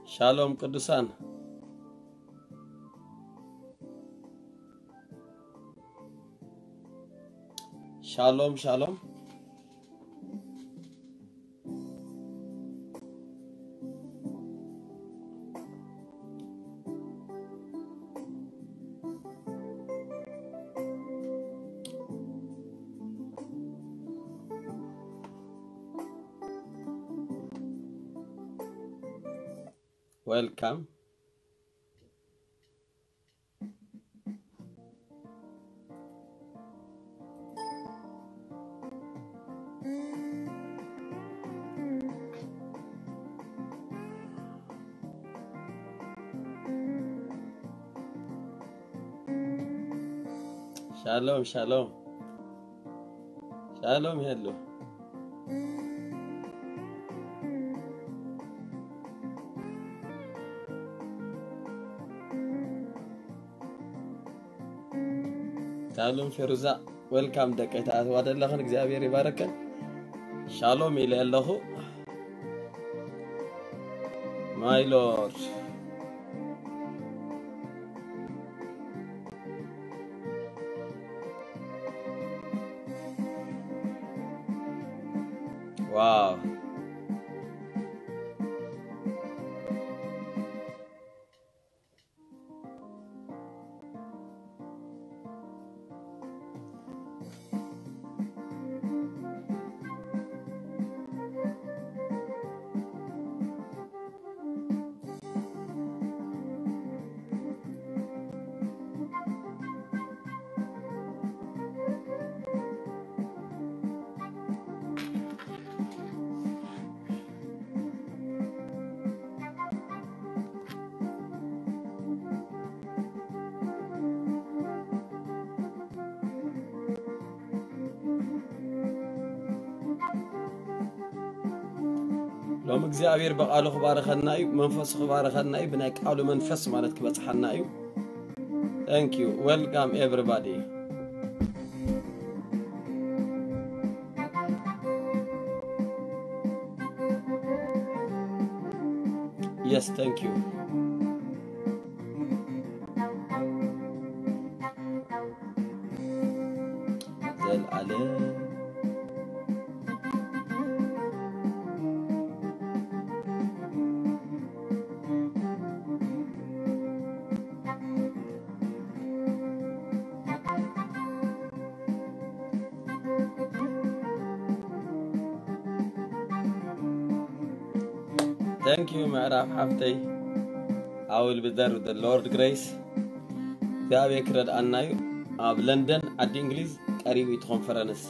ሻሎም ቅዱሳን። ሻሎም ሻሎም። Welcome. ሻሎም ሻሎም። ሻሎም ሄሉ። ሻሎም ፌሩዛ፣ ዌልካም። ደቂ ተኣትዋ ዘለኽን እግዚኣብሔር ይባረከን። ሻሎም ኢለ ኣለኹ። My Lord. Wow. ሎም እግዚኣብሔር ብቃሉ ክባርኸና እዩ፣ መንፈሱ ክባርኸና እዩ፣ ብናይ ቃሉ መንፈስ ማለት ክበጽሓና እዩ። Thank you. Welcome everybody. Yes, thank you. ዘልኣለም። Thank you ምዕራፍ ሓፍተይ። I will be there with the Lord grace. እግዚኣብሔር ክረድኣና እዩ። ኣብ ለንደን ዓዲ እንግሊዝ ቀሪቡ እቲ ኮንፈረንስ።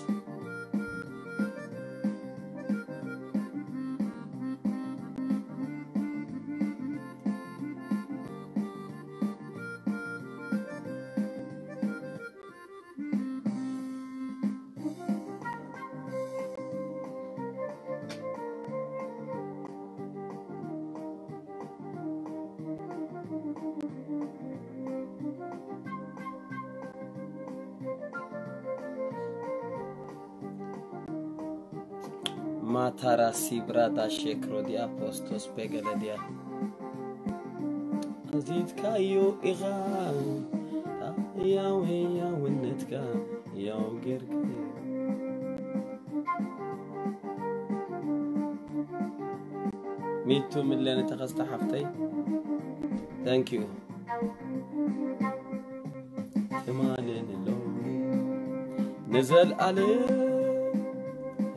ማታራ ሲብራዳ ሼክሮዲያ ፖስቶስ ቤገለዲያ። ኣዚዝካዮ ኢኻ ያው ህያውነትካ ያው ጌርካ። ሚቱ ምለነ ተኸስተ ሓፍተይ። Thank you። ትማልን ሎሚ ንዘልኣለም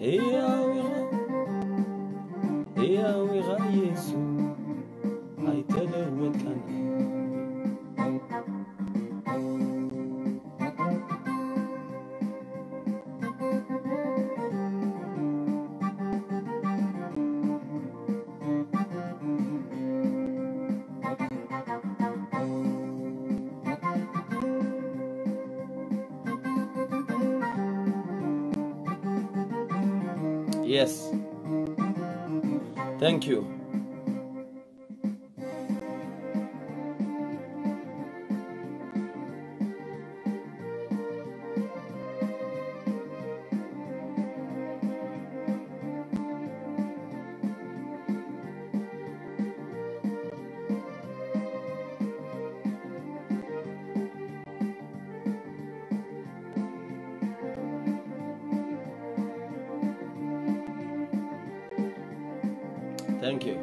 ሕያው ኢኻ፣ ሕያው ኢኻ ኢየሱስ፣ ኣይተለወጥካን። Yes. Thank you. Thank you።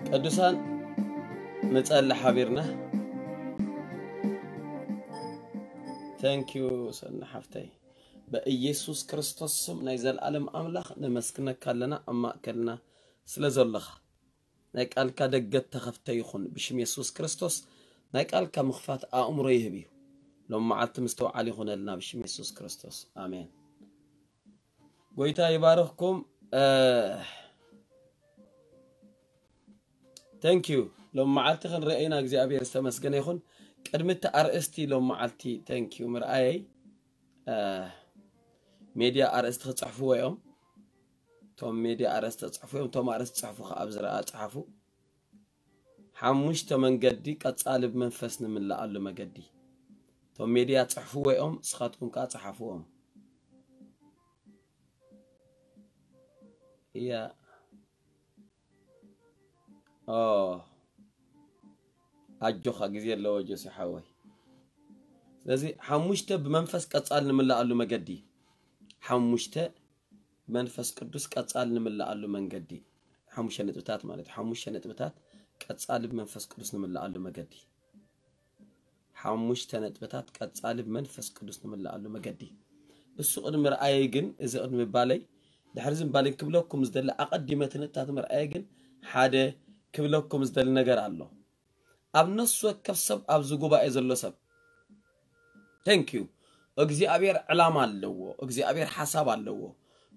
ቅዱሳን፣ ንጸሊ ሓቢርና። Thank you ሰና ሓፍተይ። በኢየሱስ ክርስቶስ ስም ናይ ዘላለም ኣምላኽ ነመስግነካ ኣለና ኣብ ማእከልና ስለ ዘለኻ። ናይ ቃልካ ደገ ተኸፍተ ይኹን ብሽም የሱስ ክርስቶስ። ናይ ቃልካ ምኽፋት ኣእምሮ ይህብ እዩ። ሎም መዓልቲ ምስተውዓል ይኹነልና ብሽም የሱስ ክርስቶስ፣ ኣሜን። ጎይታ ይባርኽኩም። Thank you። ሎም መዓልቲ ክንረአይና እግዚኣብሔር ዝተመስገነ ይኹን። ቅድሚ እቲ ኣርእስቲ ሎም መዓልቲ thank you ምርኣየይ፣ ሜድያ ኣርእስቲ ክፅሕፍዎ እዮም። እቶም ሜድያ ኣርእስቲ ክፅሕፉ እዮም። እቶም ኣርእስቲ ፅሕፉ ከዓ ኣብ ዝረኣ ፅሓፉ። ሓሙሽተ መንገዲ ቀፃሊ ብመንፈስ ንምልኣሉ መገዲ። እቶም ሜድያ ፅሕፍዎ እዮም፣ ንስኻትኩም ከዓ ፀሓፍዎም። እያ። ኦ፣ ኣጆኻ፣ ግዜ ኣለዎ ጆሲ ሓወይ። ስለዚ ሓሙሽተ ብመንፈስ ቀፃል ንምልኣሉ መገዲ። ሓሙሽተ መንፈስ ቅዱስ ቀፃል ንምልኣሉ መንገዲ። ሓሙሽተ ነጥብታት ማለት ሓሙሽተ ነጥብታት ቀፃሊ ብመንፈስ ቅዱስ ንምልኣሉ መገዲ። ሓሙሽተ ነጥብታት ቀፃሊ ብመንፈስ ቅዱስ ንምልኣሉ መገዲ። እሱ ቅድሚ ርኣየይ ግን፣ እዚ ቅድሚ ምባለይ፣ ድሕሪ እዚ ምባለይ ክብለኩም ዝደሊ፣ ኣቐዲመ እቲ ነጥብታት ምርኣየ ግን፣ ሓደ ክብለኩም ዝደሊ ነገር ኣሎ። ኣብ ነፍሲ ወከፍ ሰብ፣ ኣብዚ ጉባኤ ዘሎ ሰብ፣ thank you፣ እግዚኣብሔር ዕላማ ኣለዎ፣ እግዚኣብሔር ሓሳብ ኣለዎ።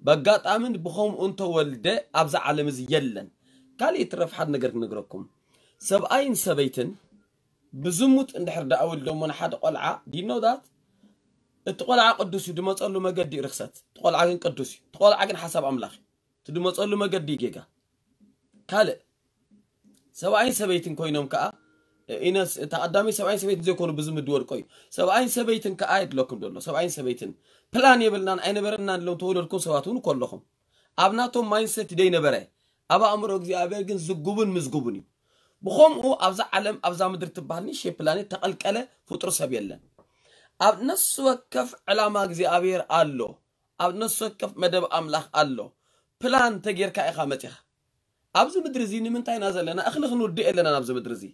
በጋጣምን ብኸምኡ እንተወልደ ኣብዚ ዓለም እዚ የለን። ካልእ ይትረፍ ሓደ ነገር ክነግረኩም። ሰብኣይን ሰበይትን ብዝሙት እንድሕር ደኣ ወሊዶሞ ንሓደ ቆልዓ፣ do you know that? እቲ ቆልዓ ቅዱስ እዩ፣ ድመፀሉ መገዲ እዩ ርክሰት። እቲ ቆልዓ ግን ቅዱስ እዩ። እቲ ቆልዓ ግን ሓሳብ ኣምላኽ እዩ። እቲ ድመፀሉ መገዲ እዩ ጌጋ። ካልእ ሰብኣይን ሰበይትን ኮይኖም ከዓ፣ ኢነስ፣ ተቐዳሚ ሰብኣይን ሰበይትን ዘይኮኑ ብዝሙት ድወድቆ እዩ። ሰብኣይን ሰበይትን ከዓ የድለኩም ዘሎ። ሰብኣይን ሰበይትን ፕላን የብልናን ኣይነበረናን ኢሎም ተወለድኩም ሰባት እውን እኮ ኣለኹም። ኣብ ናቶም ማይንሰት ደይነበረ፣ ኣብ ኣእምሮ እግዚኣብሔር ግን ዝጉቡን ምዝጉቡን እዩ። ብኸምኡ ኣብዛ ዓለም፣ ኣብዛ ምድሪ ትበሃል ንእሽተይ ፕላኔት ተቐልቀለ ፍጡር ሰብ የለን። ኣብ ነፍሲ ወከፍ ዕላማ እግዚኣብሔር ኣሎ። ኣብ ነፍሲ ወከፍ መደብ ኣምላኽ ኣሎ። ፕላን ተጌርካ ኢኻ መጺኻ። ኣብዚ ምድሪ እዚ ንምንታይ ኢና ዘለና? እኽሊ ክንውድእ የለናን ኣብዚ ምድሪ እዚ።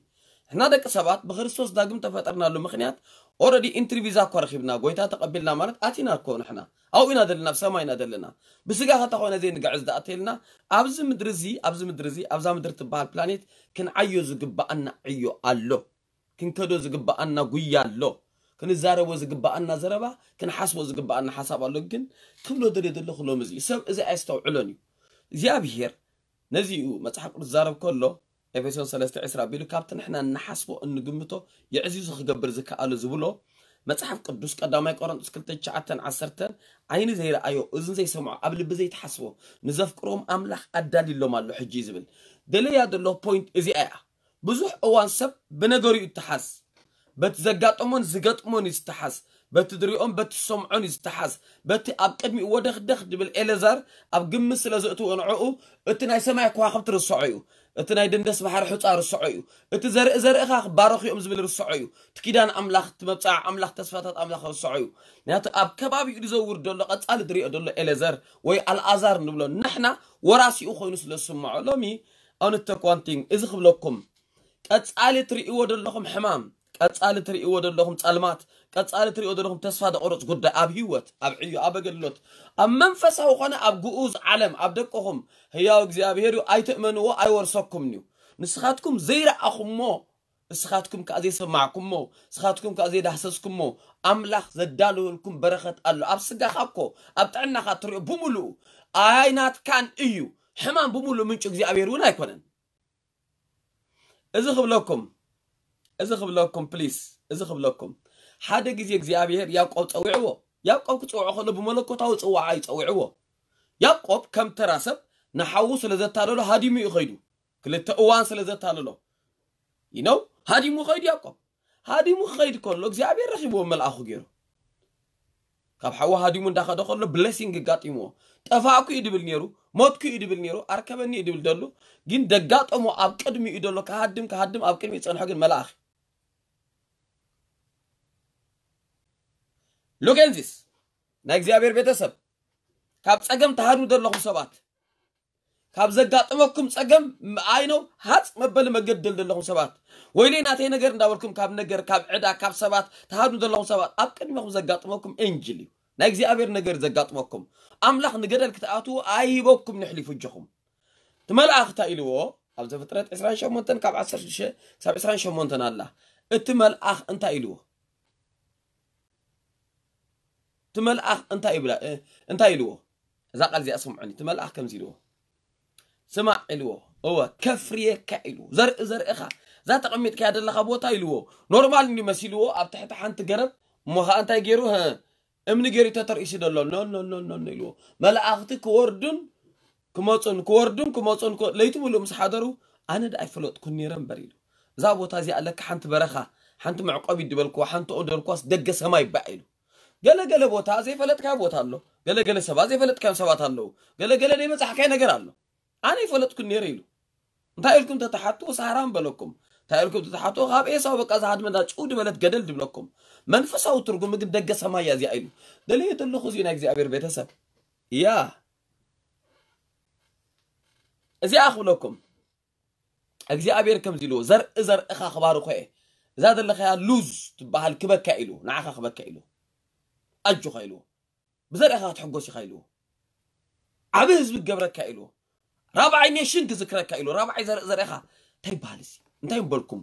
ንሕና ደቂ ሰባት ብክርስቶስ ዳግም ተፈጠርናሉ ምኽንያት፣ ኦረዲ ኢንትሪ ቪዛ እኮ ረኺብና፣ ጎይታ ተቐቢልና ማለት ኣቲና እኮ ንሕና። ኣብኡ ኢና ዘለና፣ ኣብ ሰማይ ኢና ዘለና። ብስጋ ከተኾነ ዘይንግዕዝ ደኣ ተይልና፣ ኣብዚ ምድሪ እዚ፣ ኣብዚ ምድሪ እዚ፣ ኣብዛ ምድሪ ትበሃል ፕላኔት ክንዓዮ ዝግባኣና ዕዮ ኣሎ። ክንከዶ ዝግባኣና ጉያ ኣሎ። ክንዛረቦ ዝግባኣና ዘረባ፣ ክንሓስቦ ዝግባኣና ሓሳብ ኣሎ። ግን ክብሎ ደልየ ዘለኹ ሎሚ እዚ ሰብ እዚ ኣየስተውዕሎን እዩ። እግዚኣብሄር ነዚ እዩ መጽሓፍ ቅዱስ ዝዛረብ ከሎ፣ ኤፌሶን ሰለስተ ዕስራ ኣቢሉ ካብቲ ንሕና እንሓስቦ እንግምቶ የዕዚዙ ክገብር ዝከኣሎ ዝብሎ መጽሓፍ ቅዱስ ቀዳማይ ቆሮንቶስ ክልተ ትሽዓተን ዓሰርተን ዓይኒ ዘይረኣዮ እዝኒ ዘይሰምዖ ኣብ ልቢ ዘይተሓስቦ ንዘፍቅሮም ኣምላኽ ኣዳልዩሎም ኣሎ ሕጂ እዩ ዝብል። ደለያ ዘሎ ፖይንት እዚኣ እያ። ብዙሕ እዋን ሰብ ብነገሩ እዩ እተሓዝ። በቲ ዘጋጠሞን ዝገጥሞን እዩ ዝተሓዝ። በቲ ዝሪኦን በቲ ዝሰምዖን እዩ ዝተሓዝ። በቲ ኣብ ቅድሚኡ ወደኽደኽ ድብል ኤለዛር ኣብ ግምት ስለ ዘእትዎ ንዕኡ እቲ ናይ ሰማይ ከዋኽብቲ ርስዖ እዩ። እቲ ናይ ደንደስ ባሕሪ ሑጻ ርስዖ እዩ። እቲ ዘርኢ ዘርእኻ ክባረኹ እዮም ዝብል ርስዖ እዩ። እቲ ኪዳን ኣምላኽ፣ እቲ መብጽዓ ኣምላኽ፣ ተስፋታት ኣምላኽ ርስዖ እዩ። ምክንያቱ ኣብ ከባቢኡ ዝዘውር ዘሎ ቀጻሊ ዝሪኦ ዘሎ ኤለዛር ወይ ኣልኣዛር ንብሎ ንሕና ወራሲኡ ኮይኑ ስለ ዝስምዖ ሎሚ ኣውንተኳንቲንግ እዚ ክብለኩም ቀጻሊ ትርእይዎ ዘለኹም ሕማም፣ ቀጻሊ ትርእይዎ ዘለኹም ጸልማት፣ ቀጻሊ ትርእይዎ ዘለኹም ተስፋ ዘቑርጽ ጉዳይ ኣብ ህይወት፣ ኣብ ዕዮ፣ ኣብ ኣገልግሎት፣ ኣብ መንፈሳዊ ኾነ ኣብ ግኡዝ ዓለም፣ ኣብ ደቅኹም ህያው እግዚኣብሔር እዩ፣ ኣይትእመንዎ፣ ኣይወርሰኩምን እዩ። ንስኻትኩም ዘይረኣኹሞ፣ ንስኻትኩም ከኣ ዘይሰማዕኩሞ፣ ንስኻትኩም ከኣ ዘይዳህሰስኩሞ፣ ኣምላኽ ዘዳለወልኩም በረኸት ኣሎ። ኣብ ስጋኻ እኮ፣ ኣብ ጥዕናኻ እትርእዮ ብምሉኡ ኣይናትካን እዩ። ሕማም ብምሉኡ ምንጩ እግዚኣብሔር እውን ኣይኮነን። እዚ ክብለኩም፣ እዚ ክብለኩም ፕሊስ፣ እዚ ክብለኩም። ሓደ ግዜ እግዚኣብሔር ያዕቆብ ጸዊዕዎ። ያዕቆብ ክጽውዖ ከሎ ብመለኮታዊ ጽዋዓ እዩ ጸዊዕዎ። ያዕቆብ ከም ተራ ሰብ ንሓዉ ስለ ዘታለሎ ሃዲሙ እዩ ኸይዱ። ክልተ እዋን ስለ ዘታለሎ። You know? ሃዲሙ ኸይዱ ያዕቆብ። ሃዲሙ ክኸይድ ከሎ እግዚኣብሔር ረኺብዎ መልኣኹ ገይሩ። ካብ ሓዉ ሃዲሙ እንዳኸደ ከሎ ብሌሲንግ ኣጋጢምዎ። ጠፋእኩ እዩ ድብል ነይሩ፣ ሞትኩ እዩ ድብል ነይሩ፣ ኣርከበኒ እዩ ድብል ደሉ። ግን ደጋጠሞ ኣብ ቅድሚኡ ደሎ ክሃድም ክሃድም ኣብ ቅድሚኡ ጸንሖ ግን መልኣኽ። ሉክ ኤንዚስ ናይ እግዚኣብሔር ቤተሰብ ካብ ጸገም ትሃድሙ ዘለኹም ሰባት ካብ ዘጋጥመኩም ጸገም ኣይነው ሃጽ መበሊ መገዲ ዘለኹም ሰባት፣ ወይለይ ናተይ ነገር እንዳበልኩም ካብ ነገር፣ ካብ ዕዳ፣ ካብ ሰባት ትሃዱ ዘለኹም ሰባት፣ ኣብ ቅድሚኹም ዘጋጥመኩም ኤንጅል እዩ። ናይ እግዚኣብሔር ነገር ዘጋጥመኩም። ኣምላኽ ንገደል ክትኣትዉ ኣይሂበኩም ንሕሊፉ እጆኹም። እቲ መልኣኽ እንታይ ኢልዎ? ኣብ ዘፍጥረት ዕስራን ሸሞንተን ካብ ዓሰርተ ሽዱሽተ ክሳብ ዕስራን ሸሞንተን ኣላ። እቲ መልኣኽ እንታይ ኢልዎ? እቲ መልኣኽ እንታይ ይብላ? እ፣ እንታይ ኢልዎ? እዛ ቃል እዚኣ ስምዑኒ። እቲ መልኣኽ ከምዚ ኢልዎ፣ ስማዕ ኢልዎ፣ እወ ከፍርየካ ኢልዎ፣ ዘርኢ ዘርእኻ፣ እዛ ተቐሚጥካያ ዘለኻ ቦታ ኢልዎ፣ ኖርማል እንዲ መሲልዎ ኣብ ትሕቲ ሓንቲ ገረብ፣ እሞ ኸኣ እንታይ ገይሩ? ህ፣ እምኒ ገይሩ ተተርኢሱ ዘሎ። ኖ ኖ ኖ ኖ ኖ ኢልዎ። መላእኽቲ ክወርዱን ክመጹን፣ ክወርዱን ክመጹን፣ ክወ-፣ ለይቲ ሙሉእ ምስ ሓደሩ፣ ኣነ ደኣ ኣይፈለጥኩን ነይረ እምበር ኢሉ። እዛ ቦታ እዚኣ ለካ ሓንቲ በረኻ፣ ሓንቲ መዕቆቢት ድበልክዋ፣ ሓንቲ ኦም ድበልክዋስ ደገ ሰማይ ባእ ኢሉ። ገለ ገለ ቦታ ዘይፈለጥካዮ ቦታ ኣሎ። ገለ ገለ ሰባት ዘይፈለጥካዮም ሰባት ኣለዉ። ገለ ገለ ዘይበጻሕካዮ ነገር ኣሎ። ኣነ ኣይፈለጥኩን ነይረ ኢሉ። እንታይ ኢልኩም ተተሓትዎ? ሳህራን በለኩም። እንታይ ኢልኩም ተተሓትዎ? ካብ ኤሳው በቃ እዛ ሃድመ እንዳ ጭው ድበለት ገደል ድብለኩም። መንፈሳዊ ትርጉም ግን ደገ ሰማይ እያ እዚኣ ኢሉ። ደልየ ዘለኹ እዚ ናይ እግዚኣብሔር ቤተሰብ። እያ። እዚኣ ክብለኩም። እግዚኣብሔር ከምዚ ኢልዎ፣ ዘርኢ ዘርእኻ ክባርኾ እየ። እዛ ዘለኻያ ሉዝ ትበሃል ክበካ ኢሉ፣ ንዓኻ ክበካ ኢሉ። ኣጆኻ ኢልዎ። ብዘርእኻ ክትሕጎስ ኢኻ ኢልዎ። ዓቢ ህዝቢ ክገብረካ ኢልዎ። ራብዓይ ኔሽን ክዝክረካ ኢልዎ። ራብዓይ ዘርኢ ዘርእኻ እንታይ ይበሃል እዚ? እንታይ እምበልኩም?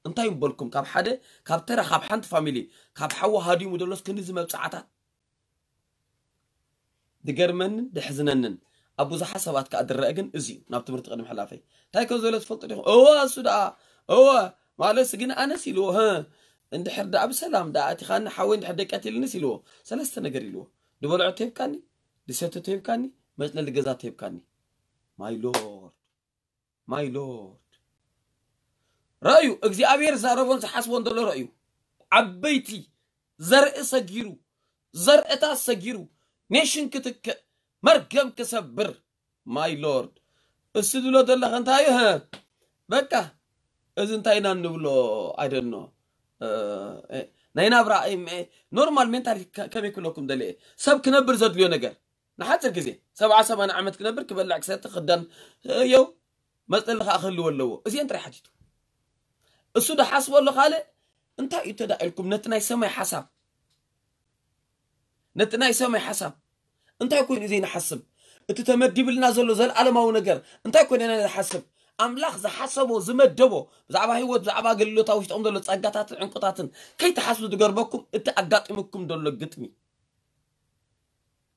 እንታይ እምበልኩም? ካብ ሓደ፣ ካብ ተራ፣ ካብ ሓንቲ ፋሚሊ፣ ካብ ሓዊ ሃዲሙ ደሎስ ክንድዚ መብጽዓታት? ድገርመንን ድሕዝነንን ኣብ ብዙሓት ሰባት ከኣ ድረአ ግን እዚ እዩ። ናብ ትምህርቲ ቅድሚ ሕላፈይ እንታይ ከም ዝበለ ትፈልጡ ዲኹም? እወ፣ እሱ ደኣ፣ እወ፣ ማለትስ ግን ኣነስ ኢልዎ፣ ህ፣ እንድሕር ደኣ ብሰላም ደኣ ኣቲኻኒ ሓወይ እንድሕር ደይ ቀቲልንስ ኢልዎ። ሰለስተ ነገር ኢልዎ። ድበልዖ ተሂብካኒ፣ ድሰትዮ ተሂብካኒ፣ መጽለሊ ገዛ ተሂብካኒ። My Lord, my Lord። ረእዩ፣ እግዚኣብሔር ዝዛረቦን ዝሓስቦን ዘሎ ረእዩ። ዓበይቲ ዘርኢ ሰጊሩ፣ ዘርእታት ሰጊሩ፣ ኔሽን ክትክእ፣ መርገም ክሰብር። My Lord። እሱ ዝብሎ ዘለኸ እንታይ እዩ? በቃ፣ እዚ እንታይ ኢና እንብሎ? I don't know። እ፣ እ፣ ናይ ናብራ፣ እ፣ እ፣ ኖርማል ሜንታሊቲ ከ-፣ ከመይ ክብለኩም ደልየ? ሰብ ክነብር ዘድልዮ ነገር። ንሓጺር ግዜ፣ ሰብዓ ሰማንያ ዓመት ክነብር፣ ክበልዕ፣ ክሰቲ፣ ክኽደን፣ እ፣ የው፣ መጽለሊ ከኣ ክህልዎ ኣለዎ። እዚአን ጥራይ ሓቲቱ። እሱ ዝሓስቦ ኣሎ ካልእ፣ እንታይ እዩ ተዳ ኢልኩም ነቲ ናይ ሰማይ ሓሳብ፣ ነቲ ናይ ሰማይ ሓሳብ እንታይ ኮይኑ እዩ ዘይንሓስብ? እቲ ተመዲብልና ዘሎ ዘለዓለማዊ ነገር እንታይ ኮይኑ ኢና ንሓስብ? ኣምላኽ ዝሓሰቦ፣ ዝመደቦ፣ ብዛዕባ ህይወት፣ ብዛዕባ ኣገልግሎት፣ ኣብ ውሽጥኹም ዘሎ ጸጋታትን ዕንቁታትን ከይትሓስቡ ዝገርመኩም እቲ ኣጋጢሙኩም ዘሎ ግጥሚ፣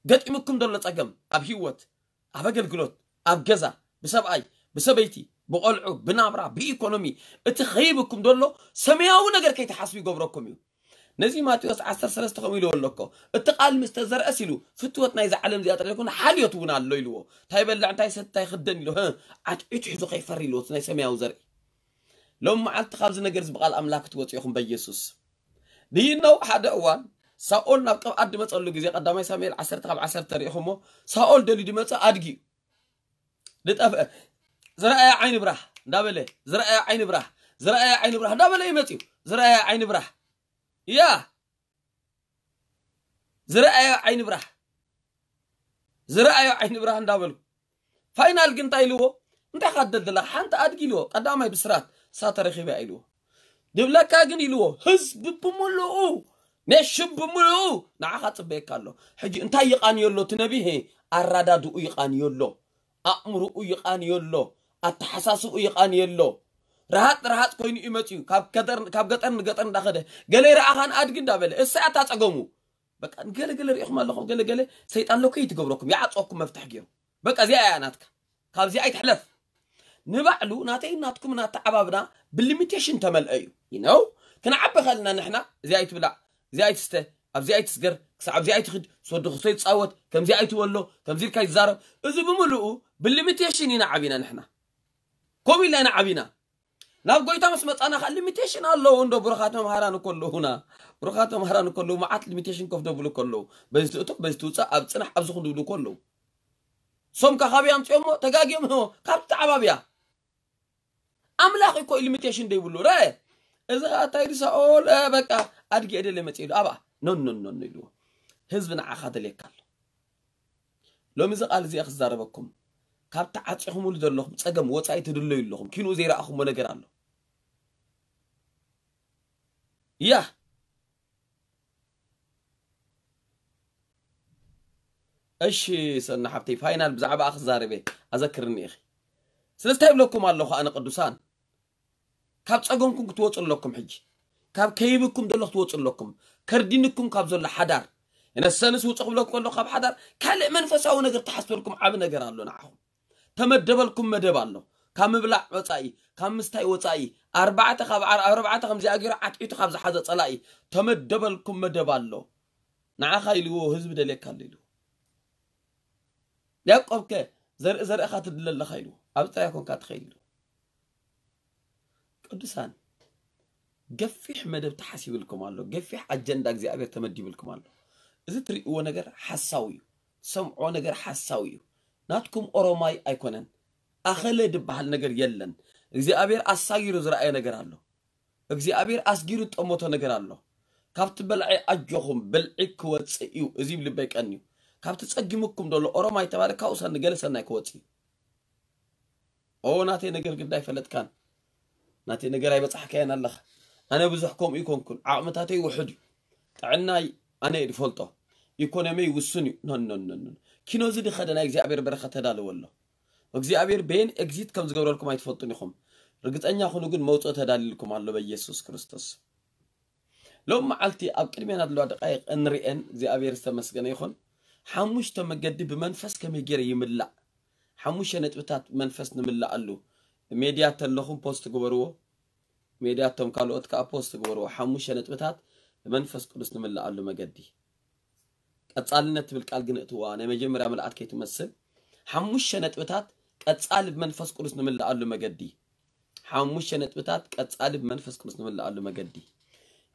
ገጢሙኩም ዘሎ ጸገም ኣብ ህይወት፣ ኣብ ኣገልግሎት፣ ኣብ ገዛ፣ ብሰብኣይ፣ ብሰበይቲ፣ ብቆልዑ፣ ብናብራ፣ ብኢኮኖሚ፣ እቲ ኸይብኩም ዘሎ ሰማያዊ ነገር ከይትሓስቡ ይገብረኩም እዩ። ነዚ ማቴዎስ ዓሰርተ ሰለስተ ከምኡ ኢልዎ ኣሎ እኮ፣ እቲ ቃል ምስ ተዘርአስ ኢሉ፣ ፍትወት ናይዛ ዓለም እዚኣ ጥራይ ዘይኮነ፣ ሓልዮት እውን ኣሎ ኢልዎ። እንታይ ይበልዕ፣ እንታይ ይሰቲ፣ እንታይ ይኽደን ኢሉ፣ ህ፣ ዓትዒቱ ሒዙ ከይፈሪ ኢልዎ፣ እቲ ናይ ሰማያዊ ዘርኢ። ሎም መዓልቲ ካብዚ ነገር እዚ ብቓል ኣምላኽ ክትወጽኡ ኢኹም በኢየሱስ። Do you know ሓደ እዋን ሳኦል ናብ ቅብኣት ድመጸሉ ግዜ፣ ቀዳማይ ሳሙኤል ዓሰርተ ካብ ዓሰርተ ርኢኹሞ፣ ሳኦል ደልዩ ድመጸ ኣድጊ እዩ። ዝጠፍአ፣ ዝረኣየ ዓይኒ ብራህ እንዳበለ፣ ዝረኣየ ዓይኒ ብራህ፣ ዝረኣየ ዓይኒ ብራህ እንዳበለ እዩ መጺኡ። ዝረኣየ ዓይኒ ብራህ። ያ፣ ዝረኣየ ዓይኒ ብራህ፣ ዝረኣየ ዓይኒ ብራህ እንዳበሉ። ፋይናል ግን እንታይ ኢልዎ? እንታይ ኢኻ ትደልድላ? ሓንቲ ኣድጊ ኢልዎ። ቀዳማይ ብስራት፣ እሳ ተረኺባ ኢልዎ። ድብለካ ግን ኢልዎ፣ ህዝቢ ብምሉኡ፣ ኔሽን ብምሉኡ ንዓኻ ጽበየካ ኣሎ። ሕጂ እንታይ ይቓንዮ ኣሎ እቲ ነቢ? ሄ፣ ኣራዳድኡ ይቓንዮ ኣሎ። ኣእምሮኡ ይቓንዮ ኣሎ። ኣተሓሳስብኡ ይቓንዮ ኣሎ። ረሃጽ ረሃጽ ኮይኑ እዩ መጺኡ። ካብ ገጠር፣ ካብ ገጠር ንገጠር እንዳኸደ፣ ገለ ይረኣኻን ኣድጊ እንዳበለ፣ እሳ እያ እታ ጸገሙ። በቃ፣ ገለ ገለ ርኢኹም ኣለኹም፣ ገለ ገለ ሰይጣን ሎከይ ትገብረኩም፣ ይዓጽወኩም መፍትሕ ገይሩ። በቃ፣ እዚኣ እያ ናትካ። ካብዚኣ ኣይትሕለፍ። ንባዕሉ ናተይ ናትኩም ናተዓባብና ብሊሚቴሽን ተመልአ እዩ። You know? ክንዓቢ ከልና ንሕና፣ እዚኣ ኣይትብላዕ፣ እዚኣ ኣይትስተ፣ ኣብዚ ኣይትስገር፣ ክሳዕ ኣብዚ ኣይትኽድ፣ ሰዱ ክሶ ይጻወት፣ ከምዚ ኣይትበሎ፣ ከምዚ ኢልካ ይዛረብ። እዚ ብምሉኡ ብሊሚቴሽን ኢና ዓቢና ንሕና። ከምኡ ኢልና ኢና ዓቢና። ናብ ጎይታ ምስ መጻና ከኣ ሊሚቴሽን ኣለዉ እንዶ፣ ብሩኻት መምሃራን እኮ ኣለዉና። ብሩኻት መምሃራን እኮ ኣለዉ፣ መዓት ሊሚቴሽን ከፍ ደብሉ እኮ ኣለዉ። በዚ ትእቶ፣ በዚ ትውጻእ፣ ኣብ ጽናሕ፣ ኣብዚ ኩን ድብሉ እኮ ኣለዉ። ሶምካ ካበይ ኣምጺኦሞ? ተጋግዮም፣ ሆ፣ ካብ ተዓባብያ። ኣምላኽ እኮ ሊሚቴሽን ደይብሉ። ረአ፣ እዚ ኸኣ እንታይ ኢሉ ሳኦል? እ፣ በቃ፣ ኣድጊ እየ ደልየ መጽእ ኢሉ። ኣብኣ፣ ኖ፣ ኖ፣ ኖ፣ ኖ ኢልዎ። ህዝቢ ንዓኻ ደልየካ ኣሎ። ሎሚ እዚ ቃል እዚ እየ ክዛረበኩም። ካብ ተዓፂኹምሉ ዘለኹም ፀገም ወፃኢ ትድለዩ ኣለኹም። ኪንኡ ዘይረኣኹሞ ነገር ኣሎ። ያ እሺ ሰና ሓብተይ፣ ፋይናል ብዛዕባ ክዛረበ ኣዘክርኒ ኢኺ። ስለዚ እንታይ ይብለኩም ኣለኹ ኣነ ቅዱሳን፣ ካብ ጸገምኩም ክትወጹ ኣለኩም። ሕጂ ካብ ከይብኩም ዘሎ ክትወጹ ኣለኩም። ከርዲንኩም ካብ ዘሎ ሓዳር፣ የነሰንስ ውጹ ክብለኩም ከሎ ካብ ሓዳር ካልእ መንፈሳዊ ነገር ተሓስበልኩም ዓቢ ነገር ኣሎ ንዓኹም። ተመደበልኩም መደብ ኣሎ። ካብ ምብላዕ ወጻኢ፣ ካብ ምስታይ ወጻኢ፣ ኣርባዕተ ካብ ኣር-፣ ኣርባዕተ ከምዚኣ ገይሩ ዓትዒቱ ካብ ዝሓዘ ጸላኢ ተመደበልኩም መደብ ኣሎ። ንዓኻ ኢልዎ ህዝቢ ደልየካ ኣሎ ኢልዎ። ያዕቆብ ከ ዘርኢ ዘርእኻ ትድለ ኣለኻ ኢልዎ። ኣብ ጥራይ ኮንካ ትኸይድ ኢልዎ። ቅዱሳን፣ ገፊሕ መደብ ተሓሲብልኩም ኣሎ። ገፊሕ ኣጀንዳ እግዚኣብሔር ተመዲብልኩም ኣሎ። እዚ ትርእይዎ ነገር ሓሳዊ እዩ። ትሰምዖ ነገር ሓሳዊ እዩ። ናትኩም ኦሮማይ ኣይኮነን። ኣኸለ ድበሃል ነገር የለን። እግዚኣብሔር ኣሳጊሩ ዝረኣየ ነገር ኣሎ። እግዚኣብሔር ኣስጊሩ ዝጠመቶ ነገር ኣሎ። ካብቲ በልዒ ኣጆኹም፣ ብልዒ ክወጽእ እዩ። እዚ ይብል ልበይ ቀንዩ። ካብቲ ጸጊሙኩም ዘሎ ኦሮማይ ተባለ ካብኡ ሰኒ ገለ ሰናይ ክወጽእ እዩ። ኦ ናተይ ነገር ግዳ ኣይፈለጥካን። ናተይ ነገር ኣይበጻሕካያን ኣለኻ። ኣነ ብዙሕ ከምኡ ይኮንኩን። ዓቕምታተይ ውሑድ እዩ። ጥዕናይ ኣነ እየ ዝፈልጦ። ኢኮኖሚይ ውሱን እዩ። ኖ፣ ኖ፣ ኖ፣ ኖ። ኪኖ እዚ ድኸደ ናይ እግዚኣብሔር በረኸት ተዳለወ ኣሎ። እግዚኣብሔር በየን ኤግዚት ከም ዝገብረልኩም ኣይትፈልጡን ኢኹም። ርግጸኛ ኩኑ ግን መውጽኦ ተዳልልኩም ኣሎ በኢየሱስ ክርስቶስ። ሎም መዓልቲ ኣብ ቅድሜና ዘለዋ ደቃይቕ እንሪኤን እግዚኣብሔር ዝተመስገነ ይኹን። ሓሙሽተ መገዲ ብመንፈስ ከመይ ገይረ ይምላእ? ሓሙሽተ ነጥብታት መንፈስ ንምላኣሉ። ሜድያ ተለኹም ፖስት ግበርዎ። ሜድያ እቶም ካልኦት ከኣ ፖስት ግበርዎ። ሓሙሽተ ነጥብታት ብመንፈስ ቅዱስ ንምላኣሉ መገዲ። ቀጻልነት ትብል ቃል ግን እትዋ ናይ መጀመርያ ምልኣት ከይትመስል። ሓሙሽተ ነጥብታት ቀጻሊ ብመንፈስ ቅዱስ ንምላኣሉ መገዲ። ሓሙሽተ ነጥብታት ቀጻሊ ብመንፈስ ቅዱስ ንምላኣሉ መገዲ።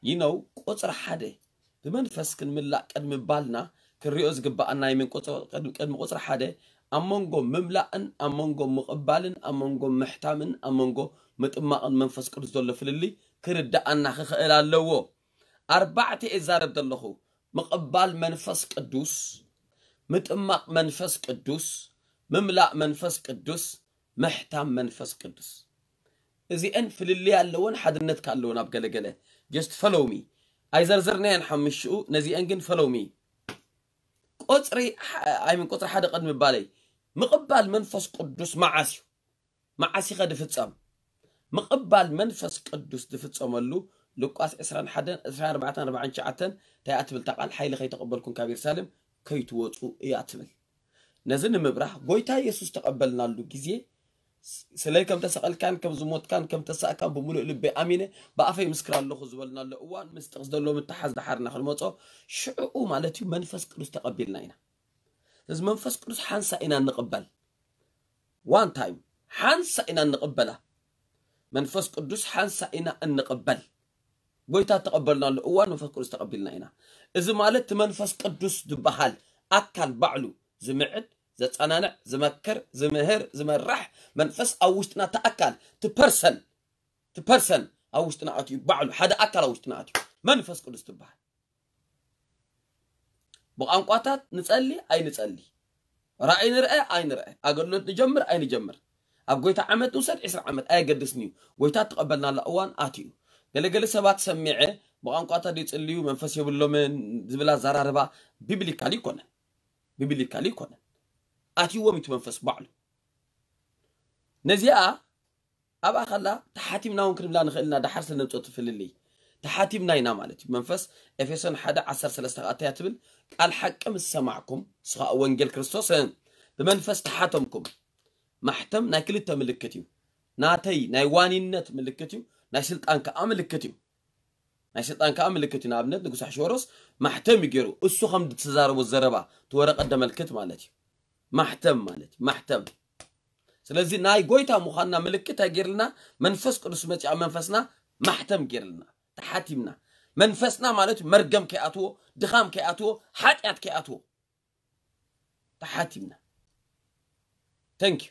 ይነው ቁጽሪ ሓደ ብመንፈስ ክንምላእ ቅድሚ ባልና ክንሪኦ ዝግባኣና ናይ ምን ቁጽ-፣ ቅድሚ፣ ቅድሚ ቁጽሪ ሓደ ኣብ መንጎ ምምላእን ኣብ መንጎ ምቕባልን ኣብ መንጎ ምሕታምን ኣብ መንጎ ምጥማቕን መንፈስ ቅዱስ ዘሎ ፍልልይ ክርዳኣና ክኽእል ኣለዎ። ኣርባዕተ እየ ዛረብ ዘለኹ። ምቕባል መንፈስ ቅዱስ፣ ምጥማቕ መንፈስ ቅዱስ፣ ምምላእ መንፈስ ቅዱስ፣ ምሕታም መንፈስ ቅዱስ። እዚአን ፍልልይ ኣለወን፣ ሓድነት ከ ኣለወን ኣብ ገለገለ። Just follow me። ኣይዘርዘርናየን ሓምሽኡ፣ ነዚአን ግን follow me። ቁጽሪ ሐ-፣ I mean ቁጽሪ ሓደ ቅድሚ ባለይ። ምቕባል መንፈስ ቅዱስ መዓስ እዩ? መዓስ ኢኸ ድፍጸም? ምቕባል መንፈስ ቅዱስ ድፍጸመሉ ሉቃስ ዕስራን ሓደን፣ ዕስራን ኣርባዕተን፣ ኣርባዓን ትሽዓተን እንታይ እያ ትብል እታ ቃል? ሓይሊ ከይተቐበልኩም ካብ የሩሳሌም ከይትወጹ እያ ትብል። ነዚ ንምብራህ ጎይታ የሱስ ተቐበልናሉ ግዜ ስ-፣ ስለይ ከም ተሰቐልካን ከም ዝሞትካን ከም ተሳእካን ብምሉእ ልበይ ኣሚነ ብኣፈይ ምስክር ኣለኹ ዝበልናሉ እዋን ምስ ጥቕስ ዘሎ ምትሓዝ ደሓርና ክንመጾ ሽዕኡ ማለት እዩ መንፈስ ቅዱስ ተቐቢልና ኢና። እዚ መንፈስ ቅዱስ ሓንሳ ኢና እንቕበል። ዋን ታይም ሓንሳ ኢና እንቕበላ። መንፈስ ቅዱስ ሓንሳ ኢና እንቕበል። ጎይታ ተቐበልናሉ እዋን መንፈስ ቅዱስ ተቐቢልና ኢና። እዚ ማለት እቲ መንፈስ ቅዱስ ዝበሃል ኣካል ባዕሉ ዝምዕድ፣ ዘጸናንዕ፣ ዝመክር፣ ዝምህር፣ ዝመራሕ መንፈስ ኣብ ውሽጥና እቲ ኣካል፣ እቲ ፐርሰን፣ እቲ ፐርሰን ኣብ ውሽጥና ኣትዩ፣ ባዕሉ ሓደ ኣካል ኣብ ውሽጥና ኣትዩ መንፈስ ቅዱስ ትበሃል። ብቋንቋታት ንጸሊ ኣይንጸሊ፣ ራእይ ንርአ ኣይንርአ፣ ኣገልግሎት ንጀምር ኣይንጀምር፣ ኣብ ጎይታ ዓመት ንውሰድ ዕስራ ዓመት ኣየገድስን እዩ። ጎይታ እተቐበልናላ እዋን ኣትዩ። ገለገለ ሰባት ሰሚዐ ብቋንቋታት ይጽልዩ መንፈስ የብሎምን ዝብል ኣዘራርባ ቢብሊካሊ ይኮነን። ቢብሊካሊ ይኮነን። ኣትይዎም እቲ መንፈስ ባዕሉ። ነዚኣ ኣብኣ ከላ ተሓቲምና እውን ክንብላ ንኽእል ኢና። ደሓር ስለ ነምፅኦ ትፍልልይ ተሓቲምና ኢና ማለት እዩ። መንፈስ ኤፌሶን ሓደ ዓሰርተ ሰለስተ ከኣ እንታይ እያ ትብል? ቃል ሓቂ ምስ ሰማዕኩም፣ እሱ ኸኣ ወንጌል ክርስቶስ፣ እ፣ ብመንፈስ ተሓተምኩም። ማሕተም ናይ ክልተ ምልክት እዩ። ናተይ ናይ ዋኒነት ምልክት እዩ፣ ናይ ስልጣን ከኣ ምልክት እዩ። ናይ ስልጣን ከኣ ምልክት እዩ። ንኣብነት ንጉስ ኣሕሽወሮስ ማሕተም እዩ ገይሩ። እሱ ከም ዝትዛረቦ ዘረባ እቲ ወረቐት ደመልክት ማለት እዩ። ማሕተም ማለት እዩ። ማሕተም። ስለዚ ናይ ጎይታ ምዃንና ምልክት ኣይገይርልና፣ መንፈስ ቅዱስ መጺኣ መንፈስና ማሕተም ገይርልና፣ ተሓቲምና። መንፈስና ማለት እዩ መርገም ከይኣትዎ፣ ድኻም ከይኣትዎ፣ ሓጢኣት ከይኣትዎ። ተሓቲምና። ተንክ ዩ።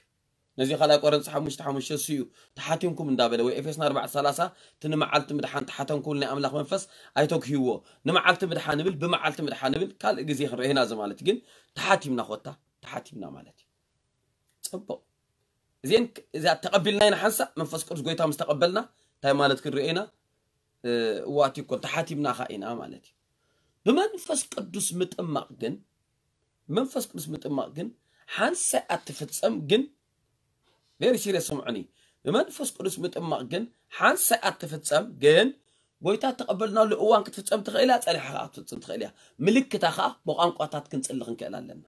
ነዚ ካልኣይ ቆረንቶስ ሓሙሽተ ሓሙሽተ እሱ እዩ። ተሓቲምኩም እንዳበለ፣ ወይ ኤፌሶን ኣርባዕተ ሰላሳ፣ እቲ ንመዓልቲ ምድሓን ተሓተምኩም ናይ ኣምላኽ መንፈስ ኣይተግህይዎ። ንመዓልቲ ምድሓን ንብል፣ ብመዓልቲ ምድሓን ንብል፣ ካልእ ግዜ ክንርኦ ኢና። እዚ ማለት ግን ተሓቲምና ኮታ፣ ተሓቲምና ማለት እዩ። ጽቡቕ። እዚን እዚኣ ተቐቢልና ኢና ሓንሳእ መንፈስ ቅዱስ ጎይታ ምስ ተቐበልና እንታይ ማለት ክንርኢ ኢና? እዋት ይኮን ተሓቲምና ኻ ኢና ማለት እዩ። ብመንፈስ ቅዱስ ምጥማቕ ግን መንፈስ ቅዱስ ምጥማቕ ግን ሓንሳይ ኣትፍጸም ግን very serious ስምዑኒ። ብመንፈስ ቅዱስ ምጥማቕ ግን ሓንሳይ ኣትፍጸም ግን ጎይታ ተቐበልናሉ እዋን ክትፍጸም ትኽእል እያ፣ ጸኒሓ ኸዓ ክትፍጸም ትኽእል እያ። ምልክታ ኸዓ ብቋንቋታት ክንጽሊ ክንክእል ኣለና።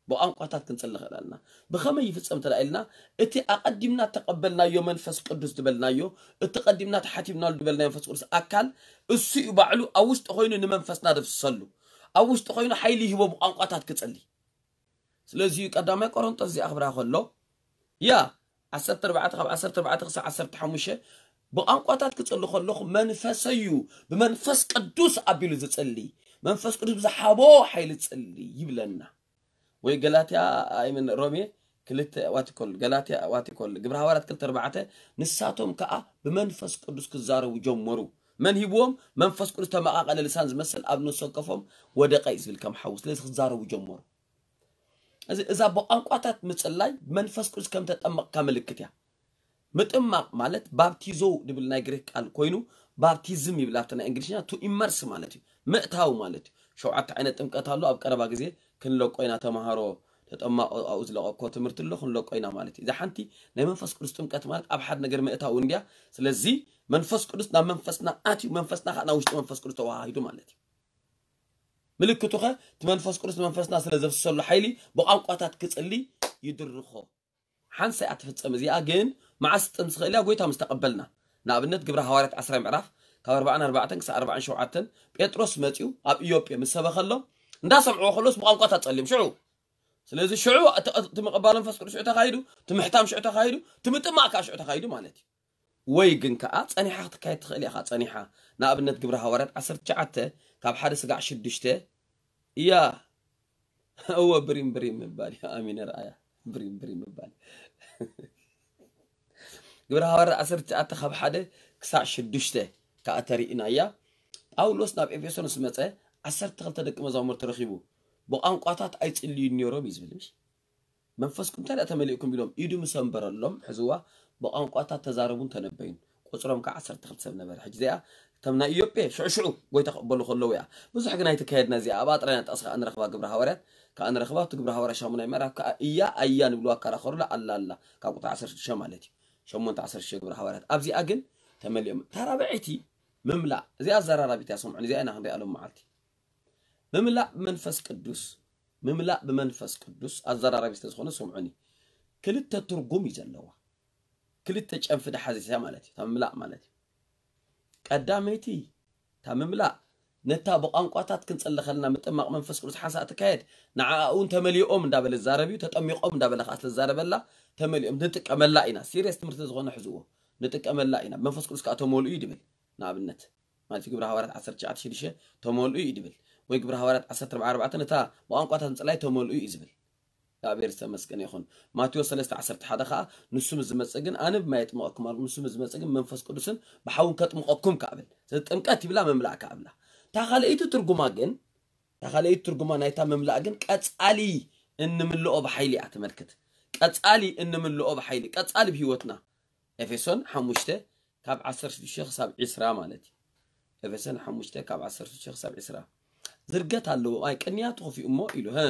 ብቋንቋታት ክንጽሊ ንኽእል ኣለና። ብኸመይ ይፍጸም እንተ ኢልና፣ እቲ ኣቐዲምና ተቐበልናዮ መንፈስ ቅዱስ ዝበልናዮ፣ እቲ ቀዲምና ተሓቲምናሉ ዝበልናዮ መንፈስ ቅዱስ ኣካል እሱ እዩ ባዕሉ ኣብ ውሽጢ ኮይኑ ንመንፈስና ደፍስሰሉ። ኣብ ውሽጢ ኮይኑ ሓይሊ ይህቦ ብቋንቋታት ክጽሊ። ስለዚ እዩ ቀዳማይ ቆሮንጦስ እዚኣ ክብራ ከሎ ያ ዓሰርተ ኣርባዕተ ካብ ዓሰርተ ኣርባዕተ ክሳብ ዓሰርተ ሓሙሽተ ብቋንቋታት ክጽሊ ከለኹ መንፈሰዩ ብመንፈስ ቅዱስ ኣቢሉ ዝጽሊ መንፈስ ቅዱስ ብዝሓቦ ሓይሊ ጽሊ ይብለና። ወይ ገላትያ ኣይምን ሮሜ ክልተ ዋቲኮል ገላትያ ዋቲኮል ግብረ ሃዋርያት ክልተ ኣርባዕተ ንሳቶም ከዓ ብመንፈስ ቅዱስ ክዛረቡ ጀመሩ። መን ሂብዎም? መንፈስ ቅዱስ ተመቃቀለ ልሳን ዝመስል ኣብ ነፍሲ ወከፎም ወደቀ እዩ ዝብል ከም ሓዊ። ስለዚ ክዛረቡ ጀመሩ። እዚ እዛ ብቋንቋታት ምጽላይ መንፈስ ቅዱስ ከም ተጠመቕካ ምልክት እያ። ምጥማቕ ማለት ባፕቲዞ ዝብል ናይ ግሪክ ቃል ኮይኑ ባፕቲዝም ይብል ኣብቲ ናይ እንግሊዝኛ to immerse ማለት እዩ፣ ምእታው ማለት እዩ። ሸውዓተ ዓይነት ጥምቀት ኣሎ። ኣብ ቀረባ ግዜ ክንለቆ ኢና። ተማሃሮ ተጠማቆ ኣብኡ ዝለቀኮ ትምህርቲ ኣሎ፣ ክንለቆ ኢና ማለት እዩ። እዛ ሓንቲ ናይ መንፈስ ቅዱስ ጥምቀት ማለት ኣብ ሓደ ነገር ምእታው እንድያ። ስለዚ መንፈስ ቅዱስ ናብ መንፈስና ኣትዩ መንፈስና ከዓ ናብ ውሽጢ መንፈስ ቅዱስ ተዋሃሂዱ ማለት እዩ። ምልክቱ ኸ እቲ መንፈስ ቅዱስ ንመንፈስና ስለ ዘፍሰሉ ሓይሊ ብቋንቋታት ክጽሊ ይድርኾ። ሓንሳይ ኣትፍጸም እዚኣ ግን መዓስ ትጥም ዝኽእል እያ? ጎይታ ምስ ተቐበልና። ንኣብነት ግብረ ሃዋርያት ዓስራይ ምዕራፍ ካብ ኣርባዓን ኣርባዕተን ክሳብ ኣርባዓን ሸውዓተን ጴጥሮስ መጺኡ ኣብ ኢዮጴ ምስ ሰበኸሎም እንዳሰምዕዎ ከሎስ ብቋንቋታት ጸልዮም ሽዑ። ስለዚ ሽዑ እቲ እቲ ምቕባል መንፈስ ቅዱስ ሽዑ ተኻይዱ፣ እቲ ምሕታም ሽዑ ተኻይዱ፣ እቲ ምጥማቕ ከዓ ሽዑ ተኻይዱ ማለት እዩ። ወይ ግን ከዓ ጸኒሓ ክትካየድ ትኽእል እያ። ጸኒሓ ንኣብነት ግብረ ሃዋርያት ዓሰርተ ትሽዓተ ካብ ሓደ ስጋዕ ሽዱሽተ እያ። እወ ብሪም ብሪም ምባል እዩ። ኣሚነ ረኣያ ብሪም ብሪም ምባል ግብረ ሃዋርያት ዓሰርተ ትሽዓተ ካብ ሓደ ክሳዕ ሽዱሽተ ከዓ ተሪእና እያ። ጳውሎስ ናብ ኤፌሶን ምስ መጸ ዓሰርተ ክልተ ደቂ መዛሙርቲ ረኺቡ ብቋንቋታት ኣይጽልዩን ነይሮም እዩ ዝብል ምሽ መንፈስ ቅዱስ እንታይ ደኣ ተመሊእኩም ኢሎም ኢዱ ምስ ኣንበረሎም ሕዝዋ ብቋንቋታት ተዛረቡን ተነበዩን። ቁጽሮም ከዓ ዓሰርተ ክልተ ሰብ ነበረ። ሕጂ እዚኣ እቶም ናይ ኢዮጴ ሽዑ ሽዑ ጎይታ ክቕበሉ ከለዉ እያ። ብዙሕ ግን ኣይተካየድና እዚኣ። ኣብኣ ጥራይ ኢና ጥቕሲ ከዓ ንረኽባ ግብረ ሃዋርያት ከዓ ንረኽባ። ኣብቲ ግብረ ሃዋርያት ሻሙናይ ምዕራፍ ከዓ እያ ኣያ ንብልዋ ኣከራኸሩላ ኣላ ኣላ ካብ ቁጥሪ ዓሰርተ ሽዱሽተ ማለት እዩ። ሸሞንተ ዓሰርተ ሽዱሽተ ግብረ ሃዋርያት ኣብዚኣ ግን ተመሊኦም። ታራብዐይቲ ምምላእ እዚኣ ኣዘራራቢት እያ። ሰምዑን እዚኣ ኢና ክንሪኣ ሎም መዓልቲ ምምላእ ብመንፈስ ቅዱስ ምምላእ ብመንፈስ ቅዱስ ኣዘራራቢ ስለ ዝኾነ ስምዑኒ። ክልተ ትርጉም እዩ ዘለዋ። ክልተ ጨንፊ ድሓዘት እያ ማለት እዩ። እታ ምምላእ ማለት እዩ። ቀዳመይቲ እታ ምምላእ ነታ ብቋንቋታት ክንጸሊ ከለና ምጥማቕ መንፈስ ቅዱስ ሓንሳእ ትካየድ ንዓኣ እውን ተመሊኦም እንዳበለ ዝዛረብ እዩ። ተጠሚቖም እንዳበለ ከዓ ስለዝዛረበላ ተመሊኦም ንጥቀመላ ኢና። ሲሪየስ ትምህርቲ ዝኾነ ሕዝዎ ንጥቀመላ ኢና። መንፈስ ቅዱስ ከዓ ተመልኡ እዩ ድብል ንኣብነት ማለት ግብረ ሃዋርያት ዓሰርተ ትሽዓተ ሽዱሽተ ተመልኡ እዩ ድብል ወይ ግብረ ሃዋርያት ዓሰርተ ኣርባዕተ ነታ ብቋንቋታት ምጽላይ ተመልኡ እዩ ዝብል። እግዚኣብሔር ዝተመስገነ ይኹን። ማቴዎስ ሰለስተ ዓሰርተ ሓደ ከዓ ንሱ ምስ ዝመጽእ ግን ኣነ ብማይ የጥምቐኩም ኣልኩ፣ ንሱ ምስ ዝመጽእ ግን መንፈስ ቅዱስን ብሓውን ከጥምቐኩም ከኣ ብል። ስለዚ ጥምቀት ይብላ መምላእ ከኣ ብላ። እታ ካልኣይቲ ትርጉማ ግን እታ ካልኣይቲ ትርጉማ ናይታ መምላእ ግን ቀጻሊ እንምልኦ ብሓይሊ እያ ተመልክት። ቀጻሊ እንምልኦ ብሓይሊ ቀጻሊ ብህይወትና ኤፌሶን ሓሙሽተ ካብ ዓሰርተ ሽዱሽተ ክሳብ ዕስራ ማለት እዩ። ኤፌሶን ሓሙሽተ ካብ ዓሰርተ ሽዱሽተ ክሳብ ዕስራ ዝርገት ኣለዎ። ኣይ ቅንያቱ ከፊኡ እሞ ኢሉ ሀ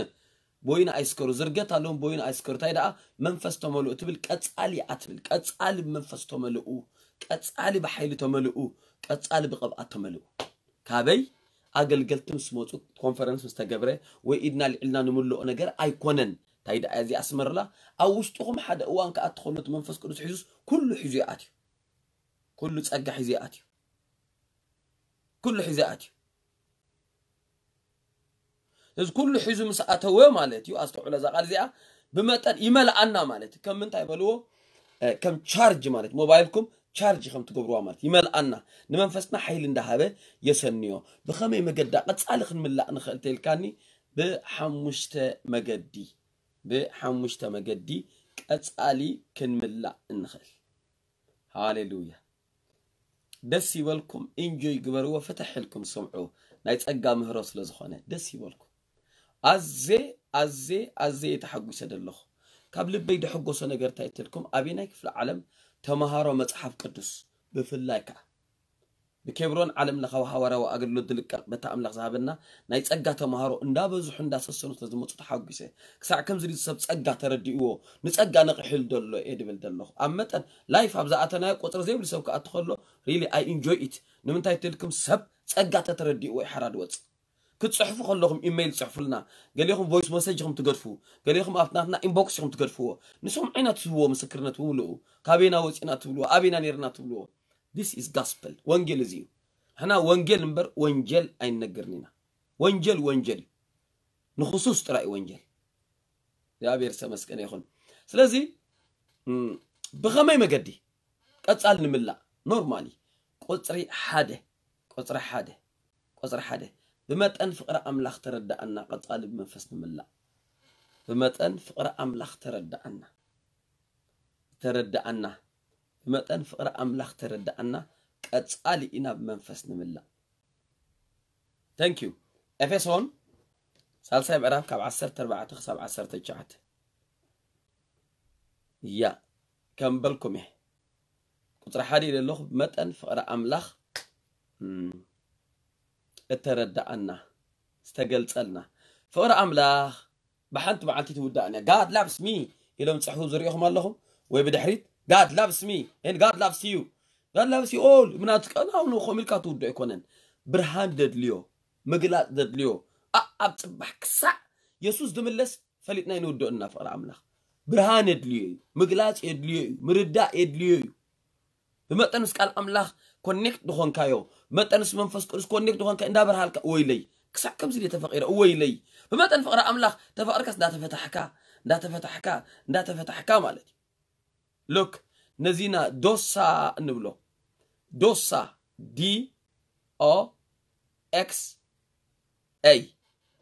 ቦይና ኣይስከሩ ዝርገት ኣለዎም ቦይና ኣይስከሩ እንታይ ደኣ መንፈስ ተመልኡ ትብል ቀጻሊ እያ ትብል ቀጻሊ ብመንፈስ ተመልኡ ቀጻሊ ብሓይሊ ተመልኡ ቀጻሊ ብቕብኣት ተመልኡ ካበይ ኣገልገልቲ ምስ መፁ ኮንፈረንስ ምስ ተገብረ ወይ ኢድና ልዕልና ንምልኦ ነገር ኣይኮነን እንታይ ደኣ እዚ ኣስመርላ ኣብ ውሽጥኹም ሓደ እዋን ከኣ ትኾኑ እቲ መንፈስ ቅዱስ ሒዙስ ኩሉ ሒዙ ይኣትዩ ኩሉ ጸጋ ሒዙ ይኣትዩ ኩሉ ሒዙ ይኣትዩ እዚ ኩሉ ሒዙ ምስ ኣተወ ማለት እዩ ኣስተውዕሎ እዛ ቃል እዚኣ ብመጠን ይመልኣና ማለት እዩ ከም ምንታይ በልዎ ከም ቻርጅ ማለት ሞባይልኩም ቻርጅ ከም ትገብርዋ ማለት ይመልኣና ንመንፈስና ሓይሊ እንዳሃበ የሰንዮ ብኸመይ መገዳ ቀጻሊ ክንምላእ ንኽእል ተልካኒ ብሓሙሽተ መገዲ ብሓሙሽተ መገዲ ቀጻሊ ክንምላእ እንኽእል ሃሌሉያ ደስ ይበልኩም ኢንጆይ ግበርዎ ፍትሕ ኢልኩም ስምዑ ናይ ጸጋ ምህሮ ስለ ዝኾነ ደስ ይበልኩም ኣዜ ኣዜ ኣዜ ተሓጒሰ ደለኹ ካብ ልበይ ድሕጎሶ ነገር እንታይ እትልኩም ኣበየናይ ክፍለ ዓለም ተምሃሮ መጽሓፍ ቅዱስ ብፍላይ ከዓ ብኬብሮን ዓለም ለኻዊ ሃዋርያዊ ኣገልግሎት ዝልቀቕ በታ ኣምላኽ ዝሃበና ናይ ጸጋ ተምሃሮ እንዳበዝሑ እንዳሰሰኑ ስለ ዝመጹ ተሓጒሰ። ክሳዕ ከምዚ ድዩ ሰብ ጸጋ ተረዲእዎ ንጸጋ ነቒሕሉ ዘሎ እየ ድብል ዘለኹ። ኣብ መጠን ላይፍ ኣብ ዝኣተናዮ ቁጽሪ ዘይብሉ ሰብ ክኣቱ ከሎ really I enjoy it። ንምንታይ ትልኩም ሰብ ጸጋ ተተረዲእዎ ይሓራ ድወጽእ። ክትጽሕፉ ከለኹም ኢሜይል ጽሕፉልና። ገሌኹም ቮይስ መሰጅ ኢኹም ትገድፉ። ገሌኹም ኣብቲ ናትና ኢንቦክስ ኢኹም ትገድፍዎ። ንስኹም ዓይና ትህብዎ ምስክርነት ምምልኡ። ካበይና ወጺና ትብልዎ ኣበይና ነርና ትብልዎ። This is gospel። ወንጌል እዚ እዩ። ሕና ወንጌል እምበር ወንጀል ኣይንነግርን ኢና። ወንጀል ወንጀል እዩ። ንክሱስ ጥራይ እዩ ወንጀል። እግዚኣብሔር ዝተመስገነ ይኹን። ስለዚ ብኸመይ መገዲ ቀጻል ንምላእ normally ቁጽሪ ሓደ ቁጽሪ ሓደ ቁጽሪ ሓደ ብመጠን ፍቕሪ ኣምላኽ ተረዳኣና ቀጻሊ ብመንፈስ ንምላእ። ብመጠን ፍቕሪ ኣምላኽ ተረዳኣና ተረዳኣና ብመጠን ፍቕሪ ኣምላኽ ተረዳኣና ቀጻሊ ኢና ብመንፈስ ንምላእ። Thank you። ኤፌሶን ሳልሳይ ምዕራፍ ካብ ዓሰርተ ኣርባዕተ ክሳብ ዓሰርተ ትሽዓተ። እያ ከም በልኩም እየ ቁፅሪ ሓደ ኢለ ኣለኹ። ብመጠን ፍቕሪ ኣምላኽ እተረዳኣና ዝተገልፀልና ፍቕሪ ኣምላኽ ብሓንቲ መዓልቲ ትውዳእን እያ። God loves me ኢሎም ፅሕፉ ዝሪኢኹም ኣለኹም ወይ ብድሕሪት God loves me and God loves you God loves you all ምናትቀናው ንኸም ኢልካ ትውዶ ኣይኮነን። ብርሃን ደድልዮ ምግላፅ ደድልዮ ኣብ ፅባሕ ክሳዕ የሱስ ዝምለስ ፈሊጥና ይንውድኦ እና ፍቕሪ ኣምላኽ ብርሃን የድልዮ እዩ። ምግላፅ የድልዮ እዩ። ምርዳእ የድልዮ እዩ። ብመጠን ምስ ቃል ኣምላኽ ኮኔክት ዝኾንካዮ መጠን ምስ መንፈስ ቅዱስ ኮኔክት ዝኾንካ እንዳበርሃልካ እወይለይ ክሳዕ ከምዚ ድየ ተፈቂረ እወይለይ ብመጠን ፍቕሪ ኣምላኽ ተፈቕርካስ እንዳተፈታሕካ እንዳተፈታሕካ እንዳተፈታሕካ ማለት እዩ። ሉክ ነዚና ዶሳ እንብሎ ዶሳ ዲ ኦ ኤክስ ኤይ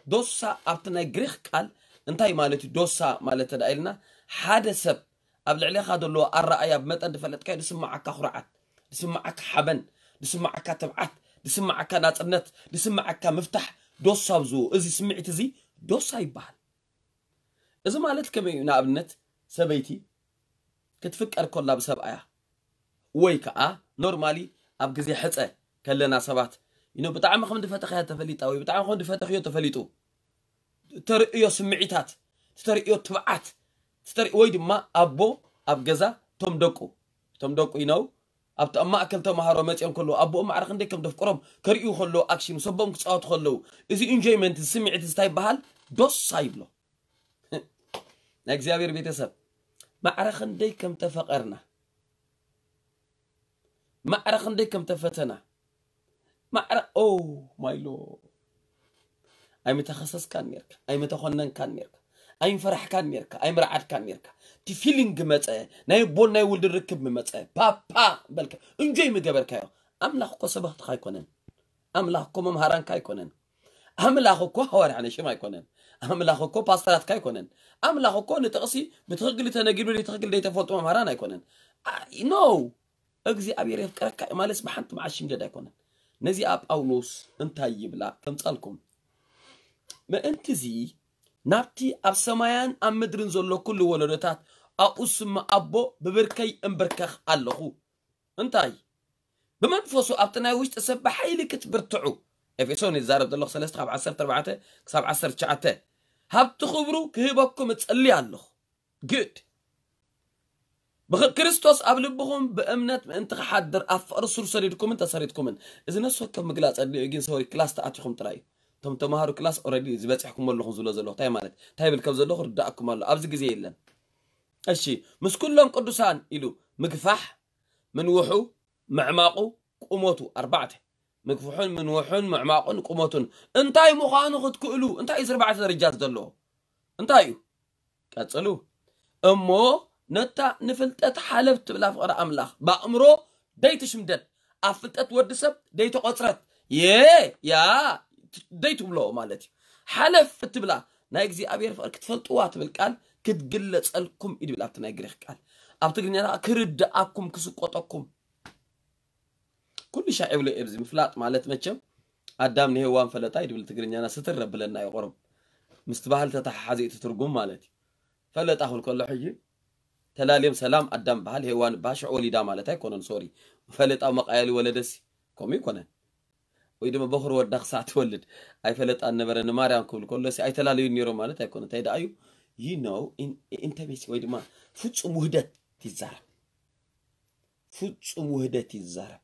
ዶሳ ኣብቲ ናይ ግሪክ ቃል እንታይ ማለት እዩ? ዶሳ ማለት ተዳ ኢልና ሓደ ሰብ ኣብ ልዕሌኻ ዘለዎ ኣረኣያ ብመጠን ዝፈለጥካዮ ዝስማዓካ ኩርዓት፣ ዝስማዓካ ሓበን፣ ዝስማዓካ ትብዓት፣ ዝስማዓካ ናፅነት፣ ዝስማዓካ ምፍታሕ ዶሳ ኣብዝዎ። እዚ ስምዒት እዚ ዶሳ ይበሃል። እዚ ማለት ከመይ እዩ? ንኣብነት ሰበይቲ ክትፍቀር ከላ ብሰብኣያ ወይ ከዓ ኖርማሊ ኣብ ግዜ ሕፀ ከለና ሰባት you know ብጣዕሚ ከም ዝፈተኽያ ተፈሊጣ ወይ ብጣዕሚ ከም ዝፈተኽዮ ተፈሊጡ ተርእዮ ስምዒታት ተርእዮ ትብዓት ተርኢ ወይ ድማ ኣቦ ኣብ ገዛ ቶም ደቁ ቶም ደቁ you know ኣብቲ ኣብ ማእከል ተምሃሮ መፅኦም ከለዉ ኣቦኦም ማዕረ ክንደይ ከም ደፍቅሮም ከርእዩ ከለዉ ኣክሽን ሰቦም ክፃወቱ ከለዉ እዚ ኢንጆይመንት እዚ ስምዒት እዚ እንታይ ይበሃል? ዶሳ ይብሎ። ናይ እግዚኣብሔር ቤተሰብ ማዕረ ክንደይ ከም ተፈቐርና ማዕረ ክንደይ ከም ተፈተና ማዕረ ኦ ማይ ሎርድ ኣይምተኸሰስካን ኔርካ ኣይምተኾነንካን ኔርካ ኣይምፈራሕካን ኔርካ ኣይምረዓድካን ኔርካ እቲ ፊሊንግ መፀ ናይ ኣቦን ናይ ውልድን ርክብ ምመፀ ፓፓ በልካ እንጆይ ምገበርካዮ ኣምላኽ እኮ ሰበኽትኻ ኣይኮነን ኣምላኽ እኮ መምሃራንካ ኣይኮነን ኣምላኽ እኮ ሃዋርያ ነሽም ኣይኮነን ኣምላኽ እኮ ፓስተራትካ ኣይኮነን ኣምላኽ እኮ ንጥቕሲ ብትኽክል ተነጊሩ ዘይትኽክል ዘይተፈልጡ መምሃራን ኣይኮነን no እግዚኣብሔር የፍቅረካ እዩ ማለትስ ብሓንቲ መዓት ሽምደድ ኣይኮነን ነዚኣ ጳውሎስ እንታይ ይብላ ከምፃልኩም ምእንቲ እዚ ናብቲ ኣብ ሰማያን ኣብ ምድርን ዘሎ ኩሉ ወለዶታት ኣብኡ ስም ኣቦ ብብርከይ እምብርከኽ ኣለኹ እንታይ ብመንፈሱ ኣብቲ ናይ ውሽጢ ሰብ ብሓይሊ ክትብርትዑ ኤፌሶን ይዛረብ ዘለኹ ሰለስተ ካብ ዓሰርተ ኣርባዕተ ክሳብ ዓሰርተ ትሽዓተ ሃብቲ ክብሩ ክህበኩም እጸሊ ኣለኹ ግድ ብክርስቶስ ኣብ ልብኹም ብእምነት ምእንቲ ክሓድር ኣብ ፍቕሪ ሱር ሰዲድኩምን ተሰሪትኩምን እዚ ነፍሲ ወከፍ ምግላፅ ኣድልዮ ግን ሰሪ ክላስ ተኣቲኹም ጥራይ እዩ እቶም ተምሃሩ ክላስ ኦረዲ ዝበፅሕኩም ኣለኹም ዝብሎ ዘለኹ እንታይ ማለት እንታይ ብል ከም ዘለኹ ርዳእኩም ኣሎ ኣብዚ ግዜ የለን እሺ ምስ ኩሎም ቅዱሳን ኢሉ ምግፋሕ ምንውሑ ምዕማቑ ቁመቱ ኣርባዕተ ምግፍሑን ምንውሑን ምዕማቑን ቁመቱን እንታይ ምዃኑ ክትክእሉ እንታይ እዚ ኣርባዕተ ደረጃ ዘለዎ እንታይ እዩ ቀፅሉ እሞ ነታ ንፍልጠት ሓለፍ ትብላ ፍቕሪ ኣምላኽ ብኣእምሮ ደይትሽምደድ ኣብ ፍልጠት ወዲ ሰብ ደይተቖፅረት የ ያ ደይትብሎ ማለት እዩ ሓለፍ ትብላ ናይ እግዚኣብሔር ፍቕሪ ክትፈልጥዋ ትብል ቃል ክትግለፀልኩም እዩ ድብል ኣብቲ ናይ ግሪክ ቃል ኣብ ትግርኛና ክርድኣኩም ክስቆጠኩም ኩሉ ሻዕ ይብሎ እየ ብዚ ምፍላጥ ማለት መቸም ኣዳም ንሄዋን ፈለጣ ይድብል ትግርኛና ስትር ረብለና እዩ ቁሩብ ምስቲ ባህል ተተሓሓዘ እቲ ትርጉም ማለት እዩ ፈለጣ ክብል ከሎ ሕጂ ተላልዮም ሰላም ኣዳም በሃል ሄዋን በሃል ሽዑ ወሊዳ ማለት ኣይኮነን። ሶሪ፣ ፈለጣ መቃየሊ ወለደሲ ከምኡ ይኮነን። ወይ ድማ በኹሪ ወዳ ክሳዕ ትወልድ ኣይፈለጣን ነበረ ንማርያም ክብል ከሎ ሲ ኣይተላለዩን ነይሮም ማለት ኣይኮነን። እንታይ ደኣ እዩ? You know, in intimacy ወይ ድማ ፍጹም ውህደት ይዛረብ። ፍጹም ውህደት ይዛረብ።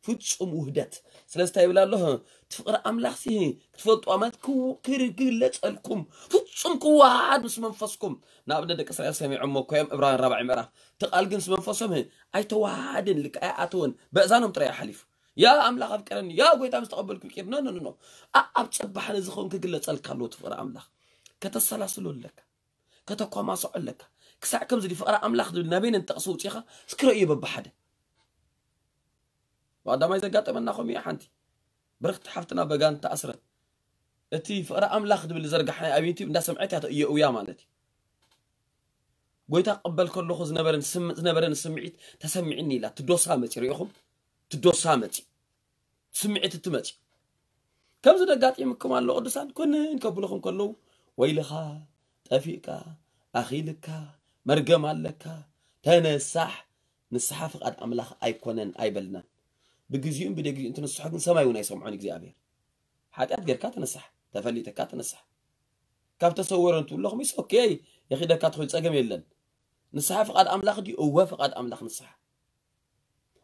ፍጹም ውህደት። ስለዚ እንታይ ይብል ኣሎ? እቲ ፍቕሪ ኣምላኽ ሲ ክትፈልጡ ማለት ክው- ክር- ክግለጸልኩም ፍጹም ክወሃሃድ ምስ መንፈስኩም። ንኣብነት ደቂ እስራኤል ሰሚዖሞ እኮ እዮም። ዕብራውያን ራብዓይ ምዕራፍ እቲ ቃል ግን ምስ መንፈሶም ህ- ኣይተወሃሃድን፣ ልክ ኣይኣተወን። በእዛኖም ጥራይ እዩ ሓሊፉ። ያ ኣምላኽ ኣፍቀረኒ፣ ያ ጎይታ ምስ ተቐበልኩ ይቅር። ኖ ኖ ኖ ኖ። ኣ- ኣብ ጽባሕ ነዚ ኸውን ክግለጸልካ ኣለዎ እቲ ፍቕሪ ኣምላኽ። ከተሰላስሎ ኣለካ፣ ከተኳማስዖ ኣለካ። ክሳዕ ከምዚ ድዩ ፍቕሪ ኣምላኽ ዝብል ናበይ ነንጠቕሲ ውፂኻ እስኪ ረእዮ በብሓደ። ብቐዳማይ ዘጋጠመና ከምኡ እያ። ሓንቲ ብርኽቲ ሓፍትና በጋን ተኣስረት። እቲ ፍቕሪ ኣምላኽ ዝብል ዝዘርጋሕናዮ ኣብ ዩቲብ እንዳሰምዐት እያ ተእየኡያ ማለት እዩ። ጎይታ ክቕበል ከለኹ ዝነበረን ስም- ዝነበረን ስምዒት ተሰሚዕኒ ኢላ ትዶሳ መፂ ሪኢኹም ትዶሳ መፂ ስምዒት እትመፂ ከምዚ ደጋጢምኩም ኣሎ ቅዱሳን ኩንን ከብልኹም ከለዉ ወይልኻ ጠፊእካ ኣኺልካ መርገም ኣለካ ተነሳሕ ንስሓ ፍቓድ ኣምላኽ ኣይኮነን ኣይበልናን ብግዚኡን ብደግዚኡ እንትንስሖ ግን ሰማይ እውን ኣይሰምዖን እግዚኣብሔር ሓጢኣት ጌርካ ተነሳሕ ተፈሊጥካ ተነሳሕ ካብ ተሰወረ እንትብለኹም ይስ ኦኬ የኺደካ ትኽእል ጸገም የለን ንስሓ ፍቓድ ኣምላኽ ድዩ እወ ፍቓድ ኣምላኽ ንስሓ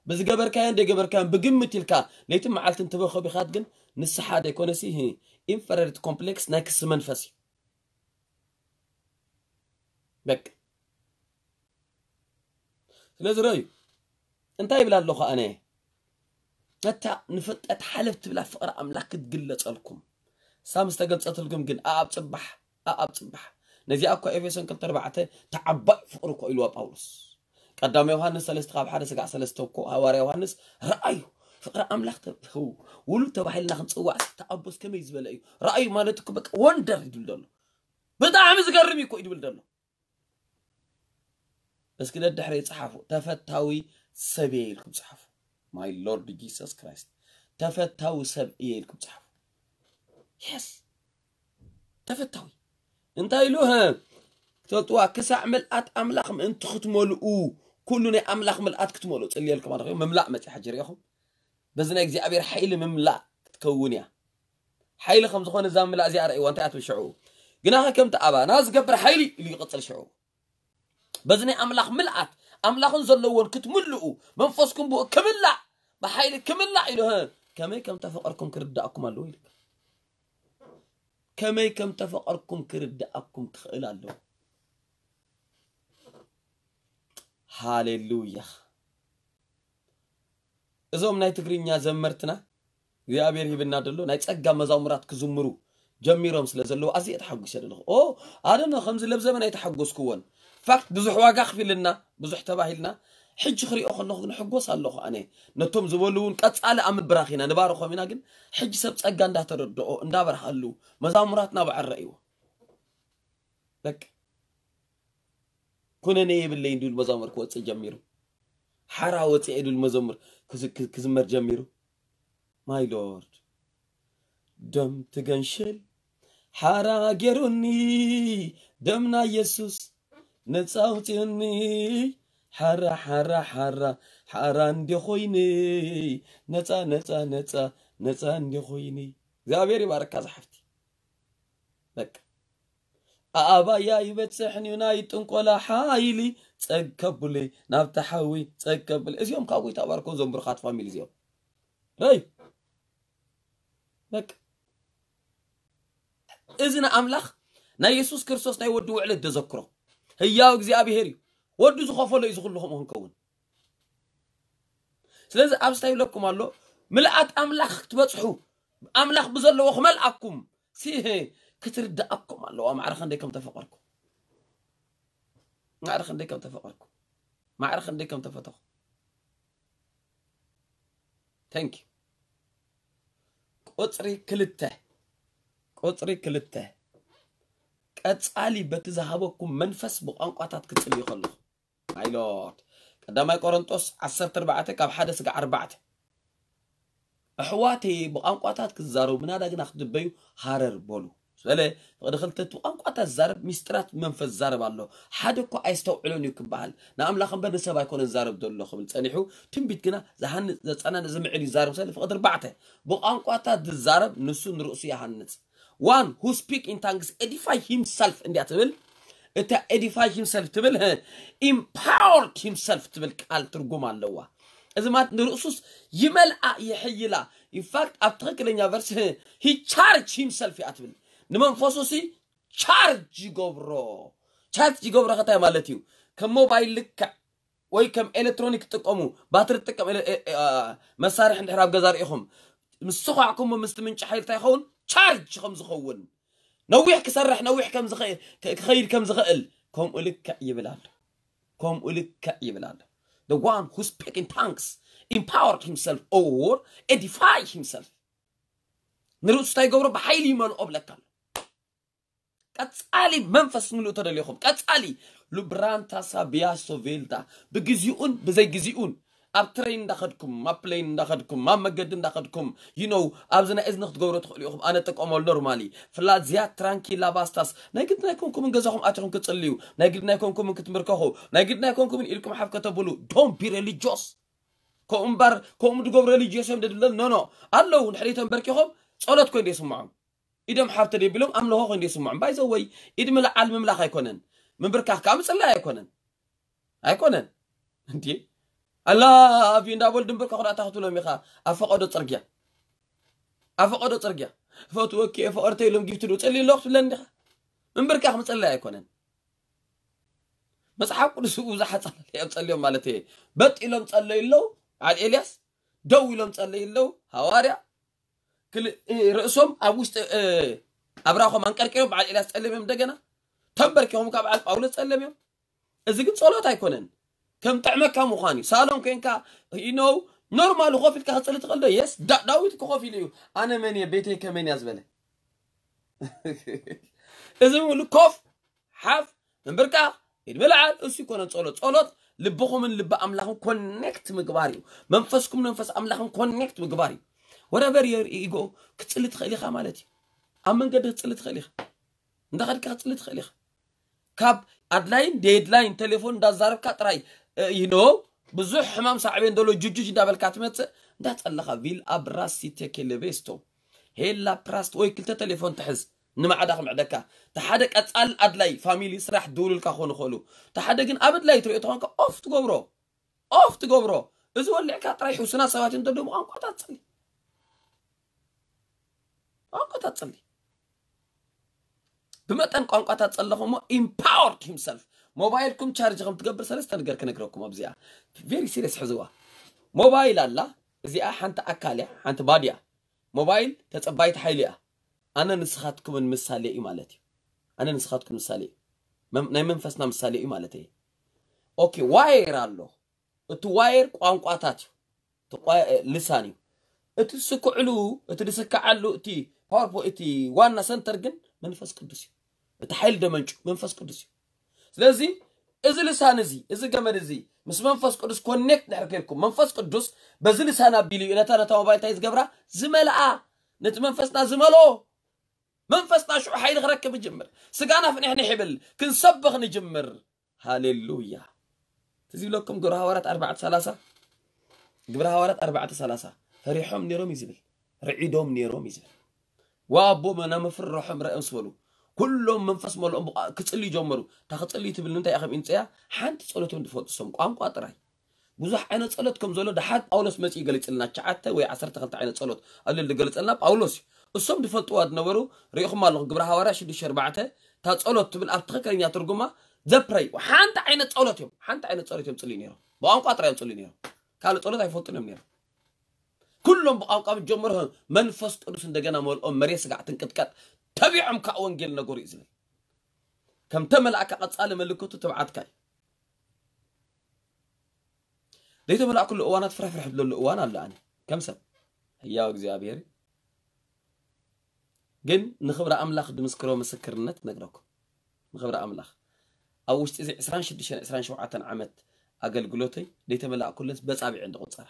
ብዝገበርካዮን ደይገበርካዮን ብግምት ኢልካ ለይትን መዓልትን ትበኸ ቢኻት ግን ንስሓ ዘይኮነሲ ኢንፈረሪቲ ኮምፕሌክስ ናይ ክሲ መንፈስ እዩ በቃ ስለዚ ረዩ እንታይ ይብል ኣለኹ ኣነ ነታ ንፍልጠት ሓለፍ ትብላ ፍቕሪ ኣምላኽ ክትግለጸልኩም ሳም ዝተገልጸትልኩም ግን ኣኣብ ጽባሕ ኣኣብ ጽባሕ ነዚኣ እኮ ኤፌሶን ክልተ ኣርባዕተ ተዓባይ ፍቕሪ እኮ ኢልዋ ጳውሎስ ቀዳማይ ዮሃንስ ሰለስተ ካብ ሓደ ስጋዕ ሰለስተ እኮ ሃዋርያ ዮሃንስ ረኣዩ ፍቕሪ ኣምላኽ ውሉድ ተባሂልና ክንፅዋዕ ተኣቦስ ከመይ ዝበለ እዩ ረኣዩ ማለት እኮ በቃ ወንደር ይድብል ዘሎ ብጣዕሚ ዝገርም እዩ እኮ ይድብል ዘሎ እስኪ ደድሕሪ ይፅሓፉ ተፈታዊ ሰብ እየ ኢልኩም ፅሓፉ my lord Jesus Christ ተፈታዊ ሰብ እየ ኢልኩም ፅሓፉ yes ተፈታዊ እንታይ ኢሉ ክትፈልጥዋ ክሳዕ ምልኣት ኣምላኽ ምእንቲ ክትመልኡ ኩሉ ናይ ኣምላኽ ምልኣት ክትመልኡ ፅልየልኩም ኣለኹ ምምላእ መፅእ ሕጂ ሪኢኹም በዚ ናይ እግዚኣብሔር ሓይሊ ምምላእ ክትከውን እያ ሓይሊ ከም ዝኾነ እዛ ምላእ እዚኣ ረእይዋ እንታይ ኣትብል ሽዑ ግናኸ ከምቲ ኣባና ዝገብር ሓይሊ ኢሉ ይቕፅል ሽዑ በዚ ናይ ኣምላኽ ምልኣት ኣምላኽን ዘለዎን ክትምልኡ መንፈስኩም ብኡ ክምላእ ብሓይሊ ክምላእ ኢሉ ከመይ ከም ተፈቐርኩም ክርዳእኩም ኣለዎ ኢሉ ከመይ ከም ተፈቐርኩም ክርዳእኩም ክኽእል ኣለዎ ሃሌሉያ እዞም ናይ ትግርኛ ዘመርትና እግዚኣብሔር ሂብና ደሎ ናይ ጸጋ መዛሙራት ክዝምሩ ጀሚሮም ስለ ዘለዉ ኣዝየ ተሓጒሰ ደለኹ ኦ ኣደነ ከምዚ ለብዘበን ኣይተሓጎስክዎን ፋክት ብዙሕ ዋጋ ክፊልና ብዙሕ ተባሂልና ሕጂ ክሪኦ ከለኹ ግን ሕጎስ ኣለኹ ኣነ ነቶም ዝበሉ እውን ቀጻሊ ኣብ ምብራኽ ኢና ንባርኾም ኢና ግን ሕጂ ሰብ ጸጋ እንዳተረድኦ እንዳበርሃሉ መዛሙራትና በዓል ረእይዎ በቃ ኩነኔ የብለይን ድብል መዛሙር ክወፅእ ጀሚሩ ሓራ ወፅኤ ድብል መዘሙር ክዝመር ጀሚሩ my lord ደም ትገንሽል ሓራ ገይሩኒ ደምና የሱስ ነፃ ኣውፅኡኒ ሓራ ሓራ ሓራ ሓራ እንዲ ኮይኒ ነፃ ነፃ ነፃ ነፃ እንዲ ኮይኒ እግዚኣብሔር ይባረካ ዝሓፍቲ በቃ ኣባያ ይበፅሕን እዩ ናይ ጥንቆላ ሓይሊ ፀግ ከብሉይ ናብቲ ሓዊ ፀግ ከብል እዚኦም ካብ ጎይታ ባርኮ ዘንብሩኻት ፋሚሊ እዚኦም ረይ በቃ እዚ ንኣምላኽ ናይ የሱስ ክርስቶስ ናይ ወዲ ውዕለት ዘዘክሮ ህያው እግዚኣብሄር እዩ ወዱ ዝኸፈሎ እዩ ዝኽሉ ከምኡ ክንከውን ስለዚ ኣብዚ እንታይ ይብለኩም ኣሎ ምልኣት ኣምላኽ ክትበፅሑ ኣምላኽ ብዘለዎ ክመልኣኩም ሲ ክትርዳእኩም ኣለዋ ማዕረ ክንደይ ከም ተፈቀርኩም ማዕረ ክንደይ ከም ተፈቀርኩም ማዕረ ክንደይ ከም ተፈተኹ thank you ቁፅሪ ክልተ ቁፅሪ ክልተ ቀፃሊ በቲ ዝሃበኩም መንፈስ ብቋንቋታት ክትፅልዩ ከለኹ my lord ቀዳማይ ቆሮንጦስ ዓሰርተ ኣርባዕተ ካብ ሓደ ስጋዕ ኣርባዕተ ኣሕዋተይ ብቋንቋታት ክዛረቡ ምናዳ ግና ክትድበዩ ሃረር በሉ በለ። ፍቕዲ ክልተ፣ እቲ ብቋንቋታት ዝዛረብ ሚስጥራት መንፈስ ዝዛረብ ኣሎ። ሓደ እኳ ኣይስተውዕሎን እዩ ክበሃል፣ ንኣምላኽ እምበር ንሰብ ኣይኮነን ዝዛረብ ዘሎ ክብል ጸኒሑ፣ ትንቢት ግና ዝሃንጽ፣ ዘጸናንዕ፣ ዝምዕድ እዩ ዝዛረብ። ስለ ፍቕዲ ኣርባዕተ፣ ብቋንቋታት ዝዛረብ ንሱ ንርእሱ ይሃንጽ። One who speak in tongues edify himself እንዲያ ትብል። እታ edify himself ትብል empowered himself ትብል ቃል ትርጉም ኣለዋ። እዚ ማለት ንርእሱስ ይመልኣ፣ ይሕይላ። In fact ኣብ ትኽክለኛ ቨርስ he charge himself እያ ትብል። ንመንፈሱ ሲ ቻርጅ ይገብሮ። ቻርጅ ይገብሮ ከታይ ማለት እዩ? ከም ሞባይል ልክዕ ወይ ከም ኤሌክትሮኒክ ትጥቀሙ፣ ባትሪ ትጥቀም ኤለ-፣ ኤ-፣ ኤ-፣ አ፣ መሳርሒ እንድሕር ኣብ ገዛ ርኢኹም፣ ምስ ሰኳዕኩሞ ምስቲ ምንጪ ሓይሊ እንታይ ይኸውን? ቻርጅ ከም ዝኸውን፣ ነዊሕ ክሰርሕ፣ ነዊሕ ከም ዝኸ-፣ ክ-፣ ክኸይድ ከም ዝኽእል፣ ከምኡ ልክዕ ይብል ኣሎ። ከምኡ ልክዕ ይብል ኣሎ። The one who speak in tongues empowered himself or edify himself። ንርእሱ እንታይ ይገብሮ? ብሓይሊ ይመልኦ ብለካ ኣሎ። ቀጻሊ መንፈስ ምልኡ ተደሊኹም፣ ቀጻሊ ሉብራንታ ሳቢያሶ ቬልታ፣ ብግዚኡን ብዘይ ግዚኡን፣ ኣብ ትሬን እንዳኸድኩም፣ ኣብ ፕሌን እንዳኸድኩም፣ ኣብ መገዲ እንዳኸድኩም፣ you know፣ ኣብዚ ናይ እዝኒ ክትገብሩ ትኽእሉ ኢኹም። ኣነ ጥቀመሉ ኖርማሊ። ፍላዚያ ትራንኪላ ባስታስ፣ ናይ ግድ ናይ ኮንኩምን ገዛኹም ኣቲኹም ክትጽልዩ፣ ናይ ግድ ናይ ኮንኩምን ክትምርከኹ፣ ናይ ግድ ናይ ኮንኩምን ኢልኩም ሓፍ ከተብሉ፣ don't be religious። ከምኡ እምበር፣ ከምኡ ድገብሩ religious እዮም ደድለን፣ no, no። ኣለዉ፣ ንድሕሪት ተንበርኪኾም ጸሎት ኮይ ደይስምዖም። ኢዶም ሓፍ ተደቢሎም ኣምልኾ ኮይ ደይስምዖም። By the way፣ ኢድ ምልዓል ምምላኽ ኣይኮነን። ምንብርካኽ ከዓ ምጽላይ ኣይኮነን። ኣይኮነን። እንዴ? ኣላ ኣብዩ እንዳበሉ ድንብርካኹ ዳእታ ክትብሎም ኢኻ። ኣብ ፈቐዶ ጽርግያ። ኣብ ፈቐዶ ጽርግያ። "እፈትወኪ እየ ፍቕርተይ" ኢሎም ጊፍት ዶ ጽልይ ኣለኹ ትብለኒ ዲኻ? ምንብርካኽ ምጽላይ ኣይኮነን። መጽሓፍ ቅዱስ ብዙሓት ጸለዩ እዮም ጸልዮም ማለት እየ። በጥ ኢሎም ጸለዩ ኣለዉ። በዓል ኤልያስ ደው ኢሎም ጸለዩ ኣለዉ። ሃዋርያ ክል-፣ እ፣ ርእሶም ኣብ ውሽጢ፣ እ፣ ኣብራኾም ኣንቀርቂሮም በዓል ኤልያስ ጸልዮም እዮም። እንደገና ተንበርኪኾም ካብ በዓል ጳውሎስ ጸልዮም እዮም። እዚ ግን ጸሎት ኣይኮነን። ከም ጥዕመካ ምዃን እዩ። ሳሎን ኮንካ፣ you know፣ ኖርማል ኮፍ ኢልካ ክጽሊ ትኽእል ዶ? የስ፣ ዳ-፣ ዳዊት እኮ ኮፍ ኢሉ እዩ። "ኣነ መን እየ? ቤተይ ከመን እያ?" ዝበለ። እዚ ሙሉ ኮፍ፣ ሓፍ፣ ምንብርካኽ፣ ኢድ ምልዓል፣ እሱ ይኮነን ጸሎት። ጸሎት ልብኹምን ልቢ ኣምላኽን ኮኔክት ምግባር እዩ። መንፈስኩም መንፈስ ኣምላኽን ኮኔክት ምግባር እዩ። Wherever you go፣ ክትጽሊ ትኽእል ኢኻ ማለት እዩ። ኣብ መንገዲ ክትጽሊ ትኽእል ኢኻ። እንዳኸድካ ክትጽሊ ትኽእል ኢኻ። ካብ ኣድላይን ዴድላይን ቴሌፎን እንዳዛረብካ ጥራይ፣ እ፣ you know፣ ብዙሕ ሕማም ሳዕቤን ደሎ ጁጁጅ እንዳበልካ ትመጽእ፣ እንዳጸለኻ ቪል ኣብራሲ ቴኬሌቤስቶ፣ ሄላ ፕራስት ወይ ክልተ ቴሌፎን ትሕዝ፣ ንማዕዳ ክምዕደካ። እቲ ሓደ ቀጻል ኣድላይ ፋሚሊ ስራሕ ድውሉልካ ክኾኑ ይኽእሉ። እቲ ሓደ ግን ኣብ ኣድላይ ትሪኦ ተኾንካ ኦፍ ትገብሮ። ኦፍ ትገብሮ። እዚ ወሊዕካ ጥራይ ሕሱናት ሰባት እዮም ደደሞ ቋንቋታት ጸሊ። ቋንቋታት ጸሊ። ብመጠን ቋንቋታት ጸለኹሞ empowered himself። ሞባይልኩም ቻርጅ ከም ትገብር ሰለስተ ነገር ክነግረኩም ኣብዚኣ። ቬሪ ሲሪየስ ሕዝዋ። ሞባይል ኣላ፣ እዚኣ ሓንቲ ኣካል እያ፣ ሓንቲ ባዲ እያ። ሞባይል ተጸባይት ሓይሊ እያ። ኣነ ንስኻትኩምን ምሳሌ እዩ ማለት እዩ። ኣነ ንስኻትኩም ምሳሌ እዩ። መም-፣ ናይ መንፈስና ምሳሌ እዩ ማለት እዩ። ኦኬ፣ ዋየር ኣሎ። እቲ ዋየር ቋንቋታት እዩ። እቲ ቋ-፣ ልሳን እዩ። እቲ ዝስክዕሉ፣ እቲ ዝስክዓሉ፣ እቲ ፓወርፖ-፣ እቲ ዋና ሰንተር ግን መንፈስ ቅዱስ እዩ። እቲ ሓይሊ ደመንጩ መንፈስ ቅዱስ እዩ። ስለዚ እዚ ልሳን እዚ፣ እዚ ገመድ እዚ ምስ መንፈስ ቅዱስ ኮኔክት ድሕር ከልኩም፣ መንፈስ ቅዱስ በዚ ልሳን ኣቢሉ እዩ ነታ፣ ነታ ሞባይል እንታይ ዝገብራ? ዝመልኣ፣ ነቲ መንፈስና ዝመልኦ። መንፈስና ሽዑ ሓይሊ ክረክብ ይጅምር። ስጋና ፍንሕንሕ ይብል፣ ክንሰብኽ ንጅምር። ሃሌሉያ። ትዝ ይብለኩም ግብረ ሃዋርያት ኣርባዕተ ሰላሳ፣ ግብረ ሃዋርያት ኣርባዕተ ሰላሳ፣ ፈሪሖም ነይሮም እዩ ዝብል፣ ርዒዶም ነይሮም እዩ ዝብል። ወኣቦ መና መፍርሖም ረእዮም ዝበሉ፣ ኩሎም መንፈስ መልኦም ብቋ-፣ ክጽልዩ ጀመሩ። እታ ክጽልዩ ትብል እንታይ እያ ከም ኢንጸያ? ሓንቲ ጸሎት እዮም ዝፈልጡ፣ ሰም ቋንቋ ጥራይ። ብዙሕ ዓይነት ጸሎት ከም ዘሎ ደሓር ጳውሎስ መጺኡ ገሊጽልና፣ ትሽዓተ ወይ ዓሰርተ ክልተ ዓይነት ጸሎት ኣሎ ዝገለጸልና ጳውሎስ እዩ። እሶም ዝፈልጥዋ ዝነበሩ፣ ርኢኹም ኣለኹም፣ ግብረ ሃዋርያ ሽዱሽተ ኣርባዕተ፣ እታ ጸሎት ትብል ኣብ ትኽክለኛ ትርጉማ ዘፕረይ፣ ሓንቲ ዓይነት ጸሎት እዮም፣ ሓንቲ ዓይነት ጸሎት እዮም ጽልዩ ነይሮም። ብቋንቋ ጥራይ እዮም ጽልዩ ነይሮም። ካልእ ጸሎት ኣይፈልጡን እዮም ነይሮም። ኩሎም ብቋንቋ ምስ ጀመሩ መንፈስ ቅዱስ እንደገና መልኦም፣ መሬት ስጋዕ ትንቅጥቀጥ፣ ተቢዖም ከዓ ወንጌል ነገሩ እዩ ዝብል። ከም ተመላእካ ቀጻሊ ምልክቱ ትብዓትካ እዩ። ዘይተመላእኩሉ እዋናት ፍርሕፍርሕ ዝብለሉ እዋን ኣሎ። ኣነ ከም ሰብ ህያው እግዚኣብሔር ግን ንኽብሪ ኣምላኽ ድምስክሮ ምስክርነት ነግረኩም። ንኽብሪ ኣምላኽ ኣብ ውሽጢ እዚ ዕስራን ሽዱሽተን ዕስራን ሸውዓተን ዓመት ኣገልግሎተይ ዘይተመላእኩለስ በጻብዕ እንድቑጸራ።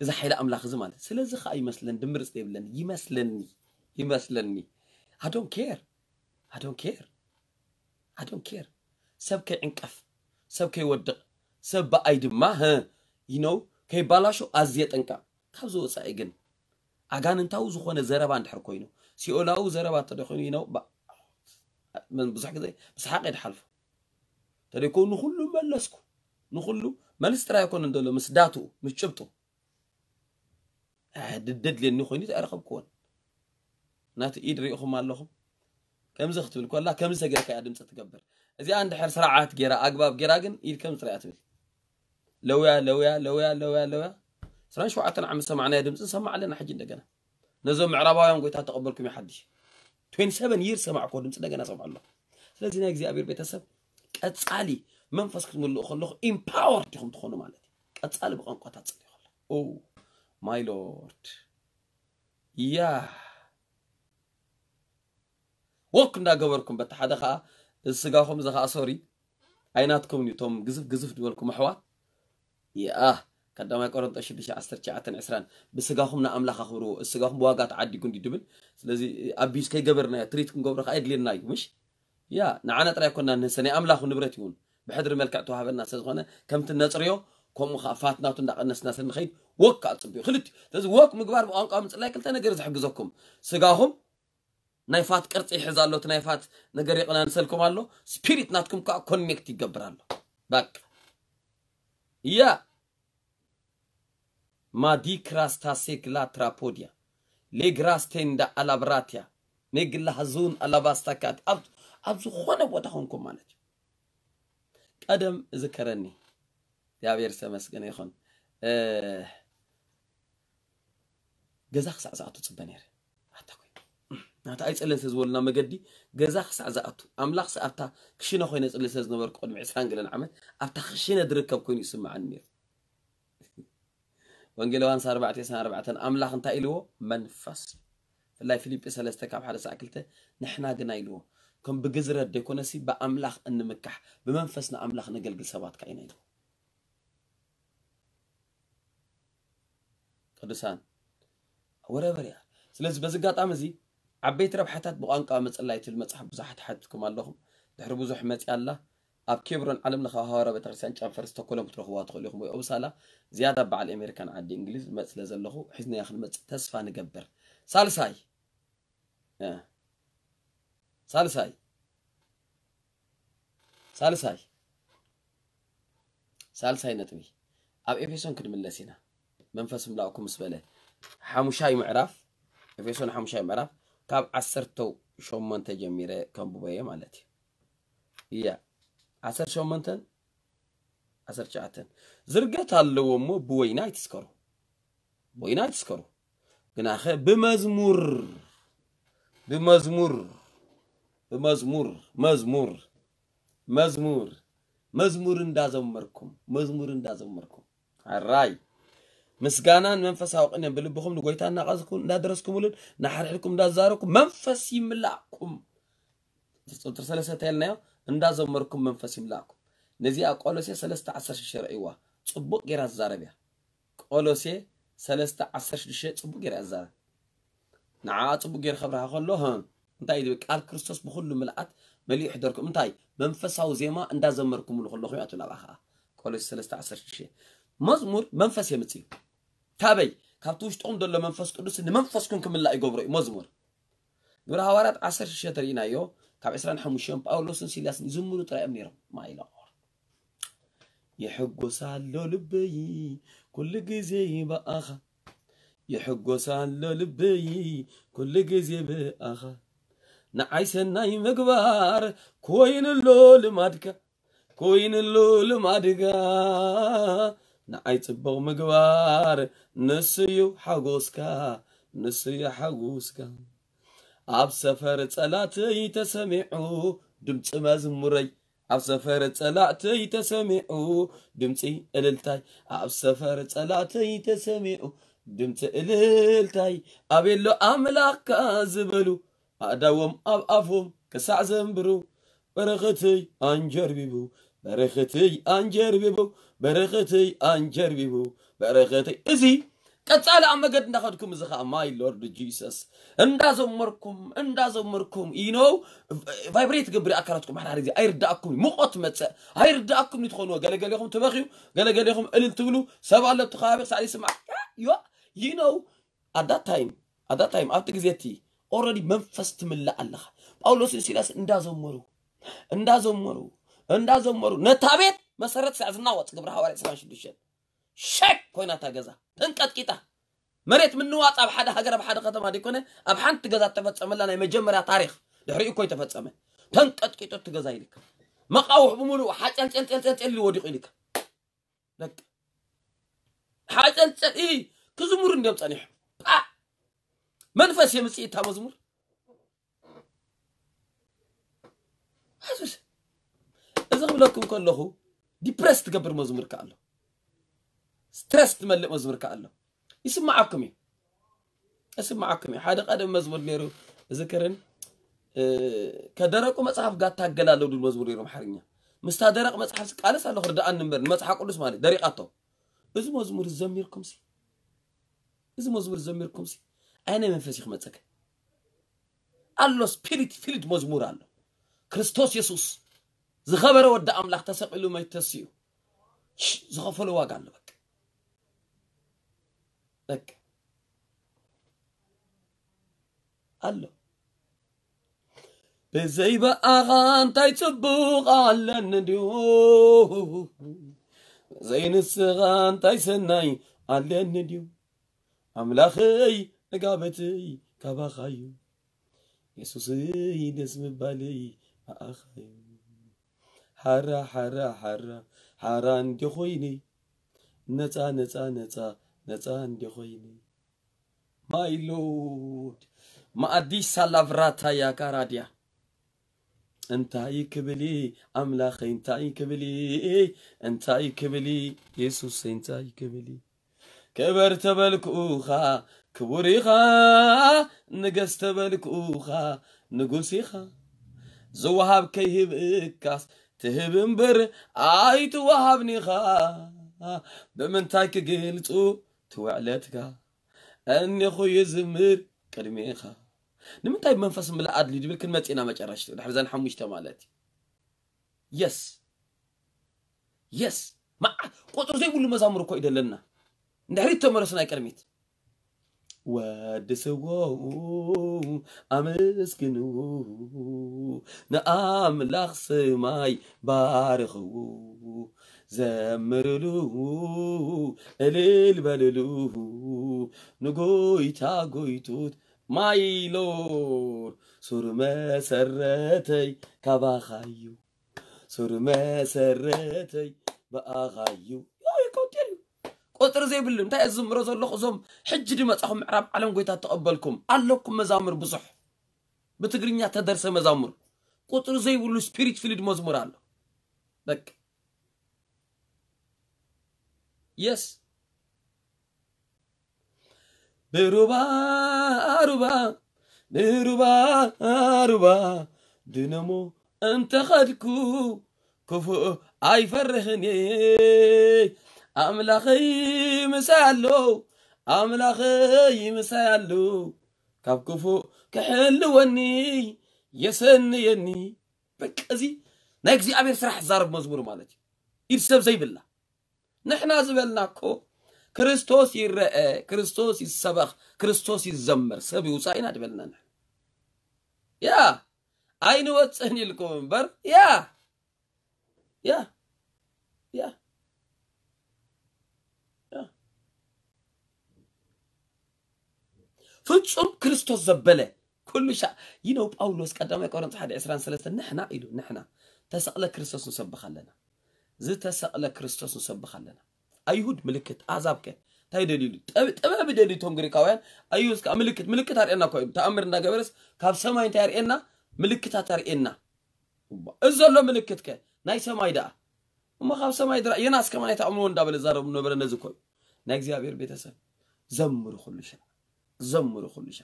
እዚ ሓይሊ ኣምላኽ እዚ ማለት ስለዚ ኸኣ ይመስለን ድምርጽ ዘይብለን ይመስለኒ። ይመስለኒ። I don't care. I don't care. I don't care. ሰብ ከይዕንቀፍ፣ ሰብ ከይወድቕ፣ ሰብ ብኣይ ድማ፣ ህ፣ you know፣ ከይባላሾ ኣዝየ ጠንቀቕ። ካብዚ ወጻኢ ግን ኣጋንንታዊ ዝኾነ ዘረባ እንድሕር ኮይኑ፣ ሲኦላዊ ዘረባ እንተ ደኾይኑ፣ you know፣ ባ-፣ ምን ብዙሕ ግዜ ብሰሓቕ እየ ድሓልፎ። ተደይኮ ንኹሉ መለስኩ። ንኹሉ መልስ ጥራይ ኣይኮነን ዘሎ፣ ምስ ዳትኡ፣ ምስ ጭብጡ። ኣህ፣ ድደድልየኒ ኮይኑ ኣይረኸብክዎን። ናቲ ኢድ ርኢኹም ኣለኹም። ከምዚ ክትብል ኮላ፣ ከምዚ ተገርካ እያ ድምፂ ትገብር። እዚኣ እንድሕር ስርዓት ገይራ፣ ኣግባብ ገይራ ግን ኢድ ከምዚ ጥራይ እያ ትብል። ለውያ፣ ለውያ፣ ለውያ፣ ለውያ፣ ለውያ። ዕስራን ሸውዓተን ዓመት ሰማዕናዮ ድምፂ ንሰማዕ ኣለና ሕጂ እንደገና። ነዞም ምዕራባውያን ጎይታ ተቐበልኩም እዩ ሓድሽ። ትዌንቲ ሰቨን ይር ሰማዕኮ ድምፂ እንደገና ሰምዖ ኣለኹ። ስለዚ ናይ እግዚኣብሔር ቤተሰብ ቀጻሊ መንፈስ ክትምልኡ ከለኹ ኢምፓወርድ ኢኹም ትኾኑ ማለት እዩ። ቀጻሊ ብቋንቋታት ጽልዩ ከለኹ። ኦ ማይ ሎርድ። ያ ወክ እንዳገበርኩም በቲ ሓደ ኸዓ እዚ ስጋኹም እዚ ኸዓ ሶሪ ኣይናትኩም እዩ። እቶም ግዝፍ ግዝፍ ዝበልኩም ኣሕዋት ይኣ ቀዳማይ ቆሮንጦስ ሽዱሽተ ዓሰርተ ትሽዓተን ዕስራን ብስጋኹም ንኣምላኽ ኣኽብርዎ፣ እዚ ስጋኹም ብዋጋ ተዓዲጉ እንዲ ድብል። ስለዚ ኣቢዩዝ ከይገበርናዮ ትሪት ክንገብሮ ከኣ የድልየና እዩ። ምሽ ያ ንዓና ጥራይ ኮና ንህሰ ናይ ኣምላኽ ንብረት ይውን ብሕድሪ መልክዕ ተዋህበና ስለ ዝኾነ ከምቲ ነጽርዮ ከምኡ ከኣ ፋትናቱ እንዳቐነስና ስለ ንኸይድ ወክ ኣጽብዩ ክልቲ ስለዚ ወክ ምግባር ብቋንቋ ምጽላይ ክልተ ነገር ዝሕግዘኩም ስጋኹም ናይ ፋት ቅርጺ ይሕዝ ኣሎ፣ እቲ ናይ ፋት ነገር ይቕናንሰልኩም ኣሎ፣ ስፒሪት ናትኩም ከዓ ኮኔክት ይገብር ኣሎ። በቃ ያ ማዲክራስታሴግላ ትራፖዲያ ሌግራስቴንዳ ኣላብራቲያ ሜግላሃዙን ኣላባስታካት ኣብ ኣብ ዝኾነ ቦታ ኾንኩም ማለት እዩ። ቀደም እዝከረኒ እግዚኣብሔር ዝተመስገነ ይኹን እ፣ ገዛ ክሳዕ ዝኣቱ ጽበ ነይረ። ኣታ ኮይነ ናታ ኣይጸልን ስለ ዝበሉና መገዲ ገዛ ክሳዕ ዝኣቱ ኣምላኽ ስ ኣብታ ክሽነ ኮይነ ጽሊ ስለ ዝነበርኩ ቅድሚ ዕስራን ገለን ዓመት ኣብታ ክሽነ ዝርከብ ኮይኑ ይስምዓኒ ነይሩ። ወንጌል ዮሃንስ ኣርባዕተ ዕስራን ኣርባዕተን ኣምላኽ እንታይ ኢልዎ? መንፈስ። ብፍላይ ፊልጲ ሰለስተ ካብ ሓደ ሳዕ ክልተ ንሕና ግና ኢልዎ ከም ብግዝረት ዘይኮነሲ ብኣምላኽ እንምካሕ ብመንፈስ ንኣምላኽ ነገልግል ሰባት ከ ኢና ኢልዎ። ቅዱሳን ወረበር እያ። ስለዚ በዚ ኣጋጣሚ እዚ ዓበይቲ ረብሓታት ብቋንቋ ምጽላይ ትብል መጽሓፍ ብዙሓት ሓቲትኩም ኣለኹም። ድሕሪ ብዙሕ መጽያ ኣላ። ኣብ ኬብሮን ዓለም ለኻዊ ሃዋርያ ቤተክርስትያን ጨንፈር ስቶኮሎም ክትረኽብዋ ትኽእሉ ኢኹም ወይ ኦብሳላ ዝያዳ በዓል ኣሜሪካን ዓዲ እንግሊዝ መጽ ስለ ዘለኹ ሒዝናያ ክንመጽእ ተስፋ ንገብር። ሳልሳይ እ፣ ሳልሳይ ሳልሳይ ሳልሳይ ነጥቢ ኣብ ኤፌሶን ክንምለስ ኢና። መንፈስ ምላእኩም ምስ በለ ሓሙሻይ ምዕራፍ ኤፌሶን ሓሙሻይ ምዕራፍ ካብ ዓሰርተ ሸሞንተ ጀሚረ ከንብቦ እየ ማለት እዩ። እያ ዓሰርተ ሸሞንተን ዓሰርተ ትሽዓተን ዝርገት ኣለዎ እሞ ብወይኒ ኣይትስከሩ፣ ብወይኒ ኣይትስከሩ። ግናኸ ብመዝሙር ብመዝሙር ብመዝሙር መዝሙር መዝሙር መዝሙር እንዳዘመርኩም መዝሙር እንዳዘመርኩም ኣራይ ምስጋናን መንፈሳዊ ቅኔን ብልብኹም ንጎይታ እናቐዝኩም እንዳደረስኩምሉን እናሓርሕድኩም እንዳዛረብኩም መንፈስ ይምላእኩም። ቁፅሪ ሰለስተ ተልናዮ እንዳዘመርኩም መንፈስ ይምላእኩም። ነዚኣ ቆሎሴ ሰለስተ ዓሰርተ ሽዱሽተ ረእይዋ ጽቡቕ ጌራ ዝዛረብ እያ። ቆሎሴ ሰለስተ ዓሰርተ ሽዱሽተ ጽቡቕ ጌራ እያ ዝዛረብ። ንዓኣ ጽቡቕ ጌሩ ከብርሃ ከሎ ህ እንታይ እዩ ዝብል? ቃል ክርስቶስ ብኹሉ ምልኣት መሊኡ ይሕደርኩም። እንታይ መንፈሳዊ ዜማ እንዳዘመርኩምሉ ከለኹም እያ ትብል ኣብኣ ኸዓ ቆሎሴ ሰለስተ ዓሰርተ ሽዱሽተ። መዝሙር መንፈስ የምጽእ እዩ። ካበይ? ካብቲ ውሽጥኹም ዘሎ መንፈስ ቅዱስ ንመንፈስኩም ክምላእ ይገብሮ እዩ መዝሙር። ግብረ ሃዋርያት ዓሰርተ ሽዱሽተ ተሪኢናዮ ካብ ዕስራን ሓሙሽተን ጳውሎስን ሲላስን ይዝምሩ ጥራይ እዮም ነይሮም። ማይ ሎርድ ይሕጎስ ኣሎ ልበይ ኩሉ ግዜ ብኣኻ ይሕጎስ ኣሎ ልበይ ኩሉ ግዜ ብኣኻ ንዓይ ሰናይ ምግባር ኮይኑሎ ልማድካ ኮይኑሎ ልማድካ ንዓይ ጽቡቕ ምግባር ንስዩ ሓጎስካ ንስዩ ሓጎስካ ኣብ ሰፈር ጸላተይ ተሰሚዑ ድምፂ መዝሙረይ ኣብ ሰፈር ጸላእተይ ተሰሚዑ ድምፂ እልልታይ ኣብ ሰፈር ጸላእተይ ተሰሚዑ ድምፂ እልልታይ ኣቤሎ ኣምላኽካ ዝበሉ ኣእዳዎም ኣብ ኣፎም ክሳዕ ዘንብሩ በረኸተይ ኣንጀርቢቡ በረኸተይ ኣንጀርቢቡ በረኸተይ ኣንጀርቢቡ በረኸተይ እዚ ቀጻሊ ኣብ መገድ እንዳኸድኩም፣ እዚ ኸዓ my Lord Jesus፣ እንዳዘመርኩም እንዳዘመርኩም you know vibrate ገብር ኣካላትኩም። ሓደ ግዜ ኣይርዳእኩም፣ ሙቐት መጸ፣ ኣይርዳእኩም ትኾኑ። ገለገሌኹም ትበኽዩ፣ ገለገሌኹም እልል ትብሉ። ሰብ ኣሎ ኣብቲ ከባቢ ክሳዕ ይስማዕ። ዮ you know at that time at that time ኣብቲ ግዜ እቲ already መንፈስ ትምላእ ኣለኻ። ጳውሎስን ሲላስ እንዳዘመሩ እንዳዘመሩ እንዳዘመሩ ነታ ቤት መሰረት ሳዕ ዝናወጽ ግብረ ሃዋርያ ዕስራን ሽዱሽተን ሸክ ኮይና እታ ገዛ ተንቀጥቂጣ። መሬት ምንዋጽ ኣብ ሓደ ሃገር ኣብ ሓደ ከተማ ደይኮነ ኣብ ሓንቲ ገዛ እተፈጸመላ ናይ መጀመርያ ታሪኽ ድሕሪኡ እኮ ይተፈጸመ። ተንቀጥቂጡ እቲ ገዛ ኢልካ መቃውሕ ብምሉኡ ሓጨልጨልጨልጨልጨል ኢሉ ወዲቑ ኢልካ። በቃ ሓጨልጨል ኢ ክዝሙር እንዲዮም ጸኒሑ። ፓ! መንፈስ የምጽእ እታ መዝሙር። ኣዙስ እዚ ክብለኩም ከለኹ ዲፕረስ ትገብር መዝሙር ከኣ ኣሎ። ስትረስ ትመልእ መዝሙር ከኣ ኣሎ። ይስማዓኩም እዩ። ይስማዓኩም እዩ። ሓደ ቀደም መዝሙር ነይሩ እዝክርን ከደረቁ መጽሐፍ ጋር ታገላለሁ ድብል መዝሙር ነይሩ ኣምሓርኛ። ምስታ ደረቅ መጽሐፍ ቃልስ ኣለኹ ርድኣኒ እምበር ንመጽሓፍ ቅዱስ ማለት ደሪቃቶ። እዚ መዝሙር ዘሚርኩም ሲ እዚ መዝሙር ዘሚርኩም ሲ ኣይነ መንፈስ ይኽመጸከ ኣሎ። ስፒሪት ፊልድ መዝሙር ኣሎ። ክርስቶስ የሱስ ዝኸበረ ወዲ ኣምላኽ ተሰቒሉ መይቱ ተሲኡ ዝኸፈሎ ዋጋ ኣሎ። በቃ በቃ ኣሎ። ብዘይ ብኣኻ እንታይ ጽቡቕ ኣለኒ ድዩ? ብዘይ ንስኻ እንታይ ሰናይ ኣለኒ ድዩ? ኣምላኸይ ዕጋበተይ ካባኻዩ፣ የሱሰይ ደስ ምባለይ ብኣኻዩ። ሓራ ሓራ ሓራ ሓራ እንዲ ኾይነ፣ ነጻ ነጻ ነጻ ነጻ እንዲ ኾይነ። ማይ ሎርድ ማኣዲስ ሳላቭራታ ያካራድያ እንታይ ክብል ኣምላኸይ እንታይ ክብል እንታይ ክብል የሱሰይ እንታይ ክብል ክበር ተበልኩኻ ክቡር ኢኻ ንገስ ተበልኩኻ ንጉስ ኢኻ ዝወሃብ ከይህብእካስ ትህብ እምበር ኣይትወሃብኒኻ ብምንታይ ክግልጹ ትውዕለትካ እኒኹ ይዝምር ቅድሜኻ ንምንታይ መንፈስ ምልእ ኣድልዩ ድብል ክንመጽእ ኢና መጨረሽቱ ድሕሪ ዘን ሓሙሽተ ማለት የስ የስ ቁፅሪ ዘይብሉ መዛሙር እኮ እዩ ደለና እንድሕሪት ተመለሱ ናይ ቅድሚት ወድስዎ ኣመስግንዎ ንኣምላኽ ሰማይ ባርኽዎ ዘምርሉ እልል በልሉ ንጎይታ ጎይቶት ማይ ሎርድ ሱር መሰረተይ ካባኻዩ ሱር መሰረተይ ብኣኻዩ ይቆጥር እዩ ቆጥሪ ዘይብሉ እንታይ ዝምሮ ዘለኹ እዞም ሕጂ ድመጻኹም ምዕራብ ዓለም ጎይታ ተቐበልኩም ኣለኩም መዛሙር ብዙሕ ብትግርኛ ተደርሰ መዛሙር ቁጥሪ ዘይብሉ ስፒሪት ፊልድ መዝሙር ኣሎ በቃ የስ ብሩባ ሩባ ብሩባ ሩባ ድነሞ እንተኸድኩ ክፉእ ኣይፈርህን ኣምላኸይ ምሳይ ኣሎ ኣምላኸይ ምሳይ ኣሎ ካብ ክፉእ ክሕልወኒ የሰንየኒ በቃ እዚ ናይ እግዚኣብሔር ስራሕ ዛረብ መዝሙር ማለት እዩ ኢድ ሰብ ዘይብላ ንሕና ዝበልና እኮ ክርስቶስ ይረአ ክርስቶስ ይሰበኽ ክርስቶስ ይዘመር ሰብ ይውፃእ ኢና ዝበልና ንሕና ያ ኣይንወፅእን ኢልኩም እምበር ያ ያ ያ ፍጹም ክርስቶስ ዘበለ ኩሉ ሻ ይነው ጳውሎስ ቀዳማይ ቆሮንቶስ ሓደ ዕስራን ሰለስተን ንሕና ኢሉ ንሕና ተሰቕለ ክርስቶስ ንሰብኽ ኣለና ዝተሰቕለ ክርስቶስ ንሰብኽ ኣለና ኣይሁድ ምልክት ኣዛብከ እንታይ ደልዩ ጥበብ ይደልዩ እቶም ግሪካውያን ኣይሁድ ከዓ ምልክት ምልክት ኣርእየና እኮ እዩ ተኣምር እንዳገበረስ ካብ ሰማይ እንታይ ኣርእየና ምልክታት ኣርእየና እዚ ዘሎ ምልክት ከ ናይ ሰማይ ደኣ እሞ ካብ ሰማይ ድራ የናስ ከማን ኣይትኣምንዎ እንዳበለ ዛረቡ ነበረ ነዚ ኮይ ናይ እግዚኣብሔር ቤተሰብ ዘምሩ ኩሉ ሻ ዘምሩ ኩሉ ሻ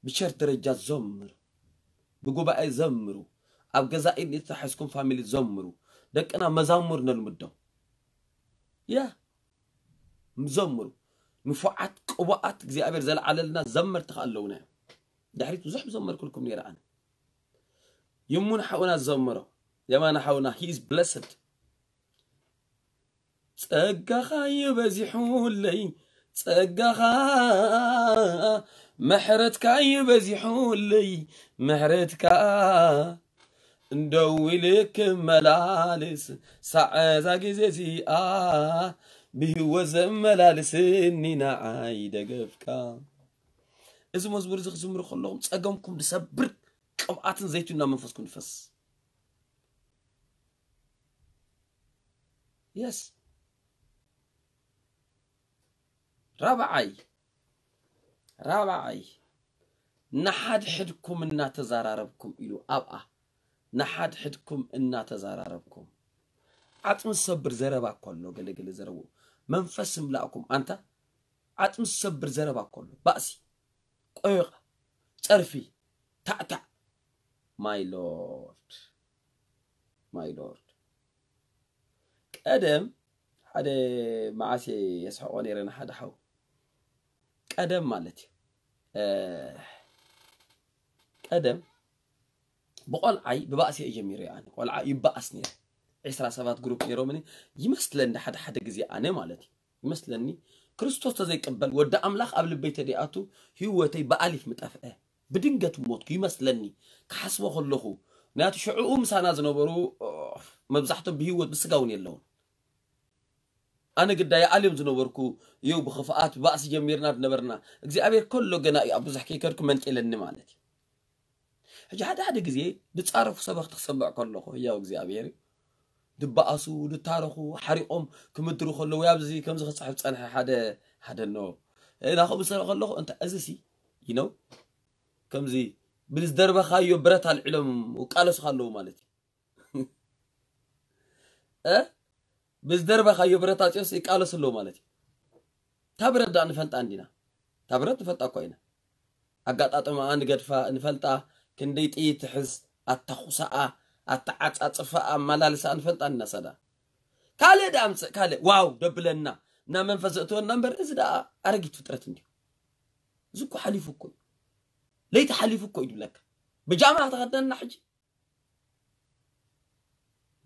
ብቸር ደረጃ ዘምሩ ብጉባኤ ዘምሩ ኣብ ገዛ ኢድ ተሓዝኩም ፋሚሊ ዘምሩ ደቅና መዛሙር ነልምዶም ያ ዘምሩ ንፉዓት ቅቡኣት እግዚኣብሔር ዘለዓለልና ዘመርቲ ከኣ ኣለውና እዮም። ድሕሪት ብዙሕ ዘመርኩልኩም ነይረ ኣነ። ይሙን ሓውና ዘመሮ፣ የማነ ሓውና፣ he is blessed። ጸጋኻ ይበዚሑለይ፣ ጸጋኻ፣ ምሕረትካ ይበዚሑለይ፣ ምሕረትካ፣ እንደው ኢለ ክመላልስ፣ ሳዕ እዛ ግዜ እዚኣ፣ ብህይወት ዘመላልስኒ ንዓይ ደገፍካ። እዚ መዝሙር እዚ ክዝምሩ ከለኹም ጸገምኩም ዝሰብር ቅብኣትን ዘይትን ናብ መንፈስኩም ይፈስ። የስ። ራብዓይ፣ ራብዓይ፣ ንሓድሕድኩም እናተዘራረብኩም ኢሉ ኣብኣ፣ ንሓድሕድኩም እናተዘራረብኩም። ዓጽሚ ዝሰብር ዘረባ እኮ ኣሎ፣ ገለገለ ዘረቡ። መንፈስ እምላእኩም፣ ኣንታ ዓጽሚ ዝሰብር ዘረባ እኮ ኣሎ። ባእሲ፣ ቆይቓ፣ ጸርፊ፣ ታዕታዕ። My Lord፣ my Lord። ቀደም ሓደ መዓሴ የስሕቆ ነይረ ንሓደ ሓው። ቀደም ማለት እዩ። እ፣ ቀደም ብቆልዓይ ብባእሲ እየ ጀሚረ። ኣነ ቆልዓ ይባኣስ ነይረ። ዕስራ ሰባት ግሩፕ ነይሮምኒ ይመስለኒ፣ ሓደ ሓደ ግዜ ኣነ ማለት እዩ ይመስለኒ። ክርስቶስ ተዘይቅበል፣ ወዲ ኣምላኽ ኣብ ልበይ ተደይኣቱ፣ ህይወተይ ብኣሊፍ ምጠፍአ። ብድንገት ሞትኩ ይመስለኒ፣ ክሓስቦ ከለኹ። ምክንያቱ ሽዕኡ ምሳና ዝነበሩ፣ ኦ፣ መብዛሕቶም ብህይወት ብስጋ እውን የለውን። ኣነ ግዳይ ኣልዮም ዝነበርኩ እዩ፣ ብኽፍኣት ባእሲ ጀሚርና ዝነበርና። እግዚኣብሔር ከሎ ገና እዩ ኣብ ብዙሕ ከይከድኩ መንጤለኒ ማለት እዩ። ሕጂ ሓደ ሓደ ግዜ ዝጻረፉ ሰበኽቲ ክሰምዕ ከለኹ፣ ህያው እግዚኣብሔር እዩ። ድበኣሱ፣ ድታረኹ፣ ሓሪቖም ክምድሩ ከለዉ፣ ኣብዚ ከምዚ ክጽሕፍ ጸንሐ ሓደ፣ ሓደ ኖ። እ፣ ናኹ ብሰረ ከለኹ፣ እንተ እዚ ሲ፣ you know፣ ከምዚ ብዝደርበኻዮ ብረት ኣልዒሎም ይቃለሱኻ ኣለዉ ማለት እዩ። እ? ብዝደርበኻዮ ብረት ኣጽዮስ ይቃለሱ ኣለዉ ማለት እዩ። እታ ብረት ደኣ ንፈልጣ እንዲና። እታ ብረት ንፈልጣ እኳ ኢና። ኣጋጣጥማኣ ንገድፋ፣ ንፈልጣ፣ ክንደይ ጥይት ትሕዝ፣ ኣታኹሳኣ፣ ኣተዓጻጽፋኣ፣ ኣመላልሳኣ ንፈልጣ እንዲና። እሳ ደኣ ካልእ ደኣ ኣምጽእ፣ ካልእ ዋው ደብለና፣ ናብ መንፈስ ዘእትወና እምበር፣ እዚ ደኣ ኣረጊት ፍጥረት እንድዩ። እዚ እኮ ሓሊፉ እኮ እዩ። ለይቲ ሓሊፉ እኮ እዩ ዝብለካ። ብጃማ ተኸደንና ሕጂ።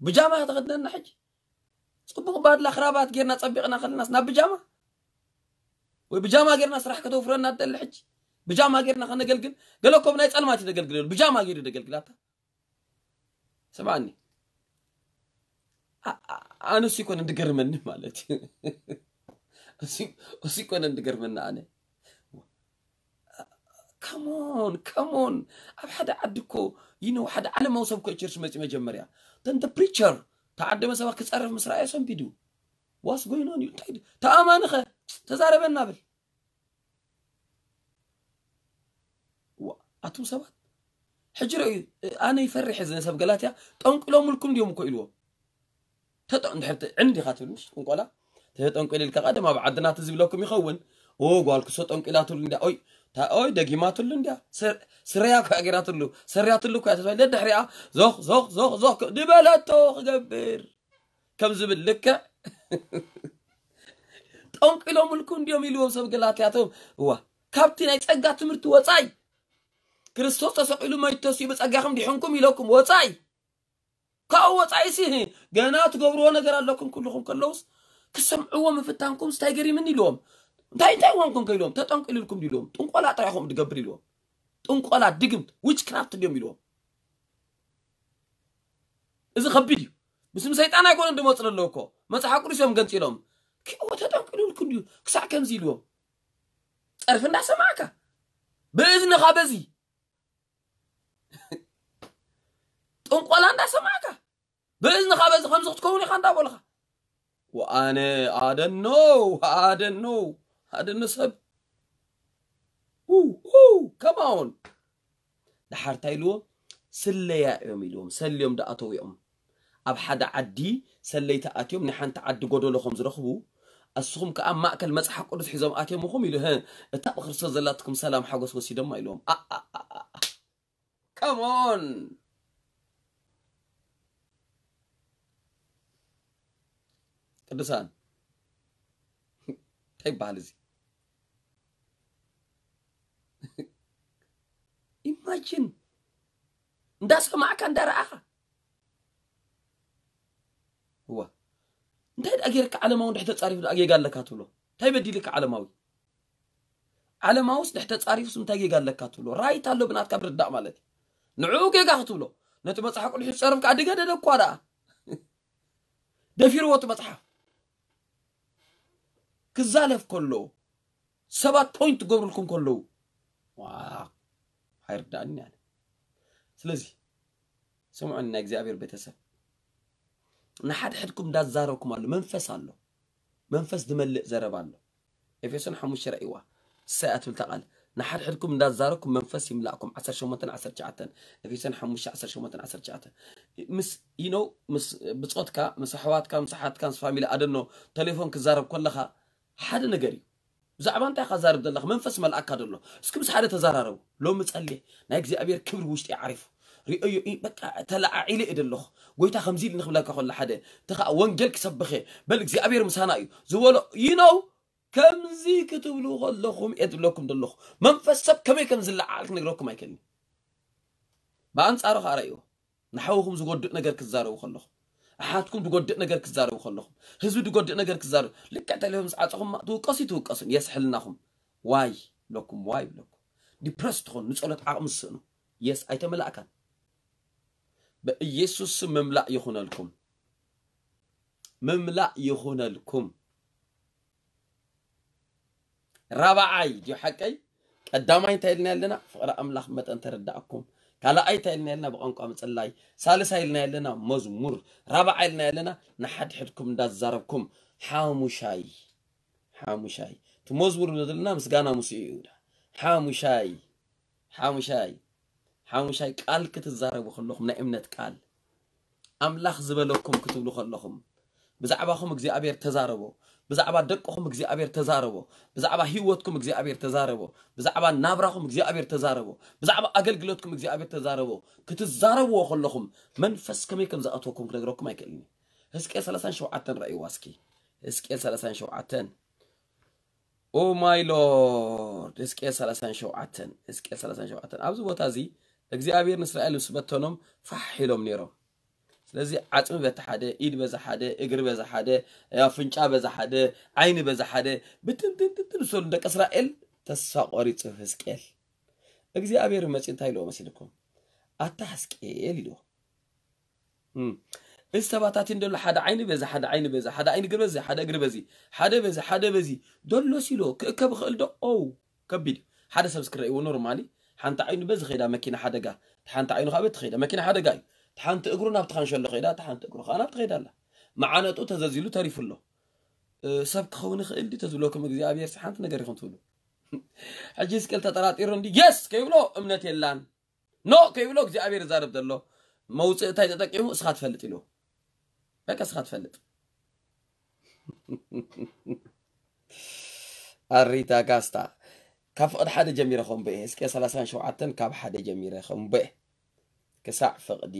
ብጃማ ተኸደንና ሕጂ። ጽቡቕ ባድላ ክራባት ጌርና ጸቢቕና ከለናስ ናብ ብጃማ? ወይ ብጃማ ጌርና ስራሕ ከተውፍረና ትደሊ ሕጂ? ብጃማ ጌርና ከነገልግል? ገለ እኮ ብናይ ጸልማት እዩ ዘገልግል። ብጃማ ጌሩ ዘገልግል ኣታ። ስምዓኒ። ኣ-፣ ኣ-፣ ኣነ እሱ ይኮነ እንድገርመኒ ማለት እዩ። እሱ፣ እሱ ይኮነ እንድገርመኒ ኣነ። Come on፣ come on። ኣብ ሓደ ዓዲ እኮ፣ you know፣ ሓደ ዓለማዊ ሰብ እኮ ቸርች መጺኡ መጀመርያ። Then the preacher፣ ተዓደመ ሰባት ክጸርፍ ምስ ረኣየ ሰንቢዱ። What's going on እዩ? እንታይ ድ-፣ ተኣማንኸ? ተዛረበና ብል። ዋ፣ ኣቱም ሰባት፣ ሕጂ ርእዩ፣ ኣነ ይፈርሕ እዚ ሰብ ገላትያ፣ ጠንቂሎምልኩም ድዮም እኮ ኢልዎም። ተጠ-፣ እንድሕር ተ-፣ ዕንዲ ኢኻ ትብል፣ ምሽ ጥንቆላ? ተጠንቂሉ ኢልካ ቀደም ኣብ ዓድና እቲ ዝብለኩም ይኸውን። ኦ፣ ጓል ክሶ ጠንቂላትሉ እንድያ፣ ኦይ፣ ታ-፣ ኦይ፣ ደጊማትሉ እንድያ። ስር-፣ ስረያ እኮ እያ ገይራትሉ፣ ሰሪያትሉ እኮ እያ ተባሂሉ። ደድሕሪኣ ዞኽ፣ ዞኽ፣ ዞኽ፣ ዞኽ፣ ድበለቶ ክገብር። ከም ዝብል ልክዕ ጠንቂሎምልኩም እንድዮም ኢልዎም ሰብ ገላትያቶም። እዋ፣ ካብቲ ናይ ጸጋ ትምህርቲ ወጻይ፣ ክርስቶስ ተሰቒሉ መይቱ ተሲኡ ብጸጋኹም ዲሕንኩም ኢለኩም ወጻይ። ካብኡ ወጻኢሲ ገና ትገብርዎ ነገር ኣለኩም። ኩልኹም ከለውስ ክሰምዕዎ ምፍታንኩም ስታይ ገሪምኒ ኢልዎም። እንታይ፣ እንታይ ዋንኩም ከ ኢልዎም? ተጠንቂሉልኩም ድዩ ኢልዎም? ጥንቆላ ጥራይ ኢኹም ትገብር ኢልዎም። ጥንቆላ፣ ድግምት፣ ዊችክራፍት ድዮም ኢልዎም። እዚ ከቢድ እዩ። ምስም ሰይጣን ኣይኮነን ድመፁ ዘለዉ እኮ። መፅሓፍ ቅዱስ እዮም ገንፂሎም። ክዎ ተጠንቂሉልኩም ድዩ? ክሳዕ ከምዚ ኢልዎም። ፀርፊ እንዳሰማዕካ፣ ብእዝንኻ በዚ ጥንቆላ እንዳሰማዕካ፣ ብእዝንኻ በዚ ከምዚ ክትከውን ኢኻ እንዳበልኻ። ወኣነ ኣደኖ፣ ኣደኖ፣ ኣደኖ ሰብ። ው፣ ው፣ ከማውን። ደሓር እንታይ ኢልዎም? ስለያ እዮም ኢልዎም። ሰልዮም ደኣተው እዮም። ኣብ ሓደ ዓዲ ሰለይቲ ኣትዮም ናይ ሓንቲ ዓዲ ጎደሎ ከም ዝረኽቡ፣ ኣስኹም ከኣ ኣብ ማእከል መጽሓፍ ቅዱስ ሒዞም ኣትዮም ኢኹም ኢሉ፣ "ህእ፣ እታ ብክርስቶስ ዘላትኩም ሰላም ሓጎስ ወሲዶማ" ኢልዎም። ኣ፣ ኣ፣ ኣ፣ ኣ፣ ኣ። Come on። ቅዱሳን፣ እንታይ ይበሃል እዚ? ኢማጂን፣ እንዳሰማዕካ እንዳረኣኻ። እዋ እንታይ ደኣ ጌርካ ዓለማዊ እንድሕር ተጻሪፉ ደኣ ጌጋ ኣለካ ትብሎ? እንታይ በዲልካ ዓለማዊ? ዓለማውስ ድሕር ተጻሪፉስ እንታይ ጌጋ ኣለካ ትብሎ? ራይት ኣሎ ብናትካ ምርዳእ ማለት እዩ። ንዕኡ ጌጋ ክትብሎ፣ ነቲ መጽሓፍ ቅዱስ ዝጸረፍካ ድገደደ እኳ ደኣ። ደፊርዎ እቲ መጽሓፍ ክዛለፍ ከሎ፣ ሰባት ፖይንት ክገብሩልኩም ከለዉ፣ ዋ፣ ኣይርዳእን ያለ። ስለዚ ስምዑኒ ናይ እግዚኣብሔር ቤተሰብ፣ ንሓድሕድኩም እንዳዛረብኩም ኣሎ፣ መንፈስ ኣሎ፣ መንፈስ ዝመልእ ዘረባ ኣሎ። ኤፌሶን ሓሙሽተ ራእይዋ እሳይ ኣትብል እታ ቃል፣ ንሓድሕድኩም እንዳዛረብኩም መንፈስ ይምላእኩም። ዓሰርተ ሸሞንተን ዓሰርተ ትሽዓተን፣ ኤፌሶን ሓሙሽተ ዓሰርተ ሸሞንተን ዓሰርተ ትሽዓተን። ምስ you know ምስ ብጾትካ፣ ምስ ኣሕዋትካ፣ ምስ ኣሓትካ፣ ምስ ፋሚሊ ኣደኖ ተሌፎን ክዛረብ ከለኻ ሓደ ነገር እዩ። ብዛዕባ እንታይ ኢኻ ዛረብ ዘለኻ? መንፈስ መልኣካ ደሎ። እስኪ ምስ ሓደ ተዛራረቡ። ሎሚ ጸልየ፣ ናይ እግዚኣብሔር ክብሪ ውሽጢ ዓሪፉ። ሪኦዮ፣ ኢ-፣ በቃ ተለዓዒለ እየ ደለኹ። ጎይታ ከምዚ ኢሉ ንክብለካ ከሎ ሓደ፣ እቲ ኸኣ ወንጌል ክሰብኽ እየ። በል እግዚኣብሔር ምሳና እዩ ዝበሎ፣ you know፣ ከምዚ ክትብሉ ከለኹም እየ ዝብለኩም ዘለኹ። መንፈስ ሰብ ከመይ ከም ዝለዓዓል ክነግረኩም ኣይክእልን። ብኣንጻሩ ኸኣ ረእይዎ። ንሓውኹም ዝጎድእ ነገር ክትዛረቡ ከለኹም፣ ኣሓትኩም ዝጎድእ ነገር ክትዛረቡ ከለኹም፣ ህዝቢ ዝጎድእ ነገር ክትዛረቡ፣ ልክዕ ተሌፎን ምስ ዓጸኹም ትውቀሱ ትውቀሱን፣ የስ ሕልናኹም ዋይ ይብለኩም፣ ዋይ ይብለኩም። ዲፕረስ ትኾኑ፣ ንጸሎት ዓቕሚ ትስእኑ። የስ ኣይተመላእካን። በኢየሱስ ስም ምምላእ ይኹነልኩም። ምምላእ ይኹነልኩም። ራብዓይ ድዩ ሓቀይ? ቀዳማይ እንታይ ኢልና ኣለና? ፍቕሪ ኣምላኽ መጠን ተረዳእኩም። ካልኣይ እንታይ ኢልና ኣለና? ብቋንቋ ምጽላይ። ሳልሳይ ኢልና ኣለና? መዝሙር። ራብዓይ ኢልና ኣለና? ንሓድሕድኩም እንዳዛረብኩም። ሓሙሻይ፣ ሓሙሻይ። እቲ መዝሙር ዘለና ምስጋና ምስ እዩ ይሁዳ። ሓሙሻይ፣ ሓሙሻይ፣ ሓሙሻይ ቃል ክትዛረቡ ከለኹም ናይ እምነት ቃል ኣምላኽ ዝበለኩም ክትብሉ ከለኹም ብዛዕባኹም እግዚኣብሔር ተዛረቦ። ብዛዕባ ደቅኹም እግዚኣብሔር ተዛረቦ። ብዛዕባ ህይወትኩም እግዚኣብሔር ተዛረቦ። ብዛዕባ ናብራኹም እግዚኣብሔር ተዛረቦ። ብዛዕባ ኣገልግሎትኩም እግዚኣብሔር ተዛረቦ። ክትዛረብዎ ከለኹም መንፈስ ከመይ ከም ዝኣትወኩም ክነግረኩም ኣይክእልን እዩ። ህዝቅኤል ሰላሳን ሸውዓተን ረእይዋ እስኪ። ህዝቅኤል ሰላሳን ሸውዓተን። ኦ ማይ ሎርድ። ህዝቅኤል ሰላሳን ሸውዓተን። ህዝቅኤል ሰላሳን ሸውዓተን። ኣብዚ ቦታ እዚ እግዚኣብሔር ንእስራኤል ምስ በተኖም ፋሕ ኢሎም ነይሮም። ስለዚ ዓጽሚ በቲ ሓደ፣ ኢድ በዚ ሓደ፣ እግሪ በዚ ሓደ፣ ኣፍንጫ በዚ ሓደ፣ ዓይኒ በዚ ሓደ፣ ብትንትንትንትን ዝሰሉ ደቂ እስራኤል ተስፋ ቆሪጹ ህዝቅኤል። እግዚኣብሔር መጺኡ እንታይ ኢልዎ መሲልኩም? ኣታ ህዝቅኤል ኢልዎ። እም። እዚ ተባታቲን ደሎ ሓደ ዓይኒ በዚ፣ ሓደ ዓይኒ በዚ፣ ሓደ ዓይኒ እግሪ በዚ፣ ሓደ እግሪ በዚ፣ ሓደ በዚ፣ ሓደ በዚ። ደሎስ ኢልዎ ክእከብ ይኽእል ዶ? ኦው፣ ከቢድ እዩ። ሓደ ሰብ እስኪ ረእይዎ ኖርማሊ፣ ሓንቲ ዓይኑ በዚ ኸይዳ መኪና ሓደጋ፣ እቲ ሓንቲ ዓይኑ ከዓ በቲ ኸይዳ መኪና ሓደጋ እዩ። እቲ ሓንቲ እግሩ ናብቲ ካንሸሎ ኸይዳ፣ እቲ ሓንቲ እግሩ ከዓ ናብቲ ኸይዳ ኣላ። መዓነጡ ተዘዚሉ ተሪፉ ኣሎ። እ፣ ሰብ ክኸውን ይኽእል ድዩ ተዝብለኩም እግዚኣብሔር ሓንቲ ነገር ኢኹም ትብሉ። ሕጂ ህዝቅኤል ተጠራጢሩ እንዲ የስ ከይብሎ እምነት የላን። ኖ ከይብሎ እግዚኣብሔር ይዛረብ ዘሎ መውፅእ እንታይ ተጠቂሙ እስኻ ትፈልጥ ኢሉ። በቃ እስኻ ትፈልጥ። ኣሪታ ጋስታ ካብ ፍቕዲ ሓደ ጀሚረ ከንብኤ። እስከ ሰላሳን ሸውዓተን ካብ ሓደ ጀሚረ ከንብኤ ክሳዕ ፍቕዲ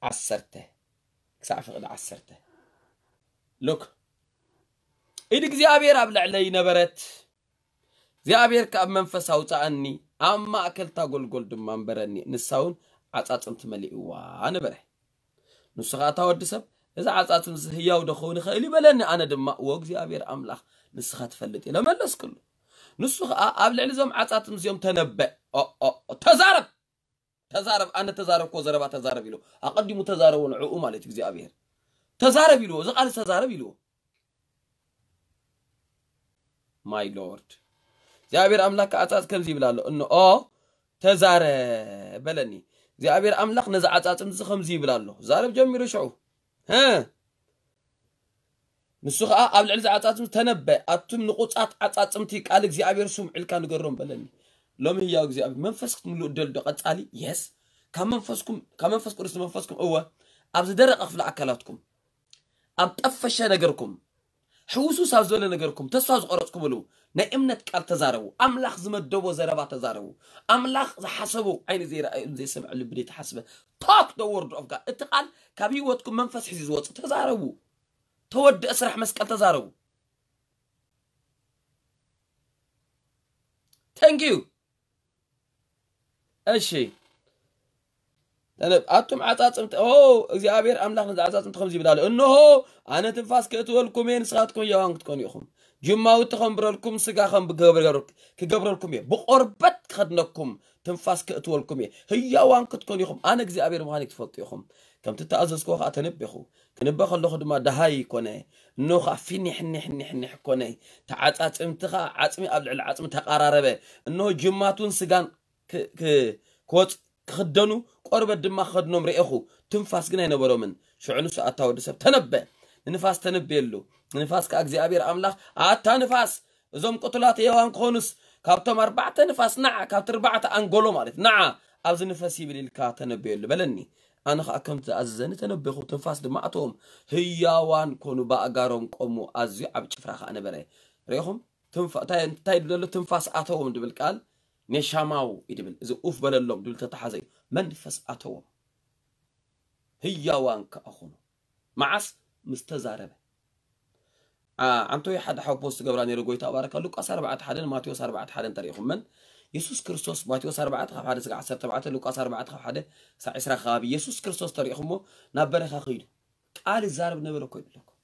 ዓሰርተ፣ ክሳዕ ፍቕዲ ዓሰርተ። ሉክ፣ ኢድ እግዚኣብሔር ኣብ ልዕለይ ነበረት፣ እግዚኣብሔር ከኣ ብመንፈስ ኣውፅኣኒ፣ ኣብ ማእከል እታ ጎልጎል ድማ ኣንበረኒ፣ ንሳ እውን ዓጻጽምቲ መሊእዋ ነበረ። ንሱ ኸኣ፣ እታ ወዲ ሰብ፣ እዚ ዓጻጽምቲ ህያው ዶ ክኸውን ይኽእል እዩ? በለኒ። ኣነ ድማ፣ እወ እግዚኣብሔር ኣምላኽ፣ ንስኻ ትፈልጥ፣ ኢለ መለስክሉ። ንሱ ኸኣ ኣብ ልዕሊ እዞም ዓጻጽምቲ እዚኦም ተነበ። ኦ፣ ኦ፣ ኦ፣ ተዛረብ! ተዛረብ፣ ኣነ ተዛረብኮ ዘረባ ተዛረብ ኢሉ። ኣቐዲሙ ተዛረቦ ንዕኡ ማለት እዩ እግዚኣብሔር። ተዛረብ ኢልዎ፣ እዚ ቃል ተዛረብ ኢልዎ። ማይ ሎርድ። እግዚኣብሔር ኣምላኽ ከዓጻጽ ከምዚ ይብል ኣሎ። እንኦ ተዛረብ በለኒ። እግዚኣብሔር ኣምላኽ ነዚ ዓጻጽምቲ እዚ ከምዚ ይብል ኣሎ። ዛረብ ጀሚሩ ሽዑ። ሀ። ንሱ ኸኣ ኣብ ልዕሊ እዚ ዓጻጽምቲ ተነበ። ኣቱም ንቑጻት ዓጻጽምቲ ቃል እግዚኣብሔር ስምዑ ኢልካ ንገሮም በለኒ። ሎሚ ህያው እግዚኣብሔር መንፈስ ክትምልኡ ደልዶ ቀጻሊ? የስ። ካብ መንፈስኩም፣ ካብ መንፈስ ቅዱስ ንመንፈስኩም እወ። ኣብ ዝደረቐ ክፍሊ ኣካላትኩም፣ ኣብ ጠፈሸ ነገርኩም፣ ሕውሱስ ኣብ ዝበለ ነገርኩም፣ ተስፋ ዝቆረጽኩምሉ ናይ እምነት ቃል ተዛረቡ። ኣምላኽ ዝመደቦ ዘረባ ተዛረቡ። ኣምላኽ ዝሓሰቦ ዓይኒ ዘይረኣየ፣ ዘይሰምዐ፣ ልቢ ዘይተሓስበ። Talk the word of God። እቲ ቃል ካብ ህይወትኩም መንፈስ ሒዙ ዝወጽእ ተዛረቡ። ተወድአ ስራሕ መስቀል ተዛረቡ። Thank you። እሺ፣ ተነብ ኣቱም ዓጻጽምቲ ኦ እግዚኣብሔር ኣምላኽ ነዚ ዓጻጽምቲ ከምዚ ይብል ኣሎ፣ እንሆ ኣነ ትንፋስ ክእትወልኩም እየ፣ ንስኻትኩም ሕያዋን ክትኮኑ ኢኹም፣ ጅማውቲ ከንብረልኩም፣ ስጋ ከም ክገብረልኩም እየ፣ ብቆርበት ክኸድነኩም፣ ትንፋስ ክእትወልኩም እየ፣ ህያዋን ክትኮኑ ኢኹም፣ ኣነ እግዚኣብሔር ምዃነይ ትፈልጡ ኢኹም። ከምቲ ተኣዘዝክዎ ከዓ ተነቤኹ። ክንበ ከለኹ ድማ ደሃይ ኮነ። እንሆ ከዓ ፊኒሕ ኒሕ ኒሕ ኒሕ ኮነ። ተዓጻጽምቲ ከዓ ዓጽሚ ኣብ ልዕሊ ዓጽሚ ተቓራረበ። እንሆ ጅማቱን ስጋን ክ- ክ- ክወፅ ክኽደኑ ቆርበት ድማ ክኸድኖም ርኤኹ። ትንፋስ ግን ኣይነበሮምን። ሽዑ ንሱ ኣታ ወዲ ሰብ ተነበ። ንንፋስ ተነበየሉ። ንንፋስ ከዓ እግዚኣብሔር ኣምላኽ ኣታ ንፋስ እዞም ቅቱላት ሕያዋን ክኾኑስ ካብቶም ኣርባዕተ ንፋስ ንዓ፣ ካብቲ ኣርባዕተ ኣንጎሎ ማለት ንዓ ኣብዚ ንፈስ ይብል ኢልካ ተነበየሉ በለኒ። ኣነ ኸዓ ከምቲ ዝኣዘዘኒ ተነበኹ፣ ትንፋስ ድማ ኣተዎም። ህያዋን ኮኑ፣ ብኣእጋሮም ቆሙ፣ ኣዝዩ ዓብ ጭፍራ ኸዓ ነበረ። ርኢኹም? ትንፋ-፣ እንታይ እንታይ ድብል ኣሎ? ትንፋስ ኣተዎም ድብል ቃል ኔሻማው እዩ ድብል። እዚ ኡፍ በለሎም ድብል ተተሓዘ እዩ። መንፈስ ኣተዎም። ህያዋን ከኣ ኾኑ። መዓስ? ምስ ተዛረበ። ዓ-፣ ዓንቶይ ሓደ ሓው ፖስት ገብራ ነይሩ፣ ጎይታ ባረካ። ሉቃስ ኣርባዕተ ሓደ ን ማቴዎስ ኣርባዕተ ሓደ ን ተሪኢኹመን? የሱስ ክርስቶስ ማቴዎስ ኣርባዕተ ካብ ሓደ ስጋዕ ዓሰርተ ኣርባዕተ፣ ሉቃስ ኣርባዕተ ካብ ሓደ ሳዕ ዕስራ ከባቢ የሱስ ክርስቶስ ተሪኢኹሞ ናብ በረኻ ከይዱ ቃል ይዛረብ ነበረ እኮ ይብለኩም።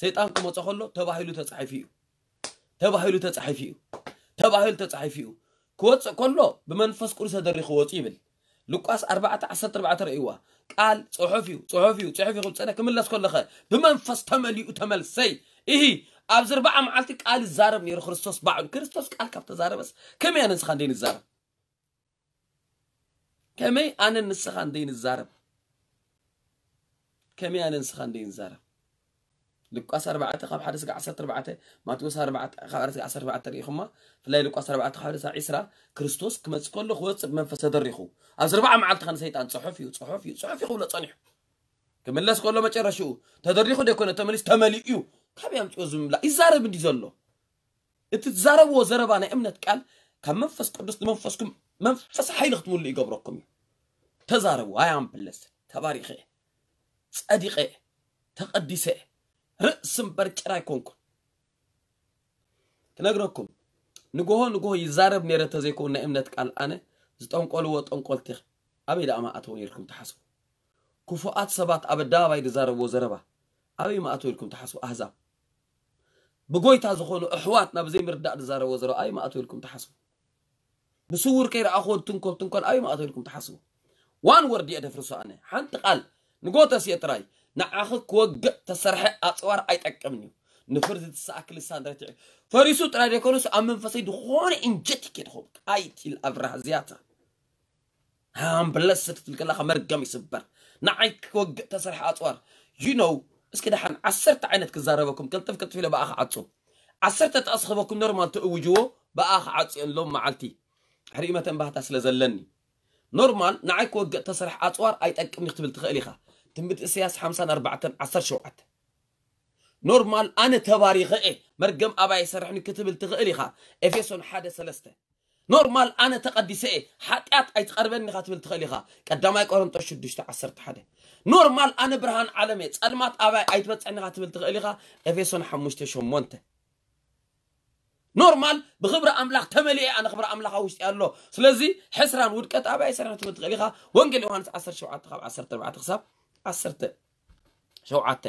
ሰይጣን ክመጾ ከሎ ተባሂሉ ተጻሒፉ እዩ። ተባሂሉ ተጻሒፉ እዩ። ተባሂሉ ተጻሒፉ እዩ። ክወጽእ ከሎ ብመንፈስ ቅዱስ ተደሪኹ ወጹ ይብል። ሉቃስ ኣርባዕተ ዓሰርተ ኣርባዕተ ርእይዋ። ቃል ጽሑፍ እዩ፣ ጽሑፍ እዩ፣ ጽሑፍ እዩ ክብል ጸነ ክምለስ ከለኸ ብመንፈስ ተመሊኡ ተመልሰይ። እሂ ኣብዚ ኣርባዓ መዓልቲ ቃል ይዛረብ ነይሩ ክርስቶስ ባዕሉ። ክርስቶስ ቃል ካብ ተዛረበስ ከመይ ኣነ ንስኻ እንደ ንዛረብ? ከመይ ኣነ ንስኻ እንደ ንዛረብ? ከመይ ኣነ ንስኻ እንደ ንዛረብ? ሉቃስ ኣርባዕተ ካብ ሓደ ስጋ ዓሰርተ ኣርባዕተ፣ ማቴዎስ ኣርባዕተ ካብ ሓደ ስጋ ዓሰርተ ኣርባዕተ ርኢኹማ። ብፍላይ ሉቃስ ኣርባዕተ ካብ ሓደ ስጋ ዕስራ ክርስቶስ ክመጽእ ከሎ ክወጽእ ብመንፈስ ተደሪኹ። ኣብዚ ኣርባዓ መዓልቲ ኸን ሰይጣን ጽሑፍ እዩ፣ ጽሑፍ እዩ፣ ጽሑፍ እዩ ክብሎ ጸኒሑ። ክምለስ ከሎ መጨረሽኡ ተደሪኹ ደይኮነ ተመሊስ ተመሊኡ እዩ። ካበይ ኣምጽኦ ዝምላ ይዛረብ እንዲ ዘሎ? እቲ ትዛረብዎ ዘረባ ናይ እምነት ቃል ካብ መንፈስ ቅዱስ ንመንፈስኩም መንፈስ ሓይሊ ክትምሉ ይገብረኩም እዩ። ተዛረቡ። ኣይ ኣምብለስ ተባሪኸ እየ፣ ጸዲቐ እየ፣ ተቐዲሰ እየ፣ ርእሲ እምበር ጭራ ኣይኮንኩን። ክነግረኩም ንጎሆ ንጎሆ ይዛረብ ነይረ ተዘይከውን ናይ እምነት ቃል ኣነ ዝጠንቆልዎ ጠንቆልቲ ኣበይ ደኣ መኣተው ነይርኩም ትሓስቡ? ክፉኣት ሰባት ኣብ ኣደባባይ ዝዛረብዎ ዘረባ ኣበይ መኣተው ኢልኩም ትሓስቡ? ኣህዛብ ብጎይታ ዝኾኑ ኣሕዋት ናብ ዘይምርዳእ ዝዛረብዎ ዘረባ ኣበይ መኣተው ኢልኩም ትሓስቡ? ብስውር ከይረኣኽዎ ትንኮል ትንኮል ኣበይ መኣተው ኢልኩም ትሓስቡ? ዋን ወርድ እየ ደፍርሶ ኣነ ሓንቲ ቃል ንጎተስ እየ ጥራይ ንዓኺ ክወግእ ተሰርሐ ኣፅዋር ኣይጠቅምን እዩ። ንፍርዲ ትሰኣክ ልሳን ረቲዑ ፈሪሱ ጥራይ ዘይኮነስ ኣብ መንፈሰይ ዝኾነ ኢንጀቲክ እየ ድኸውን። ኣይቲል ኣብራህ ዝያታ ሃምብለስ ክትብል ከለኻ መርገም ይስበር። ንዓይ ክወግእ ተሰርሐ ኣፅዋር you know እስኪ ደሓን ዓሰርተ ዓይነት ክዛረበኩም ቅልጥፍ ቅልጥፍ ኢለ ብኣኻ ዓፁ። ዓሰርተ ጥቕስ ክህበኩም ኖርማል ትእውጅዎ ብኣኻ ዓፅዮን ሎም መዓልቲ ሕሪመተን ባህታ ስለ ዘለኒ ኖርማል ንዓይ ክወግእ ተሰርሐ ኣፅዋር ኣይጠቅምኒ ክትብል ትኽእል ኢኻ። ትንቢት ኢሳያስ ሓምሳን ኣርባዕተን ዓሰርተ ሸውዓተ ኖርማል ኣነ ተባሪኸ እየ መርገም ኣባይ ይሰርሕኒ ክትብል ትኽእል ኢኻ። ኤፌሶን ሓደ ሰለስተ ኖርማል ኣነ ተቐዲሰ እየ ሓጢኣት ኣይትቐርበኒ ኢኻ ትብል ትኽእል ኢኻ። ቀዳማይ ቆሮንጦስ ሽዱሽተ ዓሰርተ ሓደ ኖርማል ኣነ ብርሃን ዓለም እየ ጸልማት ኣባይ ኣይትበጽሕኒ ኢኻ ትብል ትኽእል ኢኻ። ኤፌሶን ሓሙሽተ ሸሞንተ ኖርማል ብኽብሪ ኣምላኽ ተመሊኤ ኣነ ክብሪ ኣምላኽ ኣብ ውሽጢ ኣሎ። ስለዚ ሕስራን ውድቀት ኣባይ ይሰርሕ ትብል ትኽእል ኢኻ። ወንጌል ዮሃንስ ዓሰርተ ሸውዓተ ካብ ዓሰርተ ኣርባዕተ ክሳብ ዓሰርተ ሸውዓተ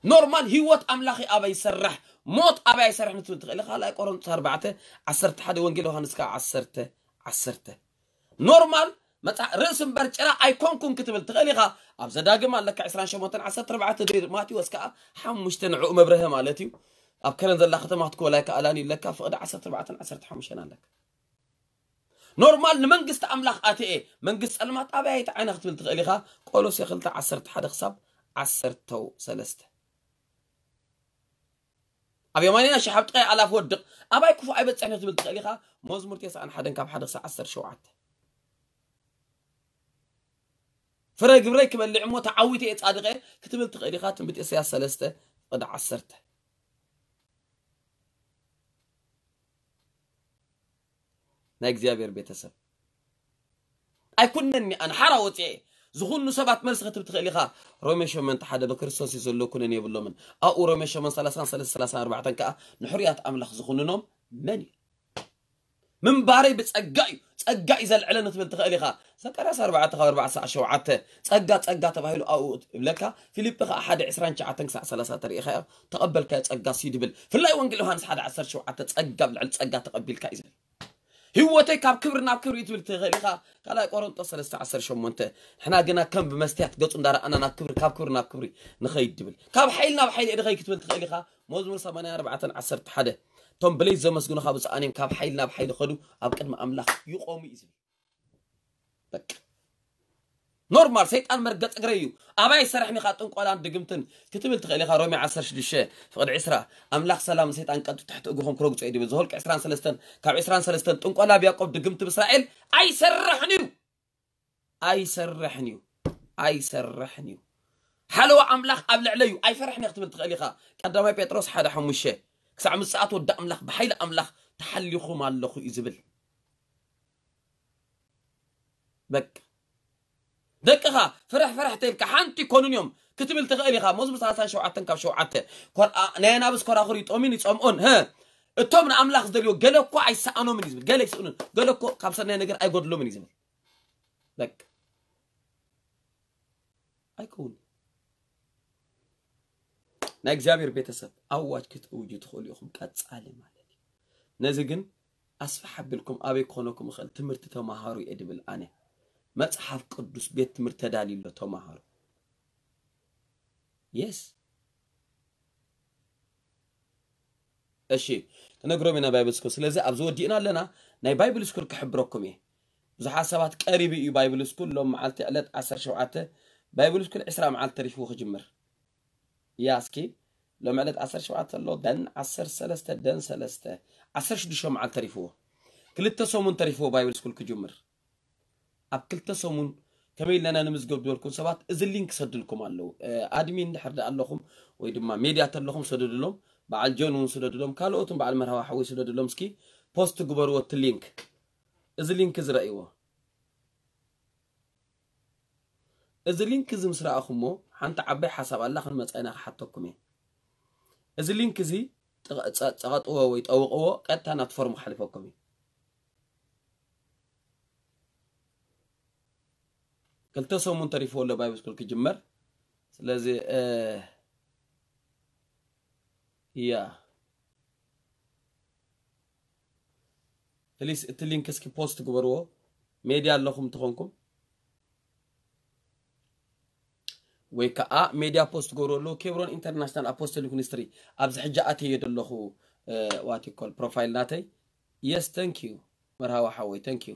ኖርማል ህይወት ኣምላኺ ኣባይ ይሰርሕ ሞት ኣባይ ይሰርሕ ንትብል ትኽእል ኢኻ። ካልኣይ ቆሮንቶስ ኣርባዕተ ዓሰርተ ሓደ ወንጌል ዮሃንስ ከዓ ዓሰርተ ዓሰርተ ኖርማል መጽሓ ርእሲ እምበር ጭራ ኣይኮንኩን ክትብል ትኽእል ኢኻ። ኣብ ዘዳግም ኣለካ ዕስራን ሸሞንተን ዓሰርተ ኣርባዕተ ዶ ማቴዎስ ከዓ ሓሙሽተ ንዕኡ መብርሀ ማለት እዩ። ኣብ ከረን ዘላ ከተማ ክትኮላ ይከኣላን ይብለካ ፍቕዲ ዓሰርተ ኣርባዕተን ዓሰርተ ሓሙሽተን ኣለካ። ኖርማል ንመንግስቲ ኣምላኽ ኣትየ መንግስቲ ጸልማት ኣበይ ኣይተዓይነ ክትብል ትኽእል ኢኻ። ቆሎሴ ክልተ ዓሰርተ ሓደ ክሳብ ዓሰርተ ሰለስተ ኣብ የማንና ሸሓብ ጥቃይ ኣላፍ ወድቕ ኣባይ ክፉ ኣይበጽሕን ክትብል ትኽእል ኢኻ። መዝሙር ተስዓን ሓደን ካብ ሓደ ክሳብ ዓሰርተ ሸውዓተ ፍረ ግብረይ ክበልዕ እሞ ተዓዊተ እየ ጻድቐ ክትብል ትኽእል ኢኻ። ትንቢት ኢሳያስ ሰለስተ ፍቕዲ ዓሰርተ ናይ እግዚኣብሔር ቤተሰብ ኣይኩነኒ ኣነ ሓራ ወፅኤ ዝኹኑ ሰባት መልሲ ክትብ ትኽእል ኢኻ። ሮሜ ሸመንተ ሓደ በክርስቶስ እዩ ዘሎ ኩነን የብሎምን ኣብኡ ሮሜ ሸመን ሰላሳን ሰለስተ ሰላሳን ኣርባዕተን ከዓ ንሕርያት ኣምላኽ ዝኹንኖም መን እዩ? ምንባረይ ብጸጋ እዩ፣ ጸጋ እዩ ዘልዕለኒ ክትብል ትኽእል ኢኻ። ዘካርያስ ኣርባዕተ ካብ ኣርባዕተ ክሳዕ ሸውዓተ ጸጋ ጸጋ ተባሂሉ ኣብኡ እብለካ። ፊልጲ ኸዓ ሓደ ዕስራን ትሽዓተን ክሳዕ ሰላሳ ተሪኢኻ እያ፣ ተቐበልካዮ ጸጋ ሲ ድብል። ፍላይ ወንጌል ዮሃንስ ሓደ ዓሰርተ ሸውዓተ ጸጋ ብልዕሊ ጸጋ ተቐቢልካ እዩ ዝብል። ህይወተይ ካብ ክብሪ ናብ ክብሪ እዩ ትብል ትኽእል ኢኻ። ካልኣይ ቆሮንጦስ ሰለስተ ዓሰርተ ሸሞንተ ንሕና ግና ከም ብመስትያት ገጹ እንዳረኣና ናብ ክብሪ ካብ ክብሪ ናብ ክብሪ ንኸይድ ድብል። ካብ ሓይሊ ናብ ሓይሊ እየ ድኸይድ ክትብል ትኽእል ኢኻ። መዝሙር ሰማንያ ኣርባዕተን ዓሰርተ ሓደ እቶም ብለይቲ ዘመስግኑኻ ብፁዓን እዮም፣ ካብ ሓይሊ ናብ ሓይሊ ኸዱ ኣብ ቅድሚ ኣምላኽ ይቖሙ እዩ ዝብል። በቃ ኖርማል ሰይጣን መርገጽ እግረይ እዩ። ኣባይ ሰራሕኒ ኻ ጥንቆላን ድግምትን ክትብል ትኽእል ኢኻ። ሮሜ ዓሰርተ ሽዱሽተ ፍቕዲ ዕስራ ኣምላኽ ሰላም ሰይጣን ቀንጡ ትሕቲ እግርኹም ክረግጾ እዩ ድብል። ዘኍልቁ ዕስራን ሰለስተን ካብ ዕስራን ሰለስተን ጥንቆላ ኣብ ያዕቆብ ድግምቲ ብእስራኤል ኣይሰርሕን እዩ። ኣይሰርሕን እዩ። ኣይሰርሕን እዩ። ሓለዋ ኣምላኽ ኣብ ልዕለይ እዩ። ኣይፈርሕን እየ ክትብል ትኽእል ኢኻ። ቀዳማይ ጴጥሮስ ሓደ ሓሙሽተ ክሳዕ ምጽኣት ወዲ ኣምላኽ ብሓይሊ ኣምላኽ ተሓሊኹም ኣለኹ እዩ ዝብል። በቃ ደቅኻ ፍርሕ ፍርሕ ተይልካ ሓንቲ ኮኑን እዮም ክትብል ትኽእል ኢኻ። መዝሙር ሰላሳን ሸውዓተን ካብ ሸውዓተ ኮር- ኣ- ናይ ኣናብስ ኮራኹር ይጦምን ይጸምኦን ህ እቶም ንኣምላኽ ዝደልዮ ገለ እኮ ኣይሰኣኖምን እዩ ዝብል። ገለ ይስእኑን ገለ እኮ ካብ ሰናይ ነገር ኣይጎድሎምን እዩ ዝብል። በቃ ኣይከውን። ናይ እግዚኣብሔር ቤተሰብ ኣዋጅ ክትእውጁ ትኽእሉ ኢኹም። ቀጻሊ ማለት እዩ። ነዚ ግን ኣስፍሕ ኣቢልኩም ኣበይ ክኾነኩም ይኽእል ትምህርቲ ተማሃሩ እየ ድብል ኣነ። መጽሓፍ ቅዱስ ቤት ትምህርቲ ተዳልዩ ኣሎ ተማሃሩ። የስ እሺ ክነግሮም ኢና ባይብል ስኩል። ስለዚ ኣብዚ ወዲእና ኣለና። ናይ ባይብል ስኩል ክሕብረኩም እየ። ብዙሓት ሰባት ቀሪቡ እዩ ባይብል ስኩል። ሎም መዓልቲ ዕለት ዓሰርተ ሸውዓተ ባይብል ስኩል ዕስራ መዓልቲ ተሪፍዎ ክጅምር እያ። እስኪ ሎም ዕለት ዓሰርተ ሸውዓተ ኣሎ ደን ዓሰርተ ሰለስተ ደን ሰለስተ ዓሰርተ ሽዱሽተ መዓልቲ ተሪፍዎ። ክልተ ሰሙን ተሪፍዎ ባይብል ስኩል ክጅምር። ኣብ ክልተ ሰሙን ከመይ ኢለና ንምዝገብ ዝበልኩም ሰባት እዚ ሊንክ ሰድልኩም ኣለዉ። ኣድሚን ድሕር ዳ ኣለኹም ወይ ድማ ሜድያ ተለኹም ሰደድሎም። በዓል ጆን እውን ስደድሎም። ካልኦትን በዓል መርሃዊ ሓወይ ስደድሎም። እስኪ ፖስት ግበርዎ እቲ ሊንክ። እዚ ሊንክ እዚ ረእይዎ። እዚ ሊንክ እዚ ምስ ረኣኹሞ ሓንቲ ዓባይ ሓሳብ ኣላ ክንመጻ ኢና ክሓተኩም እየ። እዚ ሊንክ እዚ ጸቐጥዎ ወይ ጠውቕዎ ቀጥታ ናብቲ ፎርም ክሓልፈኩም እዩ። ክልተ ሰሙን ተሪፍዎ ኣሎ ባይብል ስኩል ክጅመር። ስለዚ እያ ፕሊስ እቲ ሊንክ እስኪ ፖስት ግበርዎ። ሜድያ ኣለኹም እንተኾንኩም ወይ ከዓ ሜድያ ፖስት ግበርዎ ኣለዉ። ኬብሮን ኢንተርናሽናል ኣፖስቶሊክ ሚኒስትሪ ኣብዚ ሕጂ ኣትየ ዘለኹ ዋቲኮል ፕሮፋይል ናተይ። የስ ተንክ ዩ መርሃዊ ሓወይ ተንክ ዩ።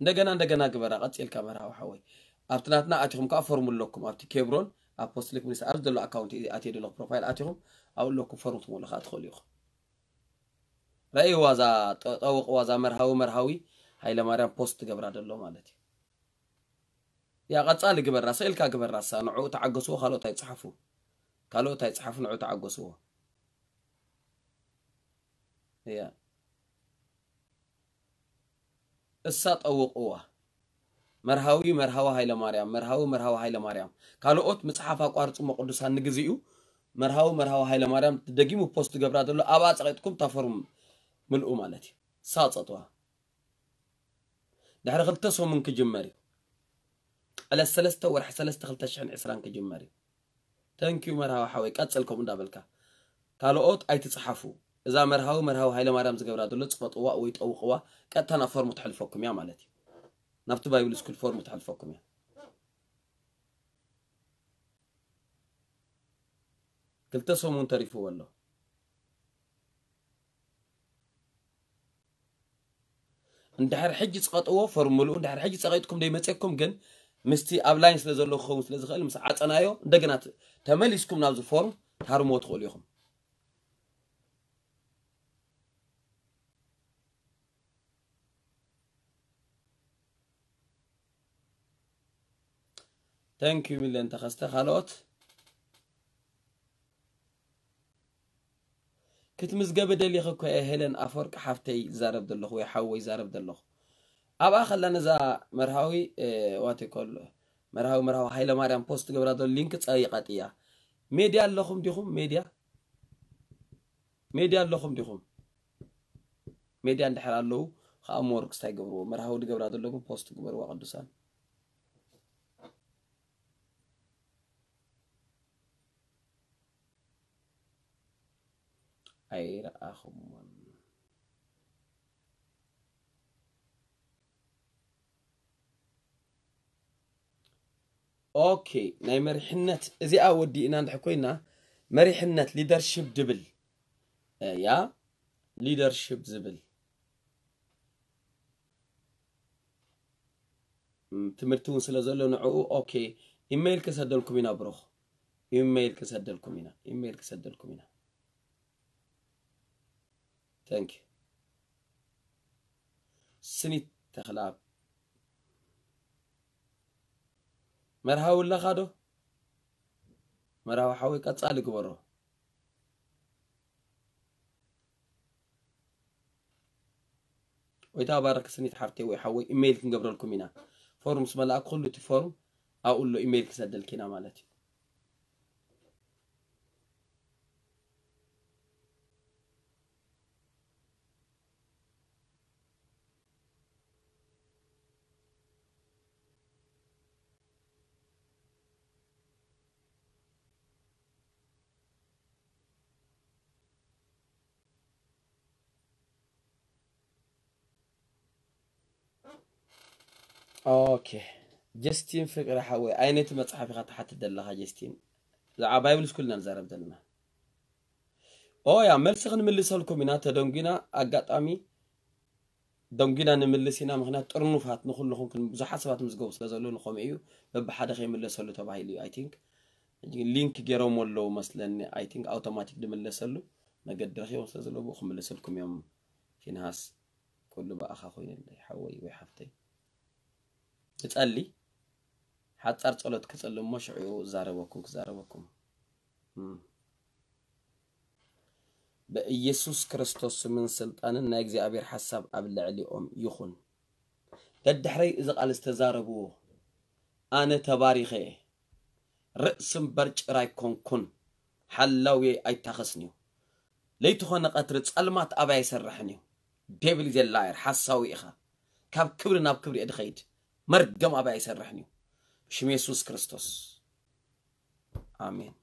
እንደገና እንደገና ግበራ ቀፂልካ መርሃዊ ሓወይ። ኣብቲ ናትና ኣቲኹም ከዓ ፎርም ኣለኩም ኣብቲ ኬብሮን ኣፖስቶሊክ ሚኒስትሪ ኣብዚ ዘሎ ኣካውንት ኣትየ ዘለኹ ፕሮፋይል ኣቲኹም ኣብኡ ኣለኩም ፎርም ትመልኡ ከዓ ትኽእሉ ኢኹም። ረእይዋ እዛ ጠውቕዋ እዛ መርሃዊ መርሃዊ ሃይለማርያም ፖስት ትገብራ ዘሎ ማለት እዩ። ያ ቀጻሊ ግበራ ስእልካ ግበራ እሳ ንዕኡ ተዓገስዎ ካልኦት ኣይጽሓፉ ካልኦት ኣይጽሓፉ ንዕኡ ተዓገስዎ። ያ እሳ ጠውቕዋ። መርሃዊ መርሃዊ ሃይለ ማርያም መርሃዊ መርሃዊ ሃይለ ማርያም ካልኦት ምጽሓፍ ኣቋርጽሞ ቅዱሳን ንግዜኡ መርሃዊ መርሃዊ ሃይለ ማርያም ደጊሙ ፖስት ገብራ ዘሎ ኣብኣ ጸቂጥኩም ታፈርሙ ምልኡ ማለት እዩ። ሳጸጥዋ ድሕሪ ክልተ ሰሙን ክጅመር እዩ። ዕለት ሰለስተ ወርሒ ሰለስተ ክልተ ሽሕን ዕስራን ክጅመር እዩ። ተንኪዩ መርሃዊ ሓወይ ቀጽል ከምኡ እንዳበልካ ካልኦት ኣይትጽሓፉ። እዛ መርሃዊ መርሃዊ ሃይለ ማርያም ዝገብራ ዘሎ ጽቐጥዋ ወይ ጠውቕዋ ቀጥታ ናብ ፎርሙ ተሕልፈኩም እያ ማለት እዩ። ናብቲ ባይብል ስኩል ፎርሙ ተሕልፈኩም እያ። ክልተ ሰሙን ተሪፍዎ ኣሎ። እንድሕር ሕጂ ጽቐጥዎ ፎርም ምልኡ እንድሕር ሕጂ ጸቒጥኩም ደይመጸኩም ግን ምስቲ ኣብ ላይን ስለ ዘሎ ክኸውን ስለ ዝኽእል ምስ ዓጸናዮ እንደገና ተመሊስኩም ናብዚ ፎርም ታርምዎ ትኽእሉ ኢኹም። ተንኪዩ ሚለን ተኸስተ ካልኦት ክትምዝገቢ ደሊኺ እኮ እየ ሄለን ኣፈወርቂ ሓፍተይ ዝዛረብ ዘለኹ ወይ ሓወይ ይዛረብ ዘለኹ። ኣብኣ ከላ ነዛ መርሃዊ ዋቴኮል መርሃዊ መርሃዊ ሃይለ ማርያም ፖስት ገብራ ዘሎ ሊንክ ጸይቃጥያ። ሜድያ ኣለኹም ዲኹም? ሜድያ ሜድያ ኣለኹም ዲኹም? ሜድያ እንድሕር ኣለዉ ኣሞርክስ እንታይ ገብርዎ? መርሃዊ ድገብራ ዘለኩም ፖስት ግበርዋ ቅዱሳን። ኣይረኣኹምዎን። ኦኬ፣ ናይ መሪሕነት እዚኣ ወዲእና እንድሕር ኮይና፣ መሪሕነት ሊደርሺፕ ድብል፣ እ፣ ያ ሊደርሺፕ ዝብል፣ እም፣ ትምህርቲ እውን ስለ ዘሎ ንዕኡ፣ ኦኬ፣ ኢሜይል ክሰደልኩም ኢና ብሩኽ። ኢሜይል ክሰደልኩም ኢና። ኢሜይል ክሰደልኩም ኢና። Thank you። ስኒት ተኽለኣብ። መርሃዊ ኣለኻ ዶ? መርሃዊ ሓወይ ቀጻሊ ግበሮ። ጎይታ ባርክ ስኒት ሓፍተይ ወይ ሓወይ፣ ኢሜይል ክንገብረልኩም ኢና። ፎርም ምስ መላእክ ኩሉ እቲ ፎርም ኣብኡ ኣሎ፣ ኢሜይል ክሰደልኪ ኢና ማለት እዩ። ኦኬ፣ ጀስቲን ፍቅሪ ሓወይ፣ ኣይ ነቲ መጽሓፍ ኢኻ ትሓትት ዘለኻ ጀስቲን? ብዛዕባ ባይብል ስኩል ኢና ንዛረብ ዘለና። ኦ ያ፣ መልሲ ክንምልሰልኩም ኢና። ተደንጒና፣ ኣጋጣሚ ደንጒና ንምልስ ኢና። ምኽንያት ጥርኑፋት ንኹልኹም ክን-፣ ብዙሓት ሰባት ምዝገቡ ስለ ዘለዉ ንኸምኡ እዩ። በብሓደ ከይምለሰሉ ተባሂሉ እዩ። I think ሊንክ ገይሮም ኣለዉ መስለኒ። I think ኣውቶማቲክ ድምለሰሉ መገዲ ረኺቦም ስለ ዘለዉ ብኡ ክምልሰልኩም እዮም። ፊንሃስ፣ ኩሉ ብኣኻ ኮይኑለይ ሓወይ ወይ ሓፍተይ። ክጸሊ፣ ሓጻር ጸሎት ክጸሊ እሞ ሽዑ እዛረበኩም፣ ክዛረበኩም። እም። በኢየሱስ ክርስቶስ ስምን ስልጣንን ናይ እግዚኣብሔር ሓሳብ ኣብ ልዕሊኦም ይኹን። ደድሕረይ እዚ ቃል ዝተዛረብዎ፣ ኣነ ተባሪኸ እየ። ርእሲ እምበር ጭራ ኣይኮንኩን፣ ሓላውየይ ኣይታኸስን እዩ። ለይቲ ኾነ ቀትሪ ጸልማት ኣበይ ኣይሰርሕን እዩ። ዴቪል ኢዝ ላየር፣ ሓሳዊ ኢኻ። ካብ ክብሪ ናብ ክብሪ እየ ድኸይድ። መርገም ኣበይ ኣይሰርሕን እዩ። ብሽም የሱስ ክርስቶስ። ኣሜን።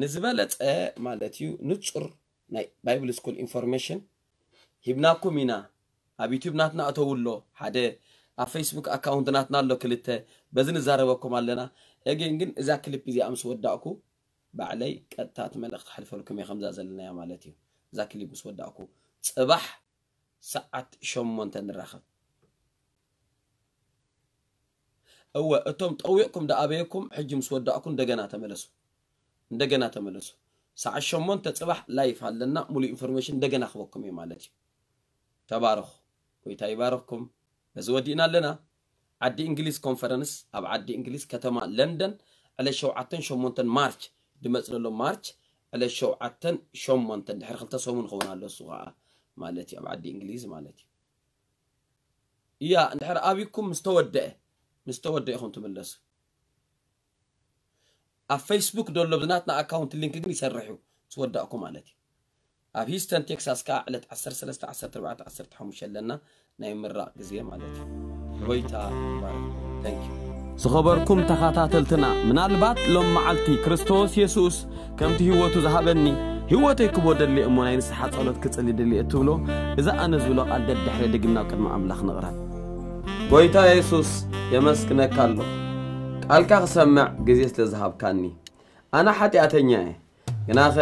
ንዝበለጸ ማለት እዩ ንጹር ናይ ባይብል ስኩል ኢንፎርሜሽን ሂብናኩም ኢና። ኣብ ዩቲዩብ ናትና እተው ኣሎ ሓደ፣ ኣብ ፌስቡክ ኣካውንት ናትና ኣሎ ክልተ፣ በዚ ንዛረበኩም ኣለና። ኤጌን ግን እዛ ክሊፕ እዚኣ ምስ ወዳእኩ ባዕለይ ቀጥታ እቲ መልእኽቲ ክሕልፈልኩም እየ ከምዛ ዘለናያ ማለት እዩ። እዛ ክሊፕ ምስ ወዳእኩ ጽባሕ ሰዓት ሸሞንተ ንራኸብ። እወ፣ እቶም ጠዊቕኩም ደኣበየኩም፣ ሕጂ ምስ ወዳእኩ እንደገና ተመለሱ። እንደገና ተመለሱ። ሰዓት ሸሞንተ ጽባሕ ላይፍ ኣለና፣ ሙሉእ ኢንፎርሜሽን እንደገና ክበኩም እዩ ማለት እዩ። ተባረኹ። ጎይታ ይባረኽኩም። በዚ ወዲእና ኣለና። ዓዲ እንግሊዝ ኮንፈረንስ ኣብ ዓዲ እንግሊዝ ከተማ ለንደን ዕለት ሸውዓተን ሸሞንተን ማርች ድመጽእ ዘሎ ማርች ዕለት ሸውዓተን ሸሞንተን ድሕሪ ክልተ ሰሙን ክኸውን ኣሎ እሱ ኸዓ ማለት እዩ ኣብ ዓዲ እንግሊዝ ማለት እዩ። እያ እንድሕር ኣብይኩም ምስ ተወደአ ምስ ተወደአ ኢኹም ትምለሱ። ኣብ ፌስቡክ ደሎ ብዝናትና ኣካውንት ሊንክ ግን ይሰርሕ እዩ ምስ ወዳእኩ ማለት እዩ። ኣብ ሂስተን ቴክሳስ ከዓ ዕለት ዓሰርተ ሰለስተ ዓሰርተ ኣርባዕተ ዓሰርተ ሓሙሽተ ኣለና ናይ ምራቕ ግዜ ማለት እዩ። ጎይታ ይባረክ። Thank you። ዝኸበርኩም ተኸታተልትና፣ ምናልባት ሎም መዓልቲ ክርስቶስ የሱስ ከምቲ ህይወቱ ዝሃበኒ ህይወተይ ክቦ ደሊ እሞ ናይ ንስሓ ጸሎት ክጽሊ ደሊ እትብሎ፣ እዛ ኣነ ዝብሎ ቃል ደድሕረ ድግምና ኣብ ቅድሚ ኣምላኽ ንቕረብ። ጎይታ የሱስ የመስግነካ ኣሎ ቃልካ ክሰምዕ ግዜ ስለ ዝሃብካኒ። ኣነ ሓጢኣተኛ እየ። ግናኸ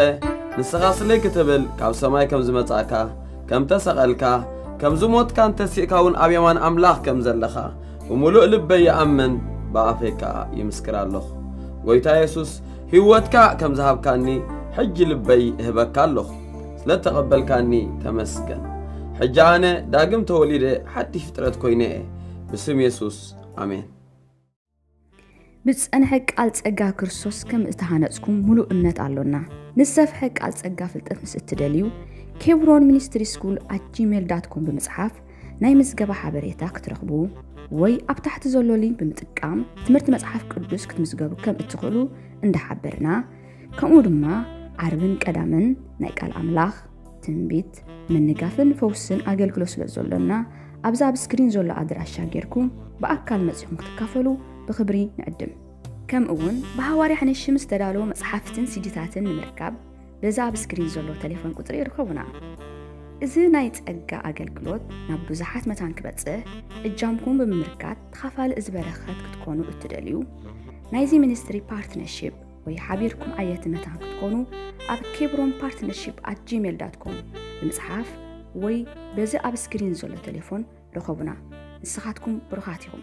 ንስኻ ስለይ ክትብል ካብ ሰማይ ከም ዝመጻእካ፣ ከም ተሰቐልካ፣ ከም ዝሞትካን ተሲእካ እውን ኣብ የማን ኣምላኽ ከም ዘለኻ ብምሉእ ልበይ ይኣምን፣ ብኣፈይ ከኣ ይምስክር ኣለኹ። ጎይታ የሱስ ህይወትካ ከም ዝሃብካኒ ሕጂ ልበይ እህበካ ኣለኹ። ስለ እተቐበልካኒ ተመስገን። ሕጂ ኣነ ዳግም ተወሊደ ሓድሽ ፍጥረት ኮይነ እየ። ብስም የሱስ ኣሜን። ብዝጸንሐ ቃል ጸጋ ክርስቶስ ከም እተሃነጽኩም ምሉእ እምነት ኣሎና። ንዝሰፍሐ ቃል ጸጋ ፍልጠት ምስ እትደልዩ፣ ኬብሮን ሚኒስትሪ ስኩል ኣት ጂሜል ዳት ኮም ብምጽሓፍ ናይ ምዝገባ ሓበሬታ ክትረኽቡ ወይ ኣብ ታሕቲ ዘሎ ሊንክ ብምጥቃም ትምህርቲ መጽሓፍ ቅዱስ ክትምዝገቡ ከም እትኽእሉ እንዳሓበርና፣ ከምኡ ድማ ዓርብን ቀዳምን ናይ ቃል ኣምላኽ፣ ትንቢት፣ ምንጋፍን ፈውስን ኣገልግሎት ስለ ዘሎና፣ ኣብዚ ኣብ ስክሪን ዘሎ ኣድራሻ ጌርኩም ብኣካል መጺኹም ክትካፈሉ ብኽብሪ ንዕድም። ከምኡ እውን ብሃዋርያ ሕነሽም ዝተዳለወ መጽሓፍትን ሲዲታትን ንምርካብ በዚ ኣብ ስክሪን ዘሎ ቴሌፎን ቁጽሪ ይርከቡና። እዚ ናይ ጸጋ ኣገልግሎት ናብ ብዙሓት መታን ክበጽሕ እጃምኩም ብምምርካት ተኻፋሊ እዚ በረኸት ክትኮኑ እትደልዩ፣ ናይዚ ሚኒስትሪ ፓርትነርሺፕ ወይ ሓቢርኩም ዓየቲ መታን ክትኮኑ ኣብ ኬብሮን ፓርትነርሺፕ ኣት ጂሜል ዳት ኮም ብምጽሓፍ ወይ በዚ ኣብ ስክሪን ዘሎ ቴሌፎን ርኸቡና። ንስኻትኩም ብሩኻት ኢኹም።